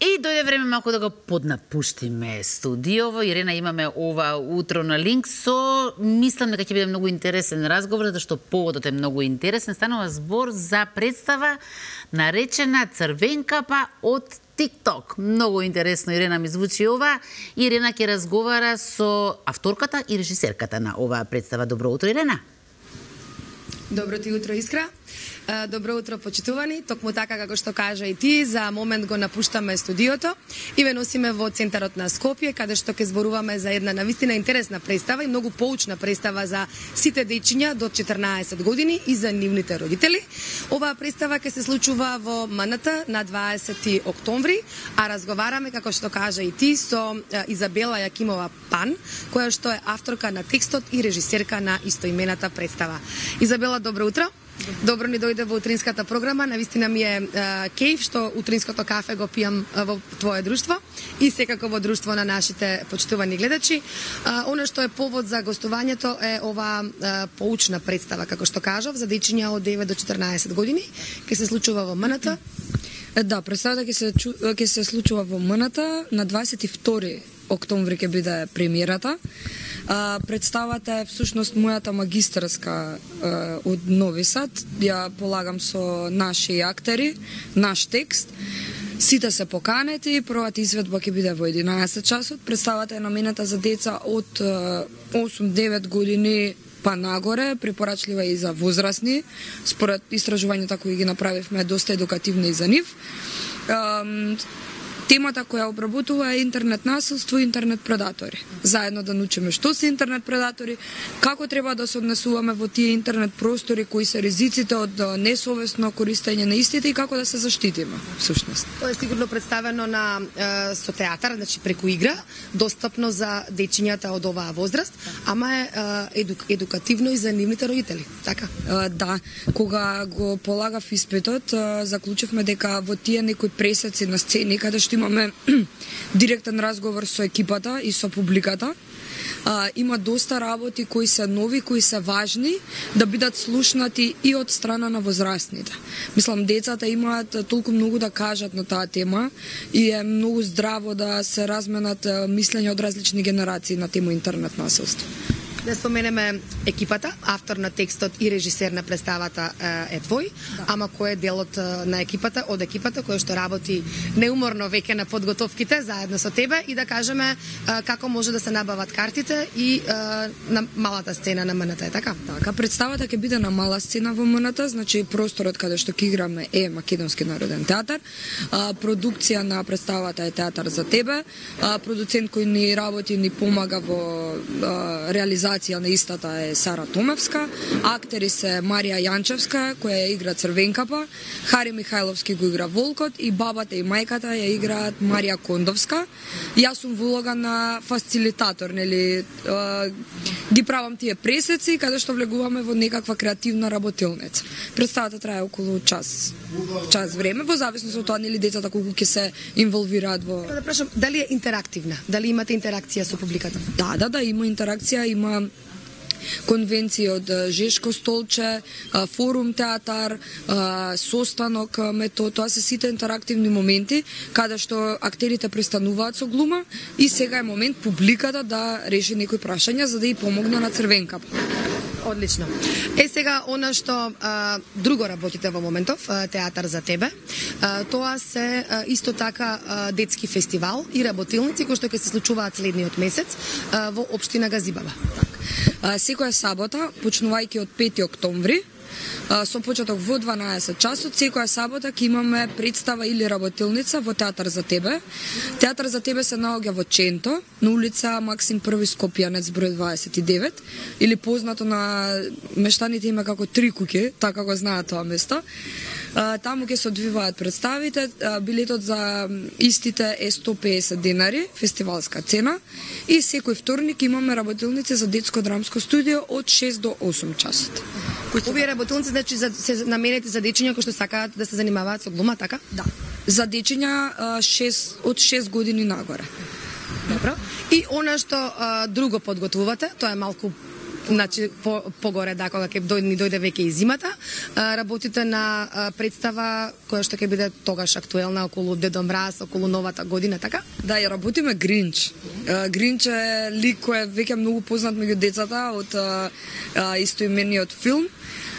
И дојде време малку да го поднапуштиме студиово. Ирена, имаме ова утро на линк со, мислам дека ќе биде многу интересен разговор, затоа што поводот е многу интересен. Станува збор за представа наречена Црвенкапа од TikTok. Многу интересно, Ирена, ми звучи ова. Ирена ќе разговара со авторката и режисерката на оваа представа. Добро утро, Ирена. Добро ти утро, Искра. Добро утро, почитувани. Токму така како што кажа и ти, за момент го напуштаме студиото и ве носиме во центарот на Скопје, каде што ќе зборуваме за една навистина интересна представа и многу поучна представа за сите дечиња до 14 години и за нивните родители. Оваа представа ќе се случува во МНТ на 20 октомври, а разговараме, како што кажа и ти, со Изабела Јакимова Пан, која што е авторка на текстот и режисерка на истоимената представа. Изабела, добро утро. Добро ни дојде во утринската програма. Навистина ми е кејф што утринското кафе го пијам во твое друштво и секако во друштво на нашите почитувани гледачи. Она што е повод за гостувањето е ова поучна представа, како што кажав, за дечиња од 9 до 14 години, ќе се случува во МНТ. Да, представата ќе се случува во МНТ на 22 октомври ќе биде премиерата. Представата е всушност мојата магистарска од Нови Сад. Ја полагам со наши актери, наш текст. Сите се поканети, првата изведба ќе биде во 11 часот. Представата е наменета за деца од 8-9 години па нагоре, препорачлива и за возрастни. Според истражувањата кои ги направивме, доста едукативни и за нив. Темата која обработува е интернет насилство и интернет предатори. Заедно да научиме што се интернет предатори, како треба да се однесуваме во тие интернет простори, кои се ризиците од несовесно користење на истите и како да се заштитиме, всушност. Тоа е сигурно представено со театар, значи преку игра, достапно за дечињата од оваа возраст, ама е едукативно и за нивните родители, така? Да, кога го полагав испитот, заклучивме дека во тие некои пресеци на сцени, каде што имаме директен разговор со екипата и со публиката, има доста работи кои се нови, кои се важни да бидат слушнати и од страна на возрастните. Мислам, децата имаат толку многу да кажат на таа тема и е многу здраво да се разменат мислења од различни генерации на тема интернет насилство. Да споменеме екипата, автор на текстот и режисер на представата е твој, ама кој е делот на екипата, од екипата која што работи неуморно веќе на подготовките заедно со тебе и да кажеме како може да се набават картите и на малата сцена на МНТ, така? Така, представата ќе биде на мала сцена во МНТ, значи просторот каде што ќе играме е Македонски народен театар. Продукција на представата е Театар за тебе. Продуцент кој ни работи, ни помага во реализација на истата е Сара Томевска, актери се Марија Јанчевска, која игра Црвенкапа, Хари Михајловски го игра Волкот и бабата и мајката ја играат Марија Кондовска. Јас сум во улога на фасилитатор, нели, ги правам тие пресеци каде што влегуваме во некаква креативна работилница. Представата трае околу час време, во зависност од тоа нели децата колку ќе се инволвираат во. Да прашам, дали е интерактивна? Дали имате интеракција со публиката? Да, има интеракција, има конвенции од Жешко столче, форум театар, состанок метод, тоа се сите интерактивни моменти каде што актерите престануваат со глума и сега е момент публиката да реши некои прашања за да ја помогне на Црвенкапа. Одлично. Сега, она што друго работите во моментов, Театар за тебе, тоа се исто така детски фестивал и работилници кои што ќе се случуваат следниот месец во општина Газибаба. Секоја сабота, почнувајќи од 5 октомври, со почеток во 12 часот, секоја сабота ќе имаме представа или работилница во Театар за тебе. Театар за тебе се наоѓа во Ченто, на улица Максим I Скопјанец број 29, или познато на мештаните име како Три куќи, така го знаат тоа место. Таму ќе се одвиваат представите, билетот за истите е 150 денари, фестивалска цена, и секој вторник имаме работилници за детско драмско студио од 6 до 8 часот. Овие работилници значи се наменети за дечиња кои што сакаат да се занимаваат со глума, така? Да. За дечиња од 6 години нагоре. Добро. И она што друго подготвувате, тоа е малку значи погоре да кога ќе ни дојде веќе и зимата, работите на представа која што ќе биде тогаш актуелна околу Дедо Мраз, околу новата година, така? Да, ја работиме Гринч. Гринч е лик кој е веќе многу познат меѓу децата од истоимениот филм.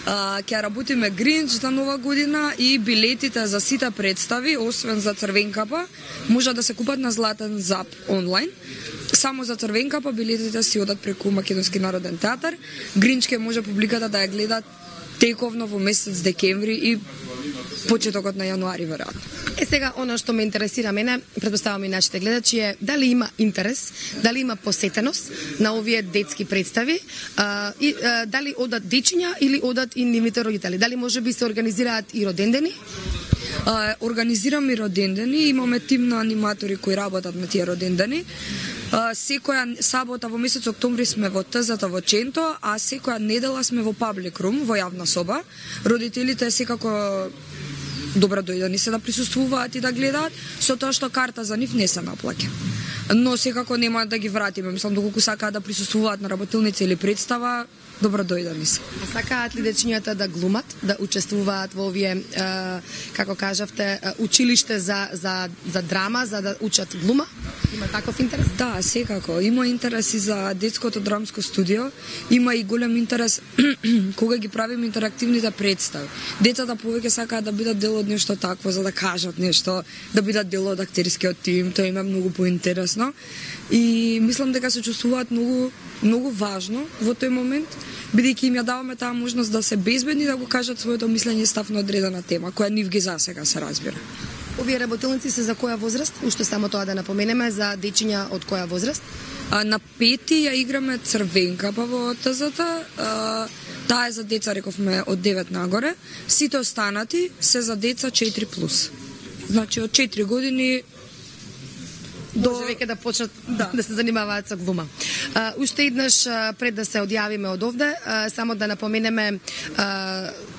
Ќе работиме Гринч за нова година и билетите за сите представи, освен за Црвенкапа, може да се купат на Златен Зап онлайн. Само за Црвенкапа билетите си одат преку Македонски народен театар. Гринч ќе може публиката да ја гледа тековно во месец декември и почетокот на јануари веројатно. Сега, оно што ме интересира мене, претпоставам и нашите гледачи, е дали има интерес, дали има посетеност на овие детски представи и дали одат дечиња или одат и нивните родители. Дали може би се организираат и родендени? Организираме и родендени, имаме тим на аниматори кои работат на тие родендени. Секоја сабота во месец октомври сме во ТЗ-та во Ченто, а секоја недела сме во Public Room, во јавна соба. Родителите секако добро дојдени се да присуствуваат и да гледаат, со тоа што карта за нив не се наплаќа. Но секако нема да ги вратиме, мислам, доколку сакаат да присуствуваат на работилница или представа, добро дојдени се. А сакаат ли дечињата да глумат, да учествуваат во овие, како кажавте, училиште за драма, за да учат глума? Има таков интерес? Да, секако. Има интерес и за детското драмско студио. Има и голем интерес кога ги правиме интерактивните представи. Децата повеќе сакаат да бидат дел од нешто такво, за да кажат нешто, да бидат дел од актерскиот тим, тоа им е многу поинтересно. И мислам дека се чувствуваат многу важно во тој момент, бидејќи им ја даваме таа можност да се безбедни да го кажат своето мислење и став на одредена тема, која нив ги засега се разбира. Овие работилници се за која возраст? Уште само тоа да напоменеме, за дечиња од која возраст? На 5 ја играме Црвенка па во ТЗ-та. Таа е за деца, рековме, од 9 нагоре. Сите останати се за деца 4+. Значи од 4 години може веќе да почнат да се занимаваат со глума. Уште еднаш пред да се одјавиме од овде, само да напоменеме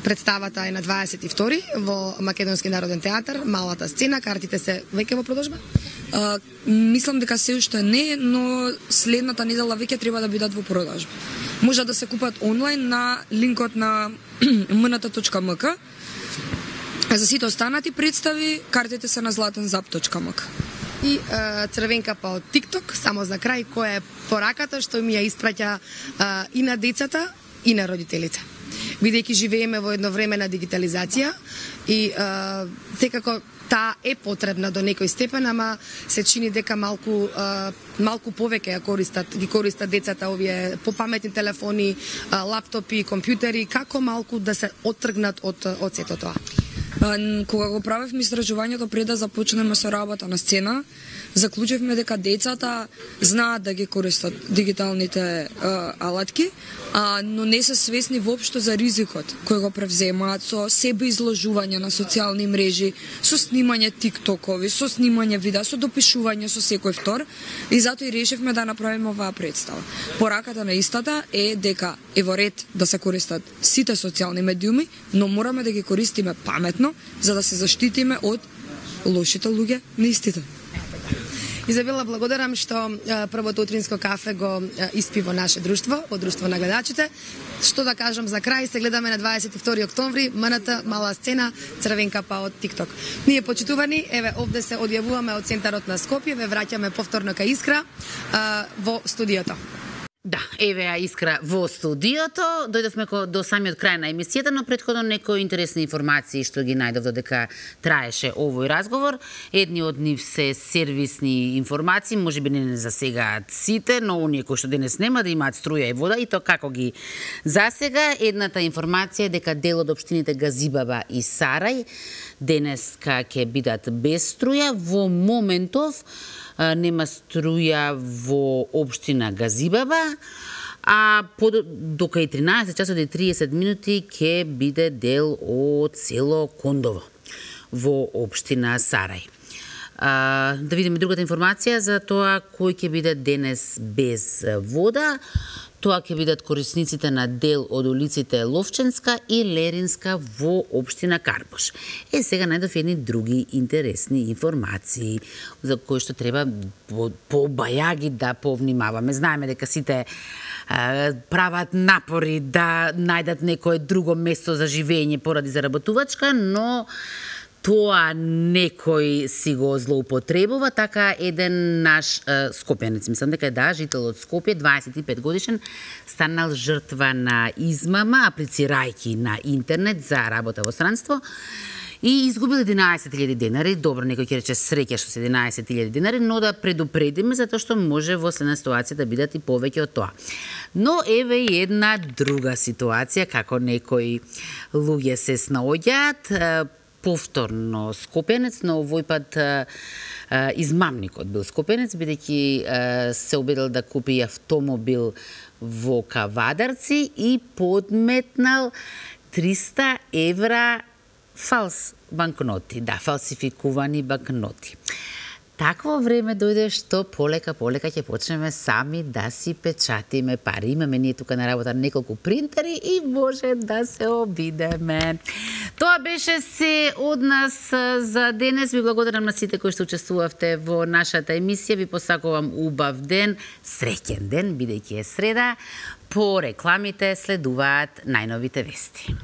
представата е на 22 во Македонски народен театар, малата сцена, картите се веќе во продажба? Мислам дека се уште не, но следната недела веќе треба да бидат во продажба. Може да се купат онлайн на линкот на mnt.mk. За сите останати представи, картите се на zlatenzap.mk. И Црвенка па од TikTok, само за крај, која е пораката што ми ја испраќа и на децата, и на родителите. Бидејќи живееме во едно време на дигитализација и секако таа е потребна до некој степен, ама се чини дека малку повеќе ги користат децата овие попаметни телефони, лаптопи, компјутери, како малку да се оттргнат од сето тоа. Кога го правевме истражувањето пред да започнеме со работа на сцена, заклучивме дека децата знаат да ги користат дигиталните алатки, но не се свесни воопшто за ризикот кој го превземаат со себе изложување на социјални мрежи, со снимање тиктокови, со снимање видеа, со допишување со секој втор, и затоа и решивме да направиме оваа представа. Пораката на истата е дека е во ред да се користат сите социјални медиуми, но мораме да ги користиме паметно за да се заштитиме од лошите луѓе на истите. Изабела, благодарам што првото утринско кафе го испи во наше друштво, во друштво на гледачите. Што да кажам за крај, се гледаме на 22 октомври, МНТ, мала сцена, Црвенка па од TikTok. Ние почитувани, еве овде се одјавуваме од центарот на Скопје, ве враќаме повторно кај Искра во студиото. Да, еве ја Искра во студиото. Дојдовме до самиот крај на емисијата, но претходно некои интересни информации што ги најдов додека траеше овој разговор. Едни од нив се сервисни информации, можеби не засегаат сите, но оние кои што денес нема да имаат струја и вода, и то како ги засега. Едната информација е дека дел од општините Газибаба и Сарај денеска ќе бидат без струја. Во моментов нема струја во општина Газибаба, а до кај 13 часот и 30 минути ќе биде дел од село Кондово во општина Сарај. Да видиме другата информација за тоа кој ќе биде денес без вода. Тоа ќе бидат корисниците на дел од улиците Ловченска и Леринска во општина Карпош. Сега најдов едни други интересни информации за кои што треба по бајаги да повнимаваме. Знаеме дека сите прават напори да најдат некое друго место за живење поради заработувачка, но тоа некој си го злоупотребува. Така еден наш скопјанец, мислам дека жител од Скопје, 25 годишен, станал жртва на измама, аплицирајќи на интернет за работа во странство и изгубил 11.000 денари. Добро, некој ќе рече среќа што се 11.000 денари, но да предупредиме затоа што може во следна ситуација да бидат и повеќе од тоа. Но еве и една друга ситуација како некои луѓе се снаоѓаат. Повторно скопјанец, но овој пат измамникот бил скопјанец, бидејќи се обидел да купи автомобил во Кавадарци и подметнал 300 евра фалс банкноти, фалсификувани банкноти. Такво време дојде што полека ќе почнеме сами да си печатиме пари. Имаме ние тука на работа неколку принтери и може да се обидеме. Тоа беше се од нас за денес. Ви благодарам на сите кои што учествувавте во нашата емисија. Ви посакувам убав ден, среќен ден, бидејќи е среда. По рекламите следуваат најновите вести.